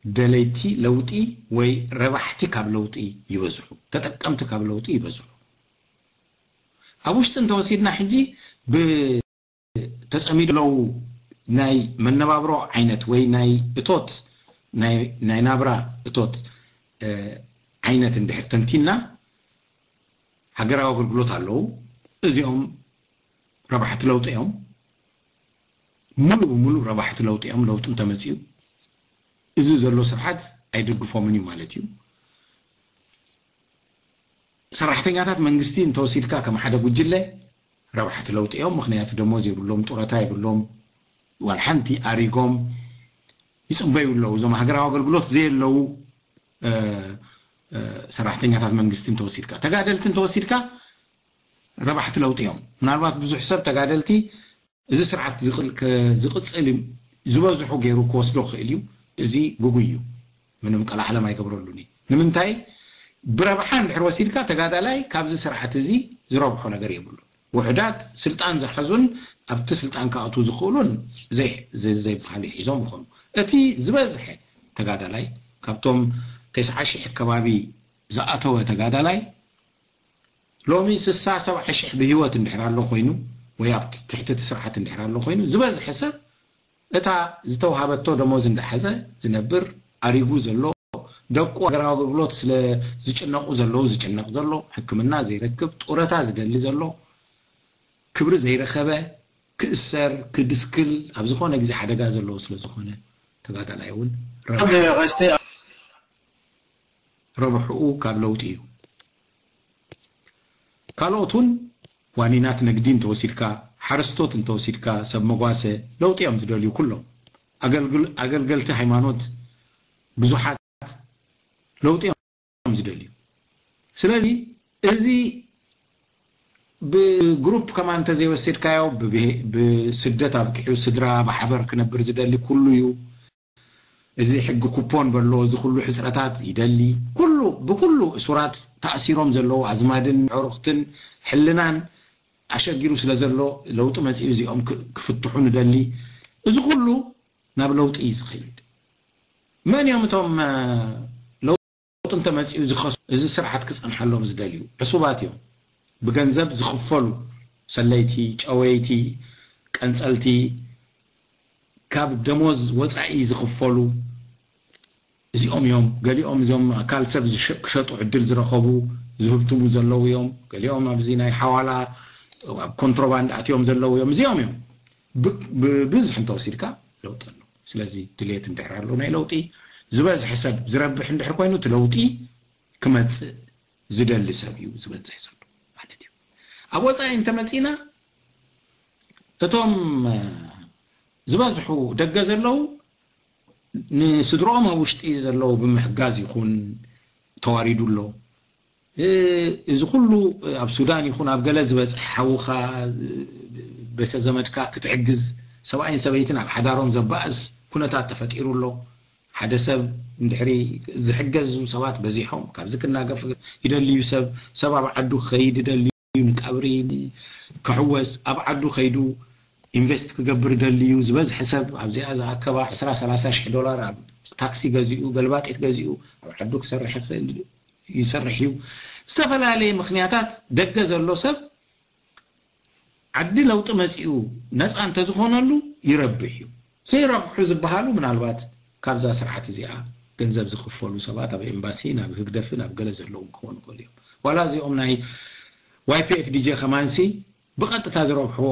ደለይቲ ለውጢ ወይ ረባሕቲ ካብ ለውጢ ይበዝሑ፣ ተጠቀምቲ ካብ ለውጢ ይበዝሑ። ኣብ ውሽጢ እንተወሲድና ሕጂ ብ ተጸሚዱ ኣለዉ ናይ መነባብሮ ዓይነት ወይ ናይ እቶት ናይ ናይ ናብራ እቶት እ፣ ዓይነት እንድሕር ተንቲና ሃገራዊ ኣገልግሎት ኣለዉ። እዚኦም ረባሕቲ ለውጢ እዮም። ሙሉ ብሙሉ ረባሕቲ ለውጢ እዮም። ለውጢ እንተመፅኡ እዚ ዘሎ ስርዓት ኣይደግፎምን እዩ ማለት እዩ። ሰራሕተኛታት መንግስቲ እንተወሲድካ ከም ሓደ ጉጅለ ረባሕቲ ለውጢ እዮም። ምክንያቱ ደሞዝ የብሎም፣ ጡረታ የብሎም፣ ዋላ ሓንቲ ኣሪጎም ይፅበዩ ኣለዉ። እዞም ሃገራዊ ኣገልግሎት ዘየለዉ እ፣ እ፣ ሰራሕተኛታት መንግስቲ እንተወሲድካ፣ ተጋደልቲ እንተወሲድካ ረባሕቲ ለውጢ እዮም። ምናልባት ብዙሕ ሰብ ተጋደልቲ እዚ ስርዓት ዝቕል- ከ- ዝቕፅል እዩ ዝበዝሑ ገይሩ ክወስዶ ክእል እዩ። እዚ ግጉይ እዩ። ምንም ቀላዓለም ኣይገብረሉን እዩ። ንምንታይ? ብረብሓ እንድሕር ወሲድካ ተጋዳላይ ካብዚ ስርዓት እዚ ዝረብሖ ነገር የብሉ። ውሑዳት ስልጣን ዝሓዙን ኣብቲ ስልጣን ክኣትዉ ዝኽእሉን ዘይ- ዘ- ዘይበሃል እዩ ሒዞም ይኾኑ። እቲ ዝበዝሐ ተጋዳላይ ካብቶም ተስዓ ሺሕ ከባቢ ዝኣተወ ተጋዳላይ ሎሚ ስሳ ሰብዓ ሺሕ ብህይወት እንድሕር ኣሎ ኮይኑ ወይ ኣብ ትሕቲ እቲ ስርዓት እንድሕር ኣሎ ኮይኑ ዝበዝሐ ሰብ እታ ዝተውሃበቶ ደሞዝ እንዳሓዘ ዝነብር ኣሪጉ ዘሎ ደቁ ሃገራዊ ኣገልግሎት ስለ ዝጭነቁ ዘለዉ ዝጭነቅ ዘሎ ሕክምና ዘይረክብ ጡረታ ዝደሊ ዘሎ ክብሪ ዘይረኸበ ክእሰር ክድስክል ኣብ ዝኾነ ግዜ ሓደጋ ዘለዎ ስለ ዝኾነ ተጋዳላይ እውን ረብሓ- ቀሽተ ረብሕኡ ካብ ለውጢ እዩ። ካልኦት እውን ዋኒናት ንግዲ እንተወሲድካ፣ ሓረስቶት እንተወሲድካ፣ ሰብ መጓሰ ለውጢ እዮም ዝደልዩ ኩሎም። ኣገልግል- ኣገልገልቲ ሃይማኖት ብዙሓት ለውጢ እዮም ዝደልዩ። ስለዚ እዚ ብግሩፕ ከማን እንተዘይወሲድካዮ ብብሄ- ብስደት ኣብቂዑ ስድራ ብሓበር ክነብር ዝደሊ ኩሉ እዩ። እዚ ሕጊ ኩፖን በሎ እዚ ኩሉ ሕፅረታት ይደሊ ኩሉ ብኩሉ እሱራት ተኣሲሮም ዘለዉ ኣዝማድን ዕሩኽትን ሕልናን ኣሸጊሩ ስለ ዘሎ ለውጢ መፂኡ እዚኦም ክ- ክፍትሑ ንደሊ። እዚ ኩሉ ናብ ለውጢ እዩ ዝኸይድ። መን እዮም እቶም እ፣ ለውጢ እንተመፂኡ ዝኸሱ እዚ ስርዓት ክፀንሓሎም ዝደልዩ ዕሱባት እዮም። ብገንዘብ ዝኽፈሉ ሰለይቲ፣ ጨወይቲ፣ ቀንፀልቲ፣ ካብ ደሞዝ ወፃኢ ዝኽፈሉ እዚኦም እዮም። ገሊኦም እዚኦም ኣካል ሰብ ዝሸ- ክሸጡ ዕድል ዝረኸቡ ዝህብትሙ ዘለዉ እዮም። ገሊኦም ኣብዚ ናይ ሓዋላ ኣብ ኮንትሮባንድ ኣትዮም ዘለዉ እዮም። እዚኦም እዮም ብ- ብብዝሒ እንተወሲድካ ለውጢ ኣሎ። ስለዚ ድሌት እንድሕር ኣሎ ናይ ለውጢ ዝበዝሐ ሰብ ዝረብሕ እንድሕር ኮይኑ እቲ ለውጢ ክመፅእ ዝደሊ ሰብ እዩ ዝበዝሕ ዘሎ ማለት እዩ። ኣብ ወፃኢ እንተመፂና እቶም ዝበዝሑ ደገ ዘለዉ ንስድሮኦም ኣብ ውሽጢ ዘለዉ ብምሕጋዝ ይኹን ተዋሪዱ ኣሎ። እዚ ኩሉ ኣብ ሱዳን ይኹን ኣብ ገለ ዝበፅሐ ሓውኻ ቤተዘመድካ ክትሕግዝ ሰብኣይን ሰበይትን ኣብ ሓዳሮም ዘባእስ ኩነታት ተፈጢሩ ኣሎ። ሓደ ሰብ እንድሕሪ ዝሕገዙ ሰባት በዚሖም ካብዚ ክናገፍ ይደልዩ ሰብ ሰብ ኣብ ዓዱ ክኸይድ ይደልዩ ንቀብሪ ክሕወስ ኣብ ዓዱ ከይዱ ኢንቨስት ክገብር ደልዩ ዝበዝሐ ሰብ ኣብዚኣ ዝኣከባ ዕስራ ሰላሳ ሽሕ ዶላር ኣብ ታክሲ ገዚኡ ገልባጢት ገዚኡ ኣብ ዓዱ ክሰርሕ ይኽእል ይሰርሕ እዩ። ዝተፈላለየ ምክንያታት ደገ ዘሎ ሰብ ዓዲ ለውጢ መፂኡ ነፃ እንተዝኾነሉ ይረብሕ እዩ። ዘይረብሑ ዝበሃሉ ምናልባት ካብዛ ስርዓት እዚኣ ገንዘብ ዝኽፈሉ ሰባት ኣብ ኤምባሲ ናብ ህግደፍን ኣብ ገለ ዘለዉ ክኾኑ ይኽእሉ እዮም። ዋላ እዚኦም ናይ ዋይፒኤፍዲጄ ከማንሲ ብቐጥታ ዝረብሕዎ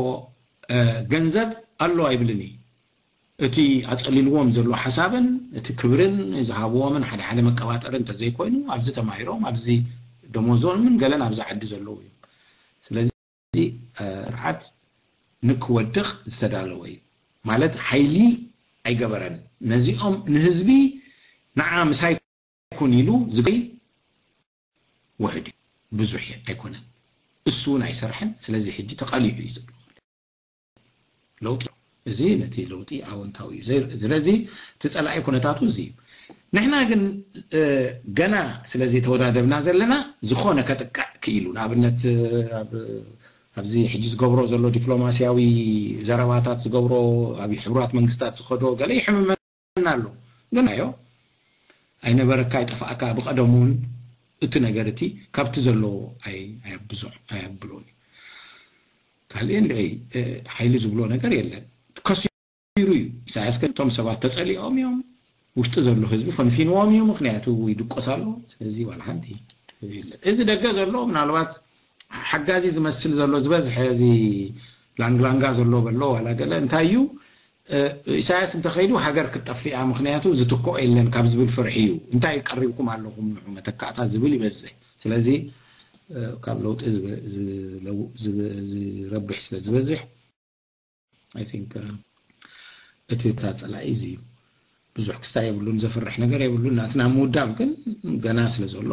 ገንዘብ ኣሎ ኣይብልን እዩ። እቲ ኣፀሊልዎም ዘሎ ሓሳብን እቲ ክብርን ዝሃብዎምን ሓደ ሓደ መቀባጠሪ እንተዘይኮይኑ ኣብዚ ተማሂሮም ኣብዚ ደሞዞምን ገለን ኣብዚ ዓዲ ዘለዉ እዮም። ስለዚ ስርዓት ንክወድቕ ዝተዳለወ እዩ ማለት ሓይሊ ኣይገበረን። ነዚኦም ንህዝቢ ንዓ ምሳይ ኩን ኢሉ ዝገይ ውሕድ ብዙሕ ኣይኮነን። እሱ እውን ኣይሰርሐን። ስለዚ ሕጂ ተቐሊዑ እዩ ዘሎ ለውጢ። እዚ ነቲ ለውጢ ኣወንታዊ እዩ። ስለዚ እቲ ጸላኢ ኩነታቱ እዚ እዩ። ንሕና ግን ገና ስለዚ ተወዳደብና ዘለና ዝኾነ ከጥቃዕ ክኢሉ ንኣብነት ኣብዚ ሕጂ ዝገብሮ ዘሎ ዲፕሎማሲያዊ ዘረባታት ዝገብሮ ኣብ ሕቡራት መንግስታት ዝኸዶ ገለ ይሕምመና ኣሎ። ግን ኣዮ ኣይነበረካ ኣይጠፋእካ ብቐደሙ እውን እቲ ነገር እቲ ካብቲ ዘለዎ ኣይ- ኣየብዞ- ኣየብሎን እዩ። ካልእ እንድዒ ሓይሊ ዝብሎ ነገር የለን። ከሲሩ እዩ ኢሳያስ። ከቶም ሰባት ተጸሊኦም እዮም። ውሽጢ ዘሎ ህዝቢ ፈንፊንዎም እዩ። ምክንያቱ ይድቆስ ኣሎ። ስለዚ ዋላ ሓንቲ የለን። እዚ ደገ ዘሎ ምናልባት ሓጋዚ ዝመስል ዘሎ ዝበዝሐ እዚ ላንግላንጋ ዘሎ በሎ ዋላ ገለ እንታይ እዩ ኢሳያስ እንተኸይዱ ሃገር ክትጠፍእ እያ፣ ምኽንያቱ ዝትክኦ የለን ካብ ዝብል ፍርሒ እዩ። እንታይ ቀሪብኩም ኣለኹም ንዑ መተካእታ ዝብል ይበዝሕ። ስለዚ ካብ ለውጢ ዝረብሕ ስለ ዝበዝሕ I think እቲ እታ ጸላኢ እዚ እዩ። ብዙሕ ክስታይ የብሉን፣ ዘፍርሕ ነገር የብሉን። ናትና ምውዳብ ግን ገና ስለ ዘሎ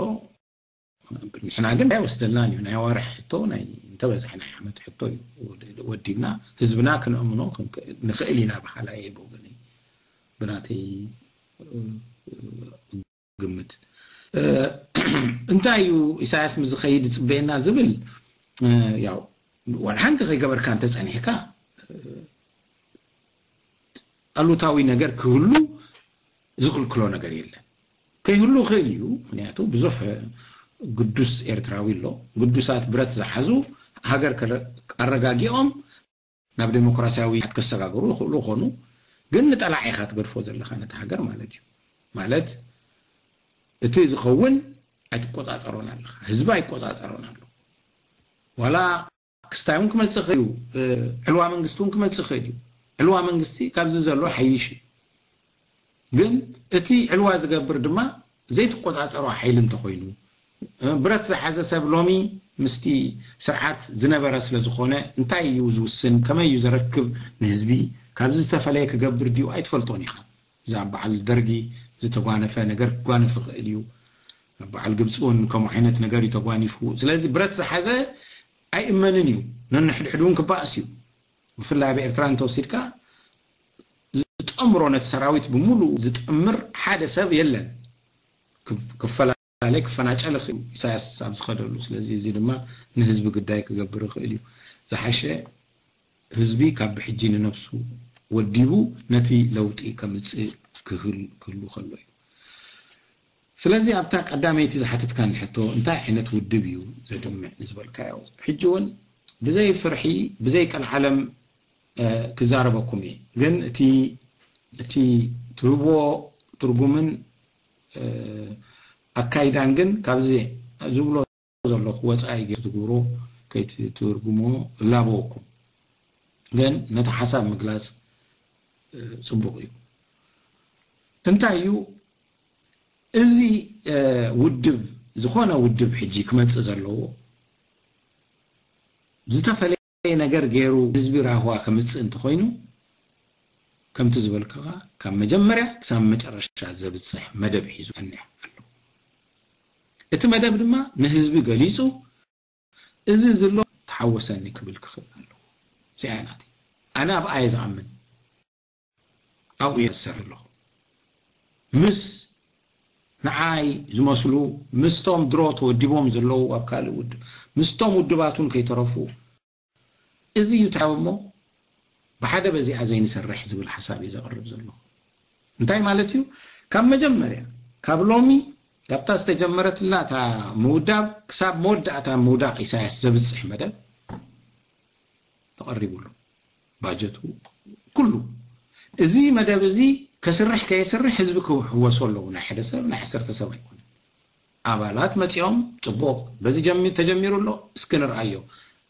ንሕና ግን ኣይወስደልናን እዩ። ናይ ኣዋርሕ ሕቶ ናይ እንተበዝሐ ናይ ዓመት ሕቶ እዩ ወዲብና ህዝብና ክነእምኖ ክንክእል- ንኽእል ኢና በሃላ እየ ብወገነይ ብናተይ ግምት። እንታይ እዩ ኢሳያስ ምስ ዝኸይድ ዝፅበየና ዝብል ያው ዋላ ሓንቲ ከይገበርካ እንተፀኒሕካ ኣሉታዊ ነገር ክህሉ ዝኽልክሎ ነገር የለን። ከይህሉ ይኽእል እዩ። ምክንያቱ ብዙሕ ግዱስ ኤርትራዊ ኣሎ። ግዱሳት ብረት ዝሓዙ ሃገር ኣረጋጊኦም ናብ ዴሞክራሲያዊ ከሰጋግሩ ይኽእሉ ይኾኑ። ግን ንጠላዒ ኢኻ ትገድፎ ዘለኻ ነቲ ሃገር ማለት እዩ። ማለት እቲ ዝኸውን ኣይትቆፃፀሮን ኣለኻ። ህዝቢ ኣይቆፃፀሮን ኣሎ። ዋላ ክስታይ እውን ክመፅእ ይኽእል እዩ። ዕልዋ መንግስቲ እውን ክመፅእ ይኽእል እዩ። ዕልዋ መንግስቲ ካብዚ ዘሎ ሓይሽ እዩ። ግን እቲ ዕልዋ ዝገብር ድማ ዘይትቆፃፀሮ ሓይሊ እንተኾይኑ ብረት ዝሓዘ ሰብ ሎሚ ምስቲ ስርዓት ዝነበረ ስለ ዝኾነ እንታይ እዩ ዝውስን ከመይ እዩ ዘረክብ ንህዝቢ ካብዚ ዝተፈለየ ክገብር ድዩ ኣይትፈልጦን ኢኻ። እዚ ኣብ በዓል ደርጊ ዝተጓነፈ ነገር ክጓነፍ ይኽእል እዩ። ኣብ በዓል ግብፂ እውን ከምኡ ዓይነት ነገር እዩ ተጓኒፉ። ስለዚ ብረት ዝሓዘ ኣይእመንን እዩ። ነንሕድሕዱ እውን ክባእስ እዩ። ብፍላይ ኣብ ኤርትራ እንተወሲድካ ዝጠምሮ ነቲ ሰራዊት ብምሉእ ዝጥምር ሓደ ሰብ የለን። ክፈላለ ክፈናጨል ይኽእል ኢሳያስ ኣብ ዝኸደሉ። ስለዚ እዚ ድማ ንህዝቢ ግዳይ ክገብር ይኽእል እዩ። ዝሓሸ ህዝቢ ካብ ብሕጂ ንነብሱ ወዲቡ ነቲ ለውጢ ከምፅእ ክህል ክህሉ ከሎ እዩ። ስለዚ ኣብታ ቀዳመይቲ ዝሓተትካኒ ሕቶ እንታይ ዓይነት ውድብ እዩ ዘድምዕ ንዝበልካዮ ሕጂ እውን ብዘይ ፍርሒ፣ ብዘይ ቀልዓለም ክዛረበኩም እየ። ግን እቲ እቲ ትህብዎ ትርጉምን ኣካይዳን ግን ካብዚ ዝብሎ ዘለኹ ወፃኢ ገይሩ ትግብሮ ከይትትርጉሞ እላበወኩም። ግን ነቲ ሓሳብ ምግላፅ ፅቡቕ እዩ። እንታይ እዩ እዚ ውድብ፣ ዝኾነ ውድብ ሕጂ ክመፅእ ዘለዎ ዝተፈለየ ነገር ገይሩ ህዝቢ ራህዋ ከምፅእ እንተኾይኑ፣ ከምቲ ዝበልክኻ ካብ መጀመርያ ክሳብ መጨረሻ ዘብፅሕ መደብ ሒዙ ጸኒሕ ኣሎ። እቲ መደብ ድማ ንህዝቢ ገሊፁ፣ እዚ ዝሎ ተሓወሰኒ ክብል ክኽእል ኣለዎ። እዚኣ እያ ናተይ። ኣነ ኣብኣ እየ ዝኣምን። ኣብኡ እየ ዝሰርሕ ኣለኹ። ምስ ንዓይ ዝመስሉ፣ ምስቶም ድሮ ተወዲቦም ዘለዉ ኣብ ካልእ ውድብ፣ ምስቶም ውድባት እውን ከይተረፉ፣ እዚ እዩ ታብ እሞ ብሓደ በዚኣ ዘይንሰርሕ ዝብል ሓሳብ እዩ ዘቕርብ ዘሎ። እንታይ ማለት እዩ? ካብ መጀመርያ፣ ካብ ሎሚ፣ ካብታ ዝተጀመረትና እታ ምውዳብ ክሳብ መወዳእታ ምውዳቕ ኢሳያስ ዘብፅሕ መደብ ተቐሪቡሉ፣ ባጀቱ ኩሉ። እዚ መደብ እዚ ከስርሕ ከየስርሕ ህዝቢ ክሕወሶ ኣለዎ። ናይ ሓደ ሰብ፣ ናይ ዓሰርተ ሰብ ኣይኮነን። ኣባላት መፂኦም፣ ፅቡቕ፣ በዚ ጀሚ-፣ ተጀሚሩ ኣሎ፣ እስኪ ንርኣዮ።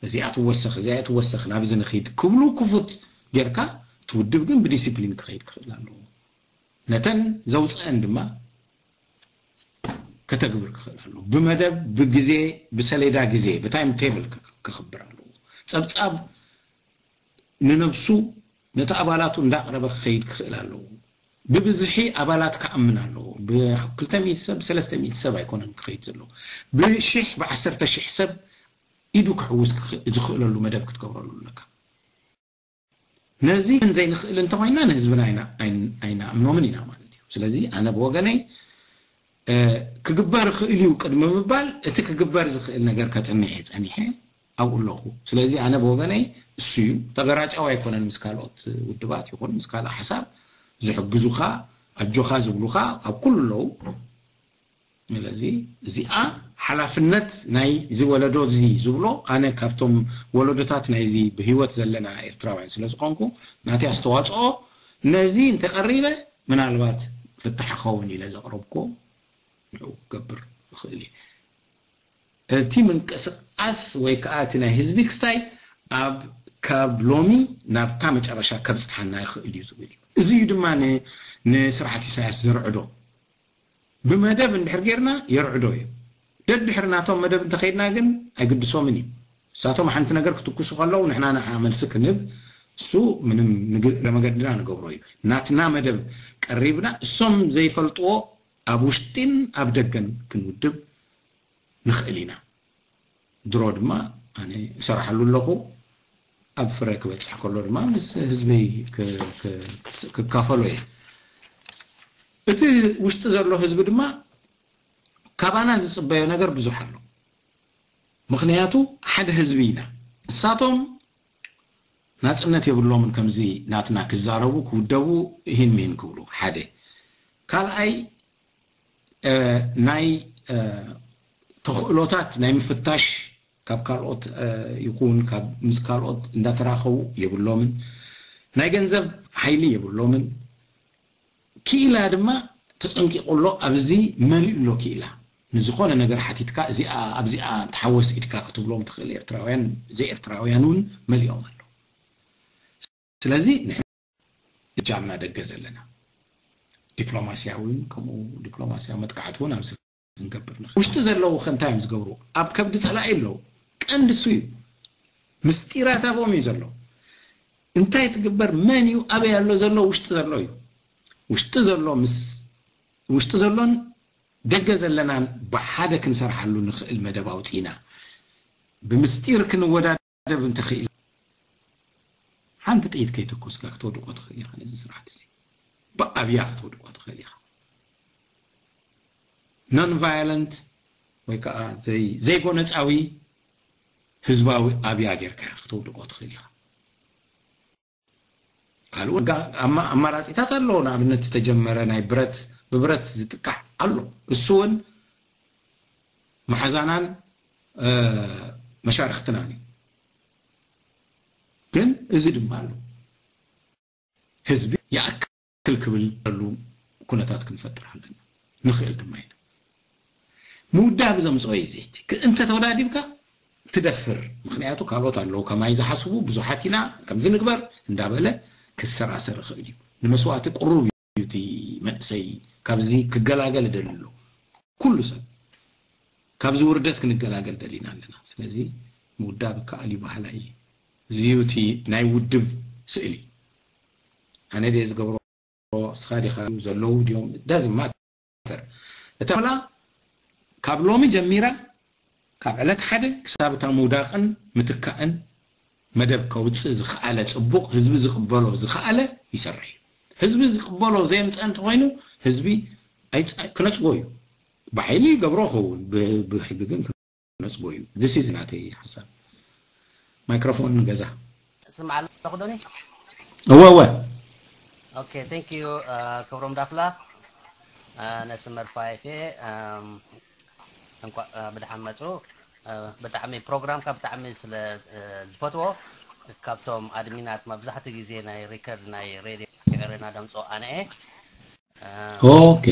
እዚኣ ትወሰኽ፣ እዚኣ ትወሰኽ፣ ናብዚ ንኺድ ክብሉ ክፉት ጌርካ፣ እቲ ውድብ ግን ብዲሲፕሊን ክኸይድ ክኽእል ኣለዎ። ነተን ዘውፅአን ድማ ከተግብር ክኽእል ኣለዎ። ብመደብ፣ ብግዜ፣ ብሰሌዳ ግዜ፣ ብታይም ቴብል ክኽብር ኣለዎ። ፀብፃብ ንነብሱ ነቲ ኣባላቱ እንዳቕረበ ክኸይድ ክኽእል ኣለዎ። ብብዝሒ ኣባላት ክኣምን ኣለዎ። ብ200 ሰብ፣ ብ300 ሰብ ኣይኮነን ክኸይድ ዘለዎ። ብሽሕ፣ ብ10 ሺሕ ሰብ ኢዱ ክሕውስ ክኽ-፣ ዝኽእለሉ መደብ ክትገብረሉ ኣለካ። ነዚ ክንዘይንኽእል እንተኾይና ንህዝብና ኣይና-፣ ኣይን-፣ ኣይንኣምኖምን ኢና ማለት እዩ። ስለዚ ኣነ ብወገነይ፣ እ፣ ክግበር ይኽእል እዩ ቅድሚ ምባል፣ እቲ ክግበር ዝኽእል ነገር ከጽንዕ እየ ጸኒሐ ኣብኡ ኣለኹ። ስለዚ ኣነ ብወገነይ እሱ እዩ። ተገራጫዊ ኣይኮነን ምስ ካልኦት ውድባት ይኹን ምስ ካልእ ሓሳብ ዝሕግዙኻ፣ ኣጆኻ ዝብሉኻ ኣብ ኩሉ ኣለዉ። ስለዚ እዚኣ ሓላፍነት ናይ እዚ ወለዶ እዚ ዝብሎ፣ ኣነ ካብቶም ወለዶታት ናይዚ ብህይወት ዘለና ኤርትራውያን ስለ ዝኾንኩ፣ ናተይ ኣስተዋጽኦ ነዚ እንተቐሪበ ምናልባት ፍታሕ ክኸውን ኢለ ዘቕረብኩ ንዕኡ ክገብር እኽእል እየ። እቲ ምንቅስቃስ ወይ ከዓ እቲ ናይ ህዝቢ ክስታይ ኣብ ካብ ሎሚ ናብታ መጨረሻ ከብፅሓና ይኽእል እዩ ዝብል እዩ። እዚ እዩ ድማ ን-፣ ንስርዓት ኢሳያስ ዘርዕዶ። ብመደብ እንድሕር ጌርና የርዕዶ እዩ። ደድሕሪ ናቶም መደብ እንተኸይድና ግን ኣይግድሶምን እዩ። ንሳቶም ሓንቲ ነገር ክትኩሱ ከለዉ ንሕና ንዓ መልሲ ክንህብ፣ እሱ ምንም ንግ-፣ ለመገድና ንገብሮ እዩ። ናትና መደብ ቀሪብና እሶም ዘይፈልጥዎ ኣብ ውሽጢን ኣብ ደገን ክንውድብ ንኽእል ኢና። ድሮ ድማ ኣነ እሰርሓሉ ኣለኹ። ኣብ ፍረ ክበጽሕ ከሎ ድማ ምስ ህዝበይ ክ-፣ ክ-፣ ክካፈሎ እየ። እቲ ውሽጢ ዘሎ ህዝቢ ድማ ካባና ዝጽበዮ ነገር ብዙሕ ኣሎ። ምኽንያቱ ሓደ ህዝቢ ኢና። ንሳቶም ናጽነት የብሎምን ከምዚ ናትና ክዛረቡ፣ ክውደቡ፣ ይህን ሚህን ክብሉ። ሓደ። ካልኣይ፣ እ፣ ናይ፣ እ፣ ተኽእሎታት ናይ ምፍታሽ ካብ ካልኦት፣ እ፣ ይኹን ካብ ምስ ካልኦት እንዳተራኸቡ የብሎምን። ናይ ገንዘብ ሓይሊ የብሎምን። ክኢላ ድማ ተጸንቂቑ ኣሎ፣ ኣብዚ መሊኡ ኣሎ ክኢላ። ንዝኾነ ነገር ሓቲትካ፣ እዚኣ፣ ኣብዚኣ ተሓወስ ኢድካ ክትብሎም ትኽእል ኤርትራውያን፣ ዘይኤርትራውያን እውን መሊኦም ኣለዉ። ስለዚ ንሕና እጃምና ደገ ዘለና፣ ዲፕሎማስያዊ እውን ከምኡ፣ ዲፕሎማስያዊ መጥቃዕቲ እውን ኣብዚ ክንገብር ንኽእል። ውሽጢ ዘለዉ ከ እንታይ እዮም ዝገብሩ? ኣብ ከብዲ ጸላኢ ኣለዉ። ቀንዲ እሱ እዩ። ምስጢራት ኣብኦም እዩ ዘሎ። እንታይ ትግበር፣ መን እዩ፣ ኣበይ ኣሎ ዘሎ፣ ውሽጢ ዘሎ እዩ። ውሽጢ ዘሎ ምስ፣ ውሽጢ ዘሎን ደገ ዘለናን ብሓደ ክንሰርሓሉ ንኽእል መደብ ኣውጺእና፣ ብምስጢር ክንወዳደብ እንተኽእል፣ ሓንቲ ጥይት ከይተኮስካ ክተውድቆ ትኽእል ኢኻ። ነዚ ስርዓት እዚ ብኣብያ ክተውድቆ ትኽእል ኢኻ። ኖን ቫዮለንት ወይ ከዓ ዘይ-፣ ዘይጎነጻዊ ህዝባዊ ኣብያ ጌርካ ክትውድቆ ትኽእል ኢኻ። ካልእ ወጋ-፣ ኣማ-፣ ኣማራጺታት ኣለዎ። ንኣብነት ዝተጀመረ ናይ ብረት፣ ብብረት ዝጥቃዕ ኣሎ። እሱ እውን መሓዛናን፣ እ፣ መሻርኽትናን እዩ። ግን እዚ ድማ ኣሎ። ህዝቢ ይኣክል ክብል ዘሉ ኩነታት ክንፈጥር ኣለና። ንኽእል ድማ ኢና። ምውዳብ ዘምፅኦ እዩ። ዘይቲ እንተ ተወዳዲብካ ትደፍር። ምክንያቱ ካልኦት ኣለዉ ከማይ ዝሓስቡ ብዙሓት ኢና፣ ከምዚ ንግበር እንዳበለ ክሰራሰር ይኽእል እዩ። ንመስዋእቲ ቅሩብ እዩ እቲ መንእሰይ ካብዚ ክገላገል ደሊ ኣሎ። ኩሉ ሰብ ካብዚ ውርደት ክንገላገል ደሊና ኣለና። ስለዚ ምውዳብ ከኣል እዩ ባህላ እዩ። እዚ እዩ እቲ ናይ ውድብ ስእሊ። ኣነ ድየ ዝገብሮ፣ ስኻ ዲኻ፣ ዘለዉ ድዮም፣ ዳዝማት እታ ላ ካብ ሎሚ ጀሚራ ካብ ዕለት ሓደ ክሳብ እታ ምውዳቕን ምትካእን መደብ ከውፅእ ዝኸኣለ፣ ፅቡቕ ህዝቢ ዝቕበሎ ዝኸኣለ ይሰርሕ እዩ። ህዝቢ ዝቕበሎ ዘየምፀ እንተኾይኑ ህዝቢ ኣይፅ- ክነፅጎ እዩ። ብሓይሊ ይገብሮ ኸውን፣ ብ- ብሕጊ ግን ክነፅጎ እዩ። This is ናተይ ሓሳብ። ማይክሮፎን ንገዛ። ስምዓ ኣለኹ ዶኒ። እወ እወ። Okay, thank you ክብሮም ዳፍላ። ነስመር ፋይፌ እንኳዕ ብድሓን መፁ። ብጣዕሚ ፕሮግራምካ ብጣዕሚ ስለ ዝፈትዎ፣ ካብቶም ኣድሚናት መብዛሕትኡ ግዜ ናይ ሪከርድ ናይ ሬድዮ ኤረና ደምፆ ኣነ እየ። ኦኬ።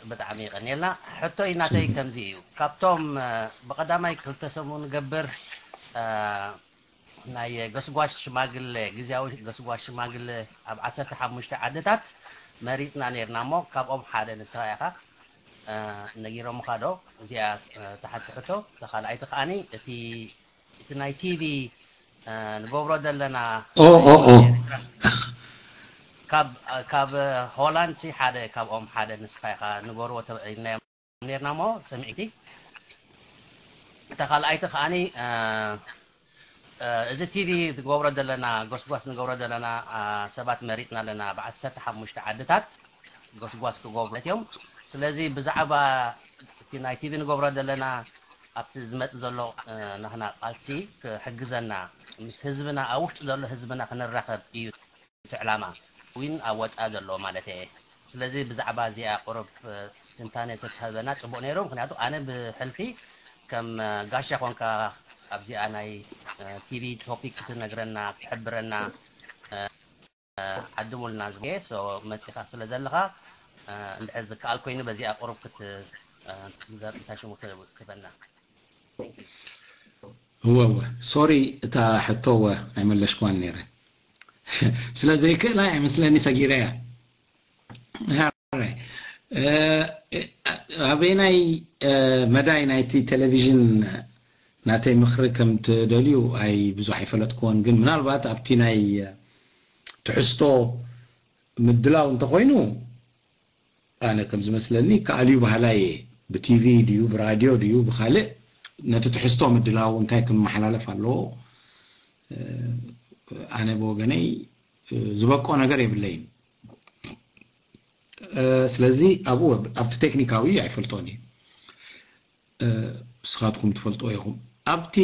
ብጣዕሚ ይቀኒየልና። ሕቶይ ናተይ ከምዚ እዩ። ካብቶም ብቀዳማይ ክልተ ሰሙን ገብር ናይ ገስጓሽ ሽማግለ፣ ግዝያዊ ገስጓሽ ሽማግለ ኣብ ዓሰርተ ሓሙሽተ ዓድታት መሪፅና ነይርና እሞ ካብኦም ሓደ ንስኻ ኢኻ። ነጊሮምኻ ዶ? እዚኣ ተሓቲ ሕቶ። ተኻልኣይቲ ከዓኒ እቲ እቲ ናይ ቲቪ ንገብሮ ዘለና ኦ ኦ ኦ ካብ ካብ ሆላንድ ሲ ሓደ ካብኦም ሓደ ንስኻ ኢኻ ንገርዎ ተባኢልናዮም ነርና እሞ ሰሚዕቲ። እታ ካልኣይቲ ከዓኒ እዚ ቲቪ ንገብሮ ዘለና ጎስጓስ ንገብሮ ዘለና ሰባት መሪፅና ኣለና ብዓሰርተ ሓሙሽተ ዓድታት ጎስጓስ ክገብሩ እዮም። ስለዚ ብዛዕባ እቲ ናይ ቲቪ ንገብሮ ዘለና ኣብቲ ዝመጽእ ዘሎ ናህና ቃልሲ ክሕግዘና ምስ ህዝብና ኣብ ውሽጢ ዘሎ ህዝብና ክንራኸብ እዩ እቲ ዕላማ እውን ኣብ ወፃኢ ዘሎ ማለት እየ። ስለዚ ብዛዕባ እዚኣ ቁሩብ ትንታነ ተትህበና ፅቡቅ ነይሩ። ምክንያቱ ኣነ ብሕልፊ ከም ጋሻ ኮንካ ኣብዚኣ ናይ ቲቪ ቶፒክ ክትነግረና ክትሕብረና ዓድሙልና ዝብዬ መፂኻ ስለ ዘለኻ እንድሕር ዝከኣል ኮይኑ በዚኣ ቁሩብ ክትዘርኢታ ሽሙ ክበና። እወ እወ ሶሪ እታ ሕቶ እወ ኣይመለሽኳን ነይረ ስለ ዘይክእላ ኣይመስለኒ ሰጊረያ። ኣበየናይ መዳይ ናይቲ ቴሌቪዥን ናተይ ምኽሪ ከም ትደልዩ ኣይ ብዙሕ ኣይፈለጥክዎን፣ ግን ምናልባት ኣብቲ ናይ ትሕዝቶ ምድላው እንተኾይኑ ኣነ ከም ዝመስለኒ ከኣልዩ ባህላየ ብቲቪ ድዩ ብራድዮ ድዩ ብካልእ ነቲ ትሕዝቶ ምድላው እንታይ ክመሓላለፍ ኣለዎ ኣነ ብወገነይ ዝበቆ ነገር የብለይን። ስለዚ ኣብኡ ኣብቲ ቴክኒካዊ ኣይፈልጦን እዩ። ንስኻትኩም ትፈልጥዎ ኢኹም። ኣብቲ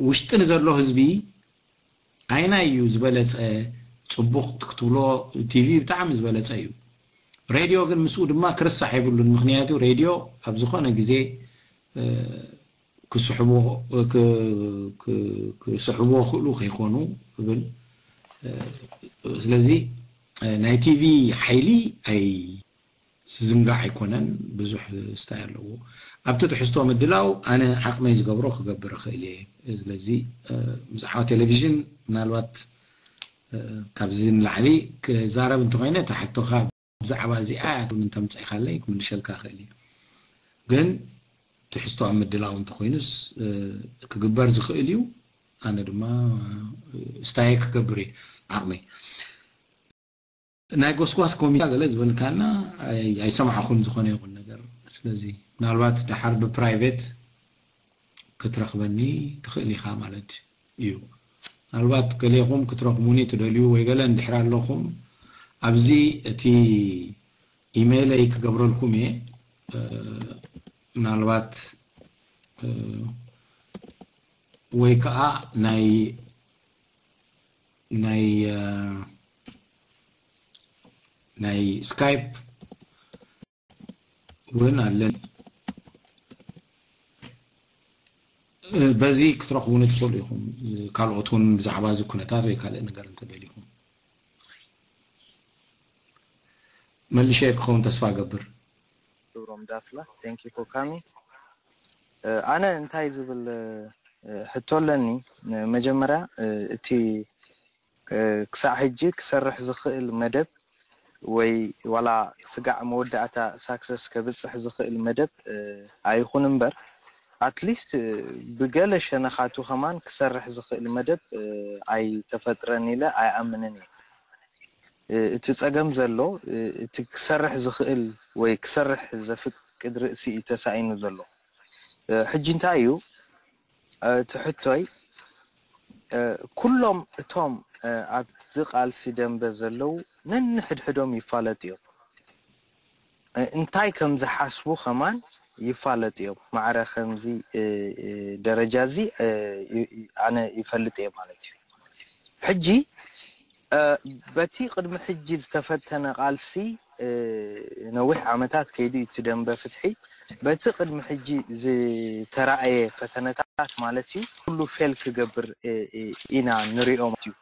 ውሽጢ ንዘሎ ህዝቢ ኣይናይ እዩ ዝበለፀ? ፅቡቕ ክትብሎ ቲቪ ብጣዕሚ ዝበለፀ እዩ። ሬድዮ ግን ምስኡ ድማ ክርሳሕ የብሉን። ምክንያቱ ሬድዮ ኣብ ዝኾነ ግዜ ክስሕብዎ ክስሕብዎ ክእሉ ከይኮኑ እብል። ስለዚ ናይ ቲቪ ሓይሊ ኣይ ዝዝንጋዕ ኣይኮነን፣ ብዙሕ ስታይ ኣለዎ። ኣብቲ ትሕዝቶ ምድላው ኣነ ዓቕመይ ዝገብሮ ክገብር እኽእል እየ። ስለዚ ብዛዕባ ቴሌቪዥን ምናልባት ካብዚ ንላዕሊ ክዛረብ እንተኾይነ እታ ሕቶኻ ብዛዕባ እዚኣ እያ ትብል እንተምፀእካለይ ክምልሸልካ እኽእል እየ። ግን ትሕዝቶ ኣብ ምድላው እንተኾይኑስ ክግበር ዝኽእል እዩ። ኣነ ድማ ስታየ ክገብር እየ ዓቕመይ። ናይ ጎስጓስ ኮሚታ ገለ ዝበልካና ኣይሰማዕኹን ዝኾነ ይኹን ነገር። ስለዚ ምናልባት ደሓር ብፕራይቬት ክትረኽበኒ ትኽእል ኢኻ ማለት እዩ። ምናልባት ገሌኹም ክትረኽቡኒ ትደልዩ ወይ ገለ እንድሕር ኣለኹም ኣብዚ እቲ ኢሜይለይ ክገብረልኩም እየ። ምናልባት ወይ ከዓ ናይ ናይ ናይ ስካይፕ እውን ኣለን። በዚ ክትረኽቡኒ ትኽእሉ ኢኹም። ካልኦት እውን ብዛዕባ እዚ ኩነታት ወይ ካልእ ነገር እንተደሊኹም መልሸ ክኸውን ተስፋ እገብር። ክብሮም ዳፍላ፣ thank you for coming። ኣነ እንታይ ዝብል ሕቶ ኣለኒ። መጀመርያ እቲ ክሳዕ ሕጂ ክሰርሕ ዝኽእል መደብ ወይ ዋላ ስጋዕ መወዳእታ success ከብፅሕ ዝኽእል መደብ ኣይኹን እምበር፣ at least ብገለ ሸነኻቱ ከማን ክሰርሕ ዝኽእል መደብ ኣይተፈጥረን ኢለ ኣይኣምንን እየ። እቲ ፀገም ዘሎ እቲ ክሰርሕ ዝኽእል ወይ ክሰርሕ ዘፍቅድ ርእሲ እዩ ተሳኢኑ ዘሎ። ሕጂ እንታይ እዩ እቲ ሕቶይ? ኩሎም እቶም ኣብዚ ቃልሲ ደንበ ዘለዉ ነንሕድሕዶም ይፋለጡ እዮም። እንታይ ከም ዝሓስቡ ከማን ይፋለጡ እዮም። ማዕረ ከምዚ ደረጃ እዚ ኣነ ይፈልጥ እየ ማለት እዩ። ሕጂ በቲ ቅድሚ ሕጂ ዝተፈተነ ቃልሲ ነዊሕ ዓመታት ከይዱ እዩ እቲ ደንበ ፍትሒ። በቲ ቅድሚ ሕጂ ዝተራእየ ፈተነታት ማለት እዩ ኩሉ ፌል ክገብር ኢና ንሪኦ ማለት እዩ።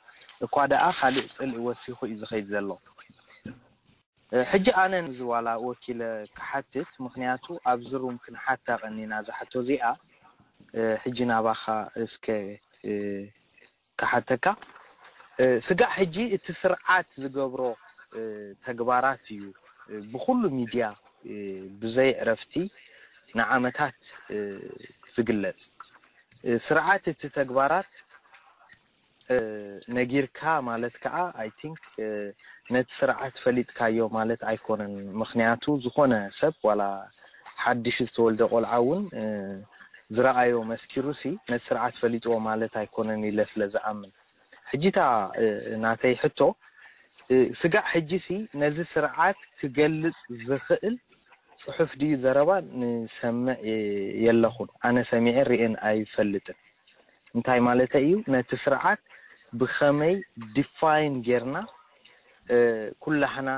እኳ ደኣ ካልእ ፅልኢ ወሲኹ እዩ ዝኸይድ ዘሎ። ሕጂ ኣነ ንዚ ዋላ ወኪለ ክሓትት፣ ምኽንያቱ ኣብዚ ሩም ክንሓታ ቀኒና እዛ ሕቶ እዚኣ። ሕጂ ናባኻ እስከ ክሓተካ። ስጋዕ ሕጂ እቲ ስርዓት ዝገብሮ ተግባራት እዩ ብኩሉ ሚድያ ብዘይ ዕረፍቲ ንዓመታት ዝግለጽ። ስርዓት እቲ ተግባራት ነጊርካ ማለት ከዓ I think ነቲ ስርዓት ፈሊጥካዮ ማለት ኣይኮነን። ምኽንያቱ ዝኾነ ሰብ ዋላ ሓድሽ ዝተወልደ ቆልዓ እውን ዝረኣዮ መስኪሩሲ ነቲ ስርዓት ፈሊጥዎ ማለት ኣይኮነን ኢለ ስለ ዝኣምን። ሕጂታ ናተይ ሕቶ ስጋዕ ሕጂሲ ነዚ ስርዓት ክገልጽ ዝኽእል ጽሑፍ ድዩ ዘረባ ንሰምዕ የለኹን። ኣነ ሰሚዐ ርእየን ኣይፈልጥን። እንታይ ማለተይ እዩ? ነቲ ስርዓት ብኸመይ ዲፋይን ጌርና ኩላህና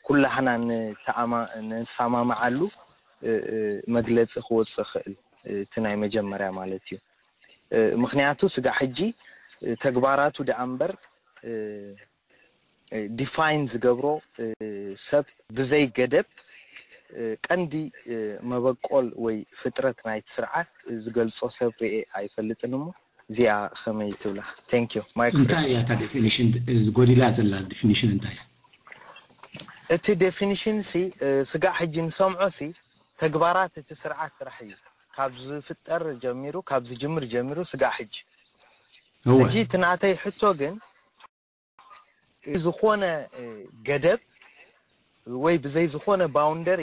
ኩላህና ንሰማማዓሉ መግለፂ ክወፅእ ክእል እቲ ናይ መጀመርያ ማለት እዩ። ምክንያቱ ስጋዕ ሕጂ ተግባራቱ ደኣ እምበር ዲፋይን ዝገብሮ ሰብ ብዘይ ገደብ ቀንዲ መበቆል ወይ ፍጥረት ናይቲ ስርዓት ዝገልጾ ሰብ ርኤ ኣይፈልጥን እሞ እዚኣ ከመይ ትብላ? Thank you. Micro. እንታይ እያ እታ ዴፊኒሽን? ጎዲላ ዘላ ዴፊኒሽን እንታይ እያ? እቲ ዴፊኒሽን ሲ ስጋዕ ሕጂ ንሰምዖ ሲ ተግባራት እቲ ስርዓት ጥራሕ እዩ። ካብ ዝፍጠር ጀሚሩ ካብ ዝጅምር ጀሚሩ ስጋዕ ሕጂ ሕጂ እቲ ናተይ ሕቶ ግን ዝኾነ ገደብ ወይ ብዘይ ዝኾነ ባውንደሪ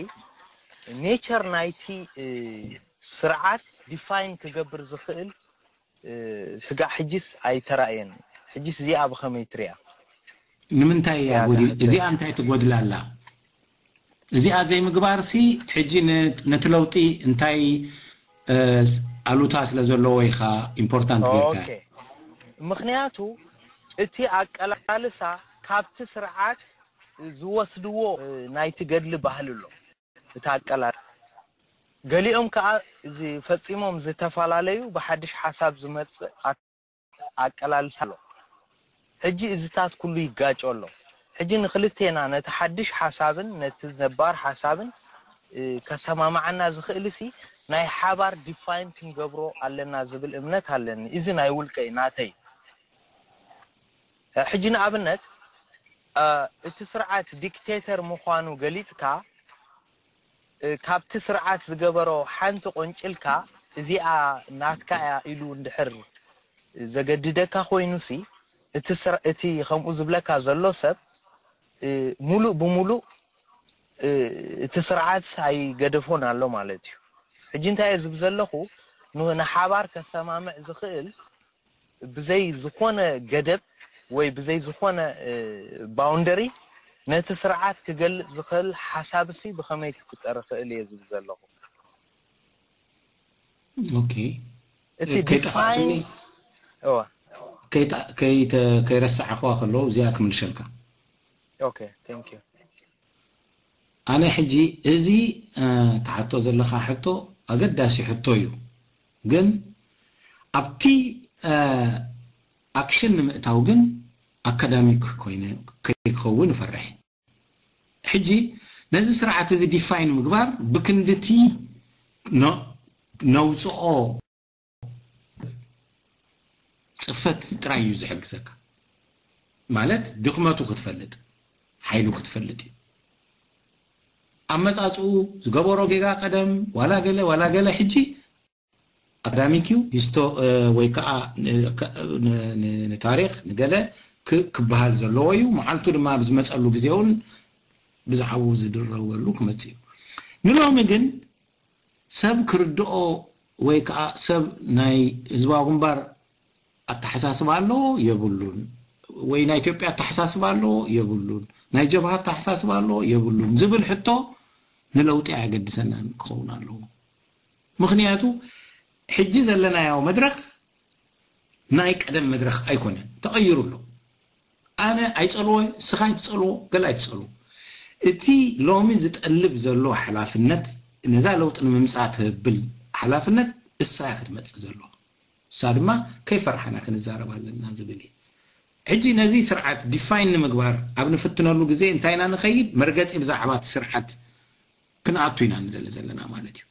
ኔቸር ናይቲ ስርዓት ዲፋይን ክገብር ዝኽእል ስጋዕ ሕጂስ ኣይተራእየን። ሕጂስ እዚኣ ብኸመይ ትሪኣ? ንምንታይ እያ ጎዲል? እዚኣ እንታይ ትጎድላ ኣላ? እዚኣ ዘይምግባርሲ ሕጂ ነቲ ለውጢ እንታይ ኣሉታ ስለ ዘለዎ ኢኻ ኢምፖርታንት ጌርካ። ምኽንያቱ እቲ ኣቀላልሳ ካብቲ ስርዓት ዝወስድዎ ናይቲ ገድሊ ባህሊ ኣሎ። እቲ ኣቀላል ገሊኦም ከዓ ፈፂሞም ዝተፈላለዩ ብሓድሽ ሓሳብ ዝመፅእ ኣቀላልሳ ኣሎ። ሕጂ እዚታት ኩሉ ይጋጮ ኣሎ። ሕጂ ንክልቴና ነቲ ሓድሽ ሓሳብን ነቲ ነባር ሓሳብን ከሰማማዓና ዝኽእል ሲ ናይ ሓባር ዲፋይን ክንገብሮ ኣለና ዝብል እምነት ኣለኒ። እዚ ናይ ውልቀይ ናተይ። ሕጂ ንኣብነት እቲ ስርዓት ዲክቴተር ምዃኑ ገሊፅካ ካብቲ ስርዓት ዝገበሮ ሓንቲ ቆንጭልካ እዚኣ ናትካ እያ ኢሉ እንድሕር ዘገድደካ ኮይኑሲ እቲ ከምኡ ዝብለካ ዘሎ ሰብ ሙሉእ ብሙሉእ እቲ ስርዓት ኣይገደፎን ኣሎ ማለት እዩ። ሕጂ እንታይ እየ ዝብ ዘለኹ ንሓባር ከሰማምዕ ዝኽእል ብዘይ ዝኾነ ገደብ ወይ ብዘይ ዝኾነ ባውንደሪ ነቲ ስርዓት ክገልጽ ዝኽእል ሓሳብ ሲ ብኸመይ ክፍጠር ይኽእል እየ ዝብል ዘለኹ። ኦኬ እቲ ዲፋይን እዋ ከይረሳዕኽዋ ከለዉ እዚኣ ክምልሸልካ። ኦኬ thank you። ኣነ ሕጂ እዚ ትሓቶ ዘለኻ ሕቶ ኣገዳሲ ሕቶ እዩ። ግን ኣብቲ ኣክሽን ንምእታው ግን ኣካዳሚክ ኮይነ ከይክኸውን እፈርሕ። ሕጂ ነዚ ስርዓት እዚ ዲፋይን ምግባር ብክንድቲ ነውፅኦ ፅፈት ጥራይ እዩ ዝሕግዘካ። ማለት ድኽመቱ ክትፈልጥ፣ ሓይሉ ክትፈልጥ እዩ። ኣመፃፅኡ፣ ዝገበሮ ጌጋ ቀደም ዋላ ገለ ዋላ ገለ ሕጂ ኣካዳሚክ እዩ። ሂስቶ ወይ ከዓ ንታሪክ ንገለ ክበሃል ዘለዎ እዩ። መዓልቱ ድማ ኣብ ዝመፀሉ ግዜ እውን ብዛዕባኡ ዝድረበሉ ክመፅእ እዩ። ንሎሚ ግን ሰብ ክርድኦ ወይ ከዓ ሰብ ናይ ህዝባዊ ግንባር ኣተሓሳስባ ኣለዎ የብሉን፣ ወይ ናይ ኢትዮጵያ ኣተሓሳስባ ኣለዎ የብሉን፣ ናይ ጀብሃ ኣተሓሳስባ ኣለዎ የብሉን ዝብል ሕቶ ንለውጢ ኣየገድሰናን ክኸውን ኣለዎ። ምኽንያቱ ሕጂ ዘለናዮ መድረኽ ናይ ቀደም መድረኽ ኣይኮነን፣ ተቐይሩ ኣሎ። ኣነ ኣይጸልዎ፣ ንስኻ ኣይትጸልዎ፣ ገለ ኣይትጸልዎ። እቲ ሎሚ ዝጠልብ ዘሎ ሓላፍነት፣ ነዛ ለውጢ ንምምጻእ ትህብል ሓላፍነት እሳ ክትመጽእ ዘሎ። እሳ ድማ ከይፈራሕና ክንዛረብ ኣለና ዝብል እዩ። ሕጂ ነዚ ስርዓት ዲፋይን ንምግባር ኣብ ንፍትነሉ ግዜ እንታይ ኢና ንኸይድ? መርገጺ ብዛዕባ እቲ ስርዓት ክንኣቱ ኢና ንደሊ ዘለና ማለት እዩ።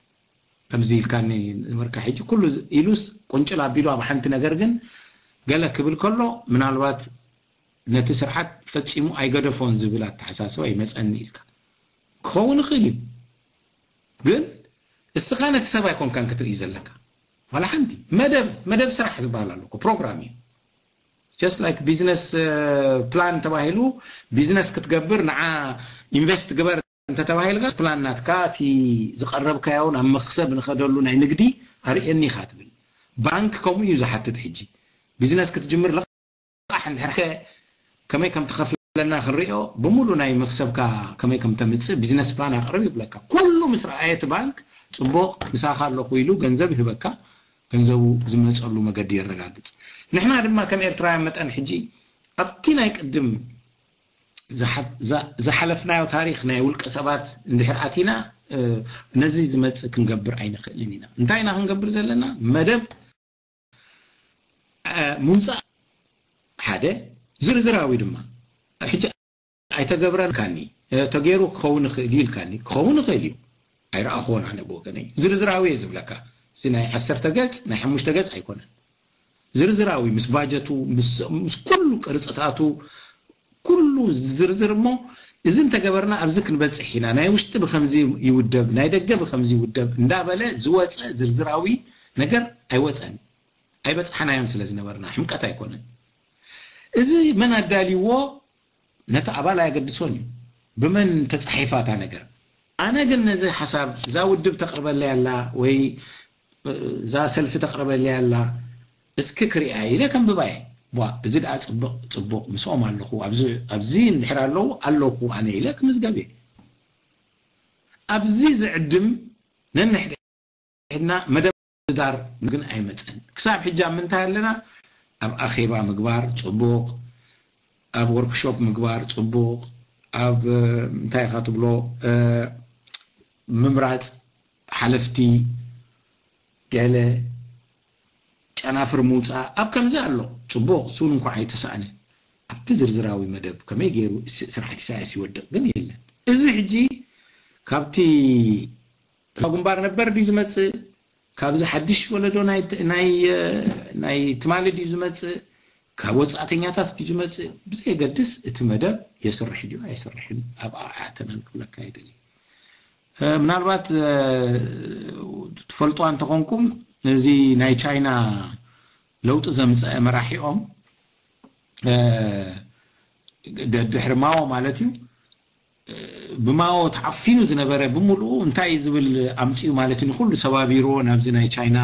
ከምዚ ኢልካኒ ነበርካ። ሕጂ ኩሉ ኢሉስ ቁንጭል ኣቢሉ ኣብ ሓንቲ ነገር ግን ገለ ክብል ከሎ ምናልባት ነቲ ስርዓት ፈጺሙ ኣይገደፎን ዝብል ኣተሓሳስባ ይመጸኒ ኢልካ ክኸውን ይኽእል እዩ። ግን እስኻ ነቲ ሰብ ኣይኮንካን ክትርኢ ዘለካ። ዋላ ሓንቲ መደብ መደብ ስራሕ ዝበሃል ኣሎ እኮ፣ ፕሮግራም እዩ። Just like ቢዝነስ ፕላን ተባሂሉ ቢዝነስ ክትገብር ንዓ ኢንቨስት ግበር እንተተባሂልካ ፕላን ናትካ እቲ ዝቐረብካዮ ናብ መክሰብ ንኸደሉ ናይ ንግዲ ኣርእየኒ ኢኻ ትብል። ባንክ ከምኡ እዩ ዝሓትት። ሕጂ ቢዝነስ ክትጅምር ልቓሕ እንድሕር ከ ከመይ ከም ትኸፍለና ክንሪኦ፣ ብሙሉ ናይ መክሰብካ ከመይ ከም ተምጽእ ቢዝነስ ፕላን ኣቕርብ ይብለካ። ኩሉ ምስ ረኣየ እቲ ባንክ ጽቡቕ ምሳኻ ኣለኹ ኢሉ ገንዘብ ይህበካ፣ ገንዘቡ ዝመጸሉ መገዲ የረጋግጽ። ንሕና ድማ ከም ኤርትራውያን መጠን ሕጂ ኣብቲ ናይ ቅድም ዝሓ- ዛ- ዝሓለፍናዮ ታሪኽ ናይ ውልቀ ሰባት እንድሕር ኣቲና እ፣ ነዚ ዝመጽእ ክንገብር ኣይንኽእልን ኢና። እንታይ ኢና ክንገብር ዘለና? መደብ እ፣ ምውጻእ ሓደ፣ ዝርዝራዊ ድማ። ሕጂ ኣይተገብረን ኢልካኒ፣ እ፣ ተገይሩ ክኸውን ይኽእል እዩ ኢልካኒ፣ ክኸውን ይኽእል እዩ። ኣይረኣኹዎን ኣነ ብወገነይ። ዝርዝራዊ እየ ዝብለካ። እዚ ናይ ዓሰርተ ገጽ ናይ ሓሙሽተ ገጽ ኣይኮነን። ዝርዝራዊ ምስ ባጀቱ ምስ ምስ ኩሉ ቅርጽታቱ ኩሉ ዝርዝር እሞ እዚ እንተገበርና ኣብዚ ክንበጽሕ ኢና፣ ናይ ውሽጢ ብከምዚ ይውደብ፣ ናይ ደገ ብከምዚ ይውደብ እንዳበለ ዝወጸ ዝርዝራዊ ነገር ኣይወጸን። ኣይበጽሓናዮን ስለ ዝነበርና ሕምቀት ኣይኮነን። እዚ መን ኣዳልይዎ ነቲ ኣባል ኣየገድሶን እዩ፣ ብመን ተጻሒፋ እታ ነገር። ኣነ ግን ነዚ ሓሳብ እዛ ውድብ ተቕርበለይ ኣላ ወይ እዛ ሰልፊ ተቕርበለይ ኣላ እስኪ ክሪኣ ኢለ ከንብባ እየ። ቧ፣ እዚ ደኣ ጽቡቕ ጽቡቕ ምስኦም ኣለኹ፣ ኣብዚ ኣብዚ እንድሕር ኣለዉ ኣለኹ ኣነ ኢለ ክምዝገብ እየ። ኣብዚ ዝዕድም ነንሕደ ሕድና መደብ ዳር ግን ኣይመጸን። ክሳብ ሕጂ ኣብ ምንታይ ኣለና? ኣብ ኣኼባ ምግባር ጽቡቕ፣ ኣብ ወርክሾፕ ምግባር ጽቡቕ፣ ኣብ እንታይ ኢኻ ትብሎ ምምራጽ ሓለፍቲ ገለ ጨናፍር ምውጻእ ኣብ ከምዚ ኣሎ ጽቡቕ፣ እሱን እንኳ ኣይተሳእነ። ኣብቲ ዝርዝራዊ መደብ ከመይ ገይሩ ስርዓት ኢሳያስ ይወድቕ ግን የለን። እዚ ሕጂ ካብቲ ግንባር ነበር ድዩ ዝመጽእ? ካብዚ ሓድሽ ወለዶ ናይ ናይ ናይ ትማሊ ድዩ ዝመጽእ? ካብ ወጻእተኛታት ድዩ ዝመጽእ? ብዘየገድስ እቲ መደብ የስርሕ ድዩ ኣይስርሕን ኣብ ኣኣተናን ክብለካ ይደሊ። ምናልባት ትፈልጦ እንተኾንኩም እዚ ናይ ቻይና ለውጢ ዘምፀአ መራሒኦም ድሕሪ ማዎ ማለት እዩ ብማዎ ተዓፊኑ ዝነበረ ብምሉኡ እንታይ ዝብል ኣምፅኡ ማለት እዩ ንኩሉ ሰባቢርዎ ናብዚ ናይ ቻይና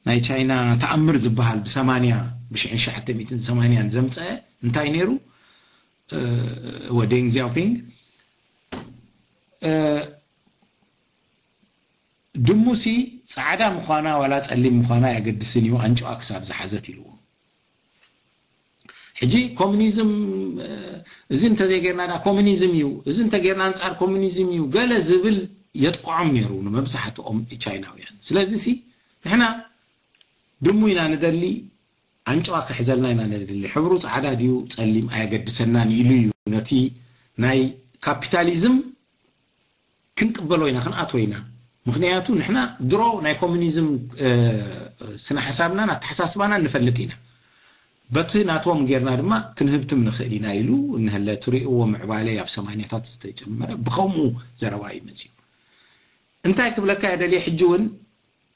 ናይ ቻይና ተኣምር ዝበሃል ብሰማንያ ብሽሕን ሸዓተ ሚእትን ሰማንያን ዘምፀአ እንታይ ነይሩ ወደንግ ዚያውፒንግ ድሙሲ ፃዕዳ ምዃና ዋላ ፀሊም ምዃና ኣየገድስን እዩ ኣንጭዋ ክሳብ ዝሓዘት ኢልዎ ሕጂ ኮሚኒዝም እዚ እንተዘይጌርና ዳ ኮሚኒዝም እዩ እዚ እንተጌርና ኣንፃር ኮሚኒዝም እዩ ገለ ዝብል የጥቅዖም ነይሩ ንመብዛሕትኦም ቻይናውያን። ስለዚ ሲ ንሕና ድሙ ኢና ንደሊ፣ ኣንጭዋ ክሕዘልና ኢና ንደሊ። ሕብሩ ጻዕዳ ድዩ ጸሊም ኣየገድሰናን ኢሉ እዩ ነቲ ናይ ካፒታሊዝም ክንቅበሎ ኢና፣ ክንኣትዎ ኢና። ምኽንያቱ ንሕና ድሮ ናይ ኮሙኒዝም ስነ ሓሳብናን ኣተሓሳስባናን ንፈልጥ ኢና። በቲ ናቶም ጌርና ድማ ክንህብትም ንኽእል ኢና ኢሉ እንሀለ ትሪእዎ ምዕባለ ኣብ ሰማንያታት ዝተጨመረ ብኸምኡ ዘረባ እዩ መፅኡ። እንታይ ክብለካ እየ ደልየ፣ ሕጂ እውን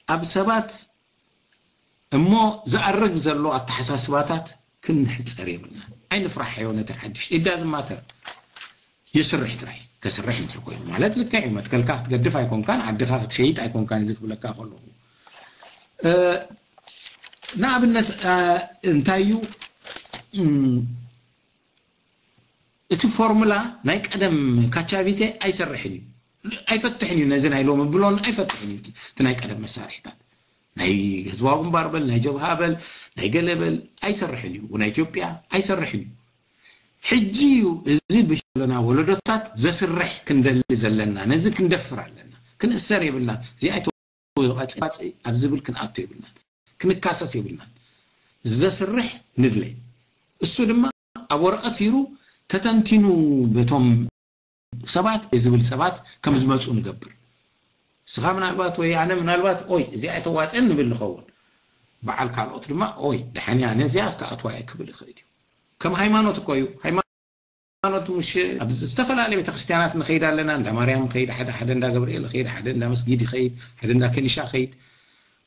ኣብ ሰባት እሞ ዝኣርግ ዘሎ ኣተሓሳስባታት ክንሕፀር የብልና። ኣይንፍራሕዮ ነቲ ሓድሽ ኢዳ ዝማተር ይስርሕ ጥራይ። ከስርሕ እንድሕር ኮይኑ ማለት ልክዕ እዩ። መትከልካ ክትገድፍ ኣይኮንካን፣ ዓድኻ ክትሸይጥ ኣይኮንካን። እዚ ክብለካ ከለኹ ንኣብነት እንታይ እዩ እቲ ፎርሙላ ናይ ቀደም ካቻቪቴ ኣይሰርሕን እዩ፣ ኣይፈትሕን እዩ። ነዚ ናይ ሎሚ ብሎን ኣይፈትሕን እዩ። እቲ ናይ ቀደም መሳርሒታት ናይ ህዝባዊ ግንባር በል ናይ ጀብሃ በል ናይ ገለ በል ኣይሰርሕን እዩ። ናይ ኢትዮጵያ ኣይሰርሕን እዩ። ሕጂ እዩ እዚ ብለና ወለዶታት ዘስርሕ ክንደሊ ዘለና። ነዚ ክንደፍር ኣለና። ክንእሰር የብልና። እዚኣ ተዋፅእ ኣብ ዝብል ክንኣቱ የብልናን። ክንካሰስ የብልናን። ዘስርሕ ንድለ። እሱ ድማ ኣብ ወረቐት ሂሩ ተተንቲኑ በቶም ሰባት ዝብል ሰባት ከም ዝመፁ ንገብር። ንስኻ ምናልባት ወይ ኣነ ምናልባት ኦይ እዚኣ ኣይተዋፅእን ንብል ንኸውን። በዓል ካልኦት ድማ ኦይ ደሓን እያ፣ ኣነ እዚኣ ክኣትዋ እየ ክብል ይኽእል እዩ። ከም ሃይማኖት እኮ እዩ። ሃይማኖት ሙሽ ኣብ ዝተፈላለየ ቤተክርስትያናት ንኸይድ ኣለና። እንዳ ማርያም ኸይድ፣ ሓደ ሓደ እንዳ ገብርኤል ኸይድ፣ ሓደ እንዳ መስጊድ ይኸይድ፣ ሓደ እንዳ ከኒሻ ኸይድ።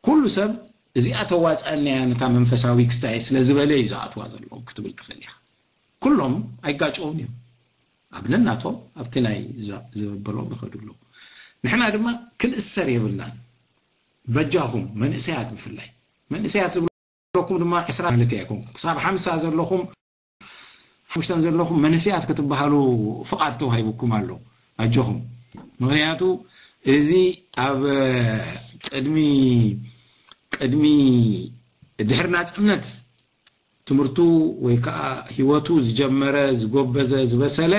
ኩሉ ሰብ እዚኣ ተዋፅኣልና እያ ነታ መንፈሳዊ ክስታይ ስለ ዝበለ እዩ ዝኣትዋ ዘለዉ ክትብል ትኽእል ኢኻ። ኩሎም ኣይጋጨውን እዮም። ኣብ ነናቶም ኣብቲ ናይ ዘበሎም ይኸዱ ኣለዉ። ንሕና ድማ ክንእሰር የብልናን። በጃኹም መንእሰያት ብፍላይ መንእሰያት ዝብለኩም ድማ ዕስራ ማለት ኣይኮንኩም። ክሳብ ሓምሳ ዘለኹም ሓሙሽተን ዘለኹም መንእሰያት ክትበሃሉ ፍቓድ ተዋሂቡኩም ኣሎ። ኣጆኹም። ምኽንያቱ እዚ ኣብ ቅድሚ ቅድሚ ድሕሪ ናጽነት ትምህርቱ ወይ ከዓ ህይወቱ ዝጀመረ ዝጎበዘ ዝበሰለ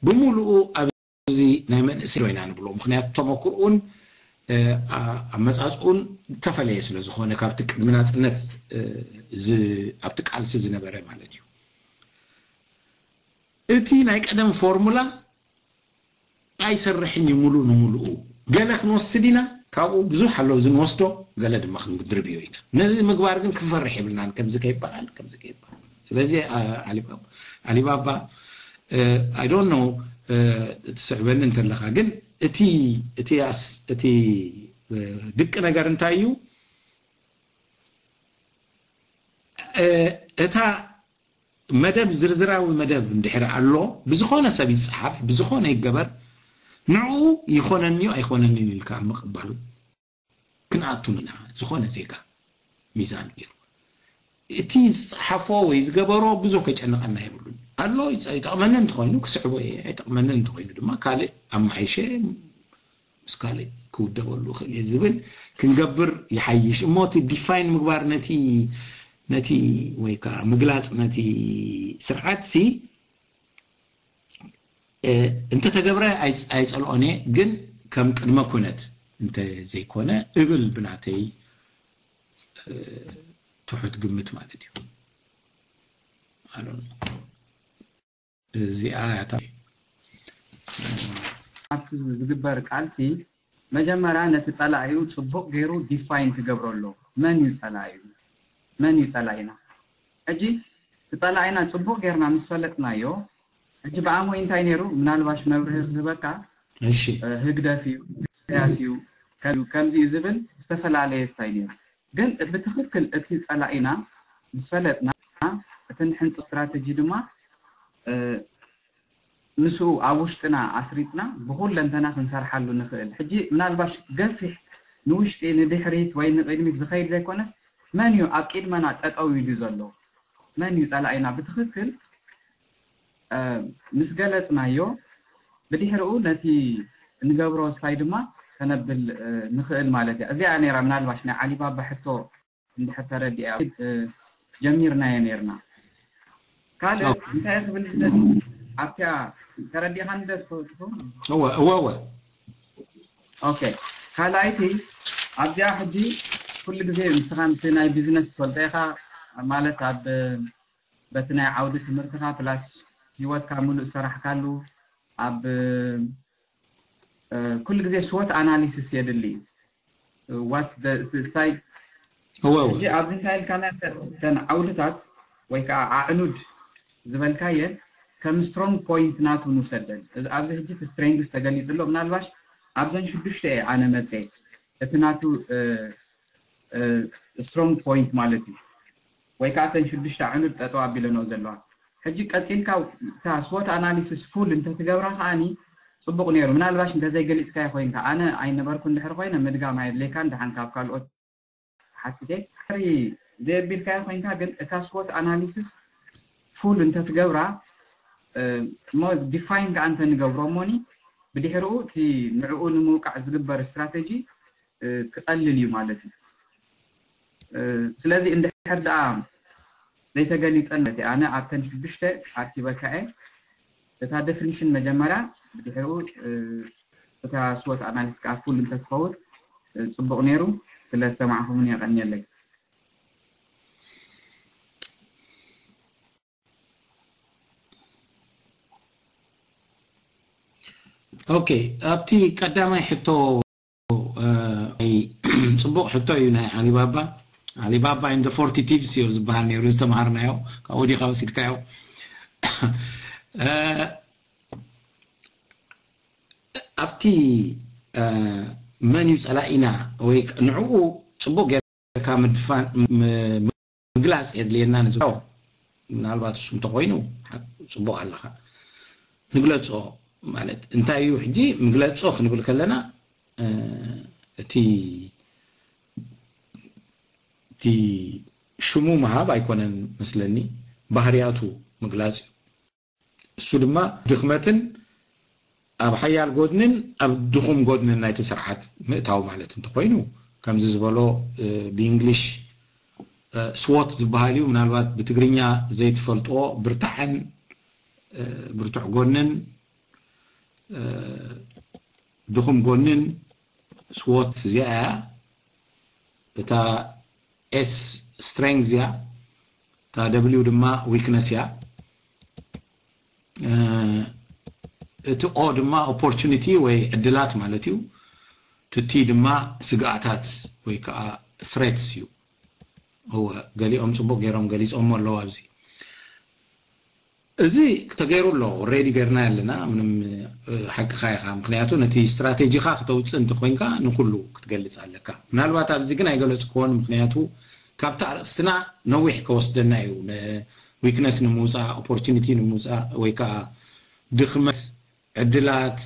ብምሉኡ ኣብዚ ናይ መንእሰይ ኢና ንብሎ። ምኽንያቱ ተመክርኡን ኣመፃፅኡን ዝተፈለየ ስለ ዝኾነ ካብቲ ቅድሚ ናፅነት ኣብቲ ቃልሲ ዝነበረ ማለት እዩ። እቲ ናይ ቀደም ፎርሙላ ኣይሰርሕን እዩ ሙሉእ ንሙሉኡ። ገለ ክንወስድ ኢና፣ ካብኡ ብዙሕ ኣሎ እዚ ንወስዶ፣ ገለ ድማ ክንድርብዮ ኢና። ነዚ ምግባር ግን ክንፈርሕ የብልናን፣ ከምዚ ከይበሃል ከምዚ ከይበሃል። ስለዚ ኣሊባባ I don't know ትስዕበኒ እንተለኻ፣ ግን እቲ እቲ እቲ ድቂ ነገር እንታይ እዩ? እታ መደብ ዝርዝራዊ መደብ እንድሕር ኣሎ፣ ብዝኾነ ሰብ ይጸሓፍ፣ ብዝኾነ ይገበር፣ ንዕኡ ይኾነኒ እዩ ኣይኾነንን ኢልካ ኣብ ምቕባል ክንኣቱ ኢና። ዝኾነ ዜጋ ሚዛን ገይሩ እቲ ዝጸሓፎ ወይ ዝገበሮ ብዙሕ ከጨንቐና የብሉን። ኣሎ ይጠቕመኒ እንተኾይኑ ክስዕቦ እየ፣ ኣይጠቕመኒ እንተኾይኑ ድማ ካልእ ኣማሓይሸ ምስ ካልእ ክውደበሉ ይኽእል እየ ዝብል ክንገብር ይሓይሽ እሞ እቲ ዲፋይን ምግባር ነቲ ነቲ ወይ ከዓ ምግላፅ ነቲ ስርዓት ሲ እንተተገብረ ኣይፀልኦን እየ፣ ግን ከም ቅድመ ኩነት እንተዘይኮነ እብል ብናተይ ትሑት ግምት ማለት እዩ። እዚኣ ኣብቲ ዝግበር ቃልሲ መጀመርያ ነቲ ጸላኢኡ ጽቡቕ ገይሩ ዲፋይን ክገብሮ ኣለዎ። መን እዩ ጸላኢኡ? መን እዩ ጸላኢና? ሕጂ እቲ ጸላኢና ጽቡቕ ጌርና ምስ ፈለጥናዮ፣ ሕጂ ብኣሞይ እንታይ ነይሩ? ምናልባሽ መብርሂ ክህበካ፣ እሺ። ህግደፍ እዩ፣ ኢሳያስ እዩ፣ ከምዚ እዩ ዝብል ዝተፈላለየ ስታይ ነይሩ። ግን ብትኽክል እቲ ጸላኢና ምስ ፈለጥና፣ እቲ ንሕንጾ ስትራተጂ ድማ ምስኡ ኣብ ውሽጥና ኣስሪጽና ብኹለንተና ክንሰርሓሉ ንኽእል። ሕጂ ምናልባሽ ገፊሕ ንውሽጢ ንድሕሪት ወይ ንቕድሚት ዝኸይድ ዘይኮነስ፣ መን እዩ ኣብ ቅድመና ጠጠው ኢሉ ዘሎ? መን እዩ ጸላኢና ብትኽክል ምስ ገለጽናዮ፣ ብድሕሪኡ ነቲ እንገብሮ ስታይ ድማ ከነብል ንኽእል ማለት እያ። እዚኣ ነይራ ምናልባሽ ናይ ዓሊባባ ሕቶ እንድሕር ተረዲኣ ጀሚርናዮ ነይርና። ካልእ እንታይ ክብል ዝደሊ ኣብቲኣ ተረዲኻ ንደፍትኹም? እወ እወ እወ ኦኬ፣ ካልኣይቲ ኣብዚኣ ሕጂ ኩሉ ግዜ ንስኻ ምስ ናይ ቢዝነስ ትፈልጦ ኢኻ ማለት ኣብ በቲ ናይ ዓውዲ ትምህርትኻ ፕላስ ህይወትካ ሙሉእ ዝሰራሕካሉ ኣብ ኩሉ ግዜ ስወት ኣናሊሲስ የድሊ። ዋት ሳይ እወ እወ ሕጂ ኣብዚ እንታይ ኢልካና ተን ዓውድታት ወይ ከዓ ኣዕኑድ ዝበልካየን ከም ስትሮንግ ፖይንት ናቱ ንውሰደን። ኣብዚ ሕጂ እቲ ስትሬንግስ ተገሊጹ ኣሎ። ምናልባሽ ኣብዘን ሽዱሽተ እየ ኣነ መፀ እቲ ናቱ ስትሮንግ ፖይንት ማለት እዩ። ወይ ከዓ እተን ሽዱሽተ ኣዕኑድ ጠጠው ኣቢለንኦ ዘለዋ። ሕጂ ቀፂልካ እታ ስወት ኣናሊሲስ ፉል እንተትገብራ ከዓኒ ፅቡቕ ነይሩ። ምናልባሽ እንተዘይገሊፅካዮ ኮይንካ፣ ኣነ ኣይነበርኩ እንድሕር ኮይነ ምድጋም ኣየድልየካን። ደሓን ካብ ካልኦት ሓቲተ ድሕሪ ዘየቢልካዮ ኮይንካ ግን እታ ስወት ኣናሊሲስ ፉል እንተትገብራ እሞ ዲፋይን ከዓ እንተንገብሮ እሞኒ ብድሕሪኡ እቲ ንዕኡ ንምውቃዕ ዝግበር ስትራቴጂ ክቐልል እዩ ማለት እዩ። ስለዚ እንድሕር ደኣ ዘይተገሊፀን እቲ ኣነ ኣብተን ሽዱሽተ ኣርኪበካ እየ። እታ ዴፊኒሽን መጀመርያ ብድሕሪኡ እታ ስወት ኣናሊስ ከዓ ፉል እንተትኸውን ፅቡቕ ነይሩ። ስለ ዝሰማዕኹምኒ የቐንየለይ። ኦኬ፣ ኣብቲ ቀዳማይ ሕቶ እ፣ ኣይ፣ ፅቡቕ ሕቶ እዩ ናይ ዓሊባባ። ዓሊባባ and the forty thieves እዩ ዝበሃል ነይሩ ዝተምሃርናዮ፣ ካብኡ ዲኻ ወሲድካዮ? እ፣ ኣብቲ እ፣ መን እዩ ፀላኢና ወይ ንዕኡ ፅቡቕ ጌርካ ምድፋን ም- ምግላፅ የድልየና ንዝብሎ ምናልባት እሱ እንተኮይኑ ፅቡቅ ኣለካ። ንግለፆ ማለት እንታይ እዩ? ሕጂ ምግለፆ ክንብል ከለና እቲ እቲ ሽሙ ምሃብ ኣይኮነን መስለኒ፣ ባህርያቱ ምግላፅ እዩ። እሱ ድማ ድኽመትን ኣብ ሓያል ጎድንን ኣብ ድኹም ጎድንን ናይቲ ስርዓት ምእታው ማለት እንተኮይኑ፣ ከምዚ ዝበሎ ብእንግሊሽ ስዎት ዝበሃል እዩ። ምናልባት ብትግርኛ ዘይትፈልጥዎ፣ ብርታዐን ብርቱዕ ጎንን ድኹም ጎንን ስዎት እዚኣ እያ። እታ ኤስ ስትሬንግዝ እያ፣ እታ ደብሊው ድማ ዊክነስ እያ። እቲ ኦ ድማ ኦፖርቹኒቲ ወይ ዕድላት ማለት እዩ። እቲ ቲ ድማ ስግኣታት ወይ ከዓ ትሬትስ እዩ። እወ፣ ገሊኦም ፅቡቅ ገይሮም ገሊፆሞ ኣለዉ ኣብዚ። እዚ ተገይሩ ኣሎ፣ ኦሬዲ ገይርና ኣለና። ምንም ሓቅኻ ኢኻ። ምክንያቱ ነቲ ስትራቴጂኻ ክተውፅእ እንተኮይንካ ንኩሉ ክትገልፅ ኣለካ። ምናልባት ኣብዚ ግን ኣይገለፅክዎን፣ ምክንያቱ ካብቲ ኣርእስትና ነዊሕ ከወስደና እዩ። ዊክነስ ንምውፃእ፣ ኦፖርቹኒቲ ንምውፃእ ወይ ከዓ ድኽመት፣ ዕድላት፣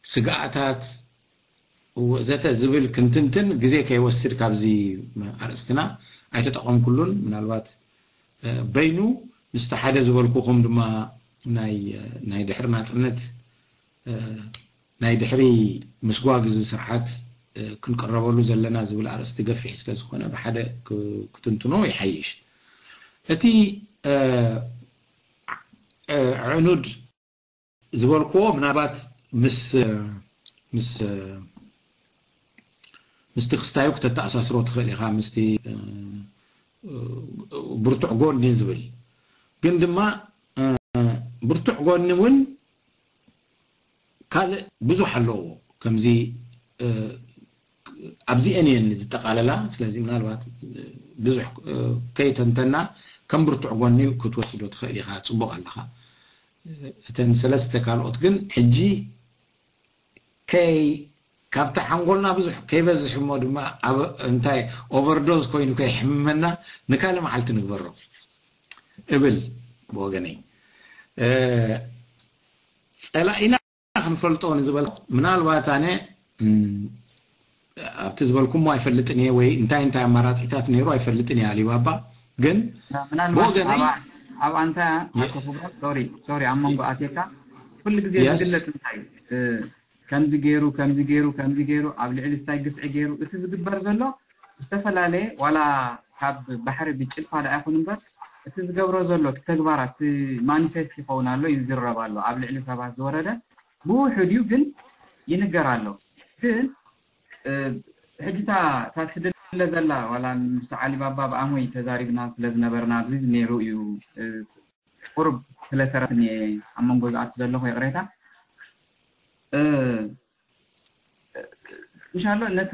ስግኣታት ወዘተ ዝብል ክንትንትን ግዜ ከይወስድ ካብዚ ኣርእስትና ኣይተጠቐምኩሉን። ምናልባት በይኑ ምስቲ ሓደ ዝበልኩኹም ድማ ናይ ናይ ድሕሪ ናፅነት ናይ ድሕሪ ምስጓግ እዚ ስርዓት ክንቅረበሉ ዘለና ዝብል ኣርእስቲ ገፊሕ ስለ ዝኾነ ብሓደ ክትንትኖ ይሓይሽ። እቲ ዕኑድ ዝበልክዎ ምናልባት ምስ ምስ ምስቲ ክስታዩ ክተተኣሳስሮ ትኽእል ኢኻ፣ ምስቲ ብርቱዕ ጎኒ ዝብል ግን ድማ ብርቱዕ ጎኒ እውን ካልእ ብዙሕ ኣለዎ። ከምዚ ኣብዚአን እየን ዝጠቓለላ። ስለዚ ምናልባት ብዙሕ ከይተንተና ከም ብርቱዕ ጎኒ ክትወስዶ ትኽእል ኢኻ። ፅቡቕ ኣለኻ። እተን ሰለስተ ካልኦት ግን ሕጂ ከይ ካብቲ ሓንጎልና ብዙሕ ከይበዝሕ እሞ ድማ ኣብ እንታይ ኦቨርዶዝ ኮይኑ ከይሕምመና ንካልእ መዓልቲ ንግበሮ እብል ብወገነይ። ጸላኢና ክንፈልጦ ንዝበል ምናልባት ኣነ ኣብቲ ዝበልኩሞ ኣይፈልጥን እየ ወይ እንታይ እንታይ ኣማራፂታት ነይሩ ኣይፈልጥን እየ። ኣሊባባ ግን ምናልባት ብወገነይ ኣብ ኣንታ ኣቶ ክብረት ሶሪ ሶሪ ኣብ መንጎ ኣትየካ ኩሉ ግዜ Yes. ዝግለጽ እንታይ ከምዚ ገይሩ ከምዚ ገይሩ ከምዚ ገይሩ ኣብ ልዕሊ ስታይ ግፍዒ ገይሩ እቲ ዝግበር ዘሎ ዝተፈላለየ ዋላ ካብ ባሕሪ ብጭልፋ ደኣ ይኹን እምበር እቲ ዝገብሮ ዘሎ እቲ ተግባራት እቲ ማኒፌስት ይኸውን ኣሎ ይዝረብ ኣሎ ኣብ ልዕሊ ሰባት ዝወረደ ብውሑድ እዩ ግን ይንገር ኣሎ ግን ሕጂ እታ ትድለ ዘላ ዋላ ምስ ዓሊባባ ብኣሞይ ተዛሪብና ስለ ዝነበርና ኣብዚ ነይሩ እዩ። ቁርብ ስለተረፍኒ ኣብ መንጎ ዝኣቱ ዘለኹ ይቕሬታ። እንሻሎ ነቲ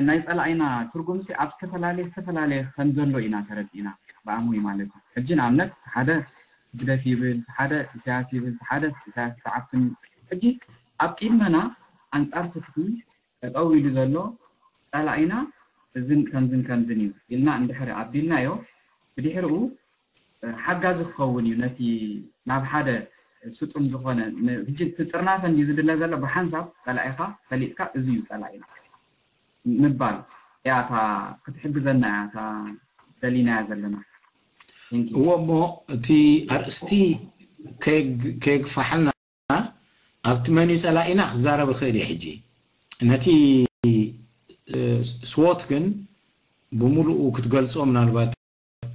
ናይ ጸላኢና ትርጉምሲ ኣብ ዝተፈላለየ ዝተፈላለየ ከም ዘሎ ኢና ተረዲእና፣ ብኣሙይ ማለት እዩ። ሕጂ ንኣብነት ሓደ ህግደፍ ይብል፣ ሓደ ኢሳያስ ይብል፣ ሓደ ኢሳያስ ሰዓብትን። ሕጂ ኣብ ቅድመና ኣንጻር ፍትሒ ጠጠው ኢሉ ዘሎ ጸላኢና እዝን ከምዝን ከምዝን እዩ ኢልና እንድሕር ኣቢልናዮ፣ ብድሕርኡ ሓጋዚ ክኸውን እዩ። ነቲ ናብ ሓደ ስጡም ዝኾነ፣ ሕጂ እቲ ጥርናፈ እንድዩ ዝድለ ዘሎ፣ ብሓንሳብ ጸላኢኻ ፈሊጥካ እዚ እዩ ጸላኢና ምባል እያ እታ ክትሕግዘና እያ እታ ደሊናያ ዘለና። እዎ እሞ እቲ ኣርእስቲ ከየግፋሓልና ኣብቲ መን እዩ ጸላኢና ክዛረብ ይኽእል እየ። ሕጂ ነቲ ስዎት ግን ብምሉኡ ክትገልጾ ምናልባት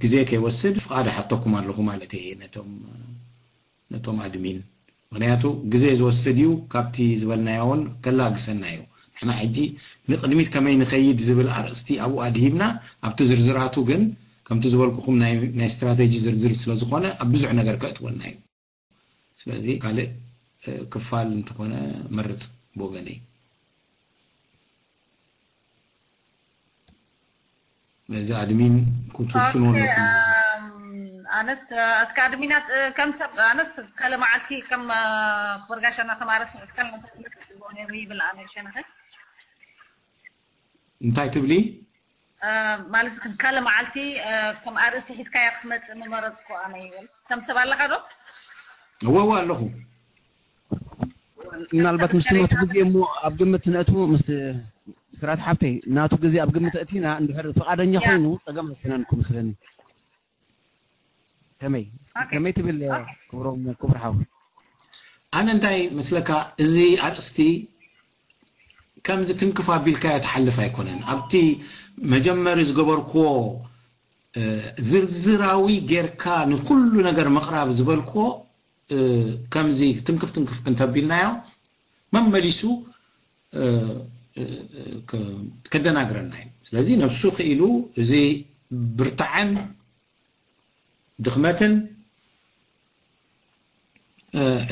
ግዜ ከይወስድ ፍቓድ ሓተኩም ኣለኹ ማለት እየ ነቶም ነቶም ኣድሚን። ምክንያቱ ግዜ ዝወስድ እዩ፣ ካብቲ ዝበልናዮ እውን ከላግሰና እዩ። ንሕና ሕጂ ንቕድሚት ከመይ ንኸይድ ዝብል ኣርእስቲ ኣብኡ ኣድሂብና፣ ኣብቲ ዝርዝራቱ ግን ከምቲ ዝበልኩኹም ናይ ስትራቴጂ ዝርዝር ስለዝኾነ ኣብ ብዙሕ ነገር ከእትወና እዩ። ስለዚ ካልእ ክፋል እንተኾነ መርጽ ብወገነይ። ነዚ ኣድሚን ክትውስኑ ኣለኩም። ኣነስ እስከ ኣድሚናት ከም ሰብ ኣነስ ካለ መዓልቲ ከም ክቡር ጋሻና ከም ኣረስ እስካል ነተስምስ ጽቡቅ ነይሩ ይብል ኣነ ሸነኸ እንታይ ትብሊ? ማለት ግን ካለ መዓልቲ ከም ኣርእስቲ ሒዝካያ ክትመጽእ ምመረጽኩ ኣነ ይብል። ከም ሰብ ኣለኻ ዶ? እወ እወ ኣለኹ። ምናልባት ምስቲ ናቱ ግዜ እሞ ኣብ ግምት ነእትዎ ምስ ስራት ሓብተይ ናቱ ግዜ ኣብ ግምት እቲና እንድሕር ፍቓደኛ ኮይኑ ጸገም ኣይኮነን ክመስለኒ። ከመይ ከመይ ትብል ክብሮም ክብር ሓው? ኣነ እንታይ መስለካ፣ እዚ ኣርእስቲ ከምዚ ትንክፍ ኣቢልካዮ ትሓልፍ ኣይኮነን። ኣብቲ መጀመሪ ዝገበርክዎ ዝርዝራዊ ጌርካ ንኩሉ ነገር ምቕራብ ዝበልክዎ ከምዚ ትንክፍ ትንክፍ እንተቢልናዮ መመሊሱ ከደናግረና እዩ። ስለዚ ነብሱ ክኢሉ እዚ ብርታዐን ድኽመትን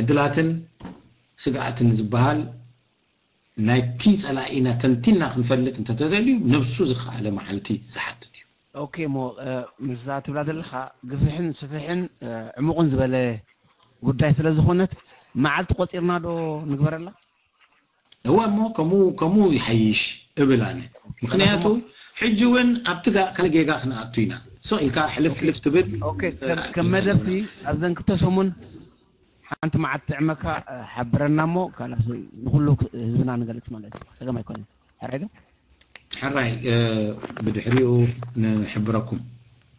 ዕድላትን ስግኣትን ዝበሃል ናይቲ ጸላኢና ተንቲና ክንፈልጥ እንተተደልዩ ነብሱ ዝኸኣለ መዓልቲ ዝሓትት እዩ። ኦኬ እሞ ምስዛ ትብላ ዘለኻ ግፍሕን ስፍሕን ዕሙቕን ዝበለ ጉዳይ ስለ ዝኾነት መዓልቲ ቆጺርና ዶ ንግበረላ? እወ እሞ ከምኡ ከምኡ ይሓይሽ እብል ኣነ። ምክንያቱ ሕጂ እውን ኣብቲ ካልእ ጌጋ ክንኣቱ ኢና። ስቕ ኢልካ ሕልፍ ሕልፍ ትብል። ከም መደብሲ ኣብዘን ክልተ ሰሙን ሓንቲ መዓልቲ ጥዕመካ ሓብረና እሞ ካላስ ንኩሉ ህዝብና ንገልፅ ማለት እዩ። ፀገም ኣይኮነን። ሕራይ ዶ? ሕራይ ብድሕሪኡ ንሕብረኩም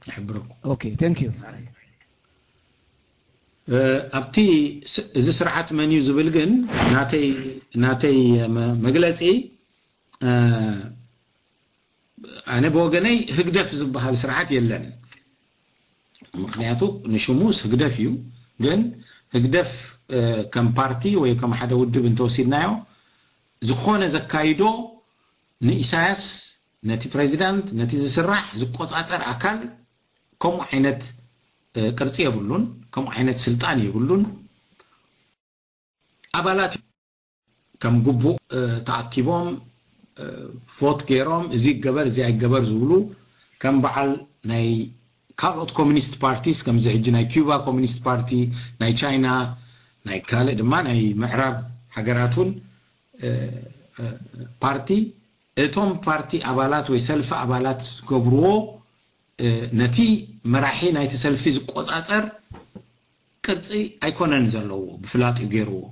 ንሕብረኩም። ኦኬ thank you። ኣብቲ እዚ ስርዓት መን እዩ ዝብል ግን ናተይ ናተይ መግለፂ ኣነ ብወገነይ ህግደፍ ዝበሃል ስርዓት የለን። ምክንያቱ ንሽሙስ ህግደፍ እዩ። ግን ህግደፍ ከም ፓርቲ ወይ ከም ሓደ ውድብ እንተወሲድናዮ ዝኾነ ዘካይዶ ንኢሳያስ ነቲ ፕሬዚዳንት ነቲ ዝስራሕ ዝቆፃፀር ኣካል ከምኡ ዓይነት ቅርፂ የብሉን፣ ከምኡ ዓይነት ስልጣን የብሉን። ኣባላት ከም ግቡእ ተኣኪቦም ፎት ገይሮም እዚ ይገበር እዚ ኣይገበር ዝብሉ ከም በዓል ናይ ካልኦት ኮሚኒስት ፓርቲስ ከምዚ ሕጂ ናይ ኪዩባ ኮሚኒስት ፓርቲ ናይ ቻይና ናይ ካልእ ድማ ናይ ምዕራብ ሃገራት እውን ፓርቲ እቶም ፓርቲ ኣባላት ወይ ሰልፊ ኣባላት ዝገብርዎ ነቲ መራሒ ናይቲ ሰልፊ ዝቆፃፀር ቅርፂ ኣይኮነን ዘለዎ ብፍላጥ እዩ ገይርዎ።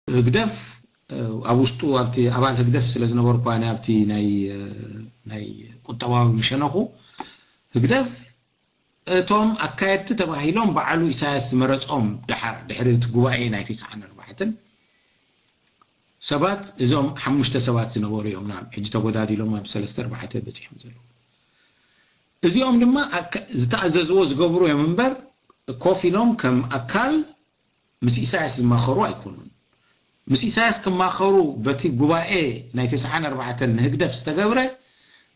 ህግደፍ ኣብ ውሽጡ ኣብቲ ኣባል ህግደፍ ስለ ዝነበርኩ ኣነ ኣብቲ ናይ ናይ ቁጠባዊ ምሸነኹ ህግደፍ እቶም ኣካየድቲ ተባሂሎም በዓሉ ኢሳያስ ዝመረፆም ደሓር ድሕሪ እቲ ጉባኤ ናይ ተስዓን ኣርባዕተን ሰባት እዞም ሓሙሽተ ሰባት ዝነበሩ እዮም ናብ ሕጂ ተጎዳዲሎም ኣብ ሰለስተ ኣርባዕተ በፂሖም ዘለዉ። እዚኦም ድማ ዝተኣዘዝዎ ዝገብሩ እዮም እምበር ኮፍ ኢሎም ከም ኣካል ምስ ኢሳያስ ዝማኸሩ ኣይኮኑን። ምስ ኢሳያስ ክማኸሩ በቲ ጉባኤ ናይ ተስዓን ኣርባዕተን ንህግደፍ ዝተገብረ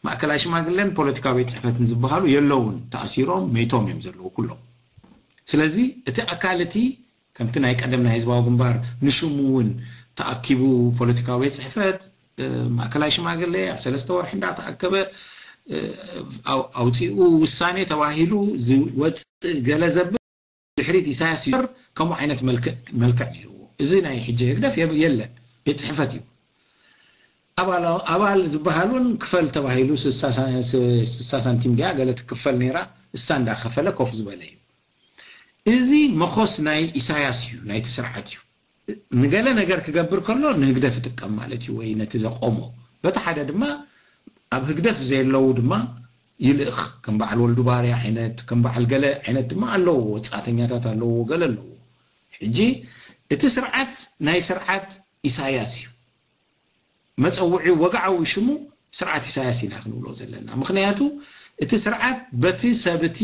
ማእከላይ ሽማግለን ፖለቲካዊ ቤት ጽሕፈትን ዝበሃሉ የለውን። ተኣሲሮም መይቶም እዮም ዘለዉ ኩሎም። ስለዚ እቲ ኣካል እቲ ከምቲ ናይ ቀደም ናይ ህዝባዊ ግንባር ንሽሙ እውን ተኣኪቡ ፖለቲካዊ ቤት ጽሕፈት ማእከላይ ሽማግሌ ኣብ ሰለስተ ወርሒ እንዳተኣከበ ኣውፂኡ ውሳኔ ተባሂሉ ዝወፅእ ገለ ዘብል ድሕሪት ኢሳያስ ይር ከምኡ ዓይነት መልክዕ ነይርዎ። እዚ ናይ ሕጂ ህግደፍ የለን፣ ቤት ጽሕፈት እዩ። ኣባል ዝበሃሉን ክፈል ተባሂሉ ስሳ ሳንቲም ድያ ገለ ትክፈል ነይራ፣ እሳ እንዳከፈለ ኮፍ ዝበለ እዩ። እዚ መኾስ ናይ ኢሳያስ እዩ፣ ናይቲ ስርዓት እዩ። ንገለ ነገር ክገብር ከሎ ንህግደፍ ይጥቀም ማለት እዩ፣ ወይ ነቲ ዘቆሞ። በቲ ሓደ ድማ ኣብ ህግደፍ ዘየለዉ ድማ ይልእኽ። ከም በዓል ወልዱ ባርያ ዓይነት፣ ከም በዓል ገለ ዓይነት ድማ ኣለዎ፣ ወጻእተኛታት ኣለዎ፣ ገለ ኣለዎ። ሕጂ እቲ ስርዓት ናይ ስርዓት ኢሳያስ እዩ። መጸውዒ ወግዓዊ ሽሙ ስርዓት ኢሳያስ ኢና ክንብሎ ዘለና። ምኽንያቱ እቲ ስርዓት በቲ ሰብ እቲ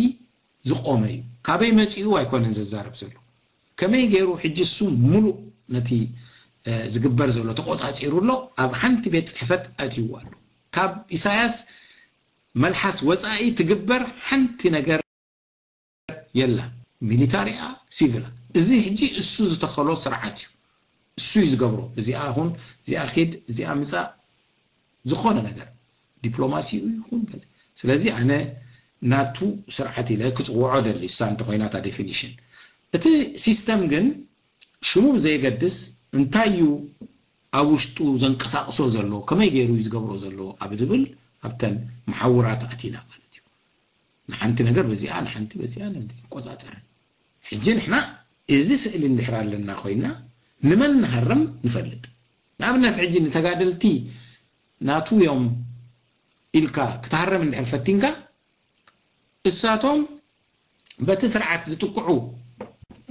ዝቆመ እዩ። ካበይ መጺኡ ኣይኮነን ዘዛረብ ዘሎ። ከመይ ገይሩ ሕጂ እሱ ሙሉእ ነቲ ዝግበር ዘሎ ተቆጻጺሩ ኣሎ። ኣብ ሓንቲ ቤት ጽሕፈት ኣትይዎ ኣሎ። ካብ ኢሳያስ መልሓስ ወጻኢ ትግበር ሓንቲ ነገር የላ። ሚሊታሪኣ፣ ሲቪላ። እዚ ሕጂ እሱ ዝተኸሎ ስርዓት እዩ። እሱ እዩ ዝገብሮ። እዚኣ ኹን፣ እዚኣ ኺድ፣ እዚኣ ምጻእ፣ ዝኾነ ነገር ዲፕሎማሲኡ ይኹን ገለ። ስለዚ ኣነ ናቱ ስርዓት ኢለ ክጽውዖ ደሊ፣ እሳ እንተኾይናታ ዴፊኒሽን። እቲ ሲስተም ግን ሽሙ ብዘየገድስ እንታይ እዩ ኣብ ውሽጡ ዘንቀሳቕሶ ዘሎ፣ ከመይ ገይሩ እዩ ዝገብሮ ዘሎ ኣብ ዝብል ኣብተን መሓውራት ኣቲና ማለት እዩ። ንሓንቲ ነገር በዚኣ፣ ንሓንቲ በዚኣ ንቆጻጸር። ሕጂ ንሕና እዚ ስእሊ እንድሕር ኣለና ኮይና ንመን ንሃርም ንፈልጥ። ንኣብነት ሕጂ ንተጋደልቲ ናቱ እዮም ኢልካ ክትሃርም እንድሕር ፈቲንካ እሳቶም በቲ ስርዓት ዝጥቅዑ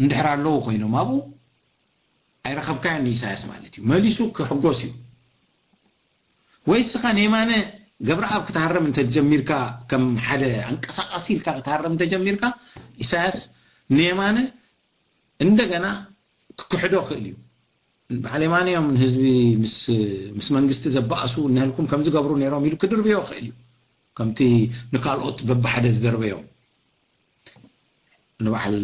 እንድሕር ኣለዉ ኮይኖም ኣብኡ ኣይረኸብካዮን ንኢሳያስ ማለት እዩ። መሊሱ ክሕጎስ እዩ። ወይ እስኻ ንየማነ ገብረኣብ ክትሃረም እንተጀሚርካ ከም ሓደ ኣንቀሳቃሲ ኢልካ ክትሃረም እንተጀሚርካ ኢሳያስ ንየማነ እንደገና ክክሕዶ ክእል እዩ። በዓል የማነ እዮም ንህዝቢ ምስ መንግስቲ ዘባእሱ እነህልኩም ከምዚ ገብሩ ነይሮም ኢሉ ክድርብዮ ክእል እዩ። ከምቲ ንካልኦት በብሓደ ዝደርበዮም ንበዓል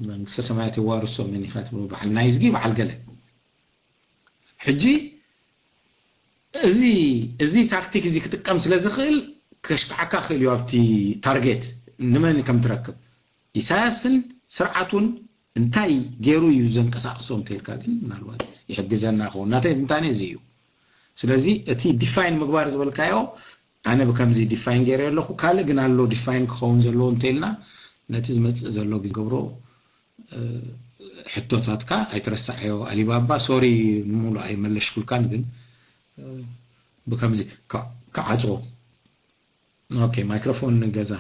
መንግስተ ሰማያት የዋርሶ መን ኢኻ ትብሉ በዓል ናይዝጊ በዓል ገለ ሕጂ እዚ እዚ ታክቲክ እዚ ክጥቀም ስለ ዝኽእል ከሽክዓካ ክእል እዩ ኣብቲ ታርጌት ንመን ከም ትረክብ ኢሳያስን ስርዓቱን እንታይ ገይሩ እዩ ዘንቀሳቅሶ እንተልካ ግን ምናልባት ይሕግዘና ክኸውን ናተይ ትንታኔ እዚ እዩ ስለዚ እቲ ዲፋይን ምግባር ዝበልካዮ ኣነ ብከምዚ ዲፋይን ገይረ ኣለኹ ካልእ ግን ኣሎ ዲፋይን ክኸውን ዘለዎ እንተልና ነቲ ዝመፅእ ዘሎ ግዜ ገብሮ ሕቶታትካ ኣይትረሳዓዮ ኣሊባባ ሶሪ ንሙሉ ኣይመለሽኩልካን ግን ብከምዚ ክዓፅዎ ኦኬ ማይክሮፎን ገዛ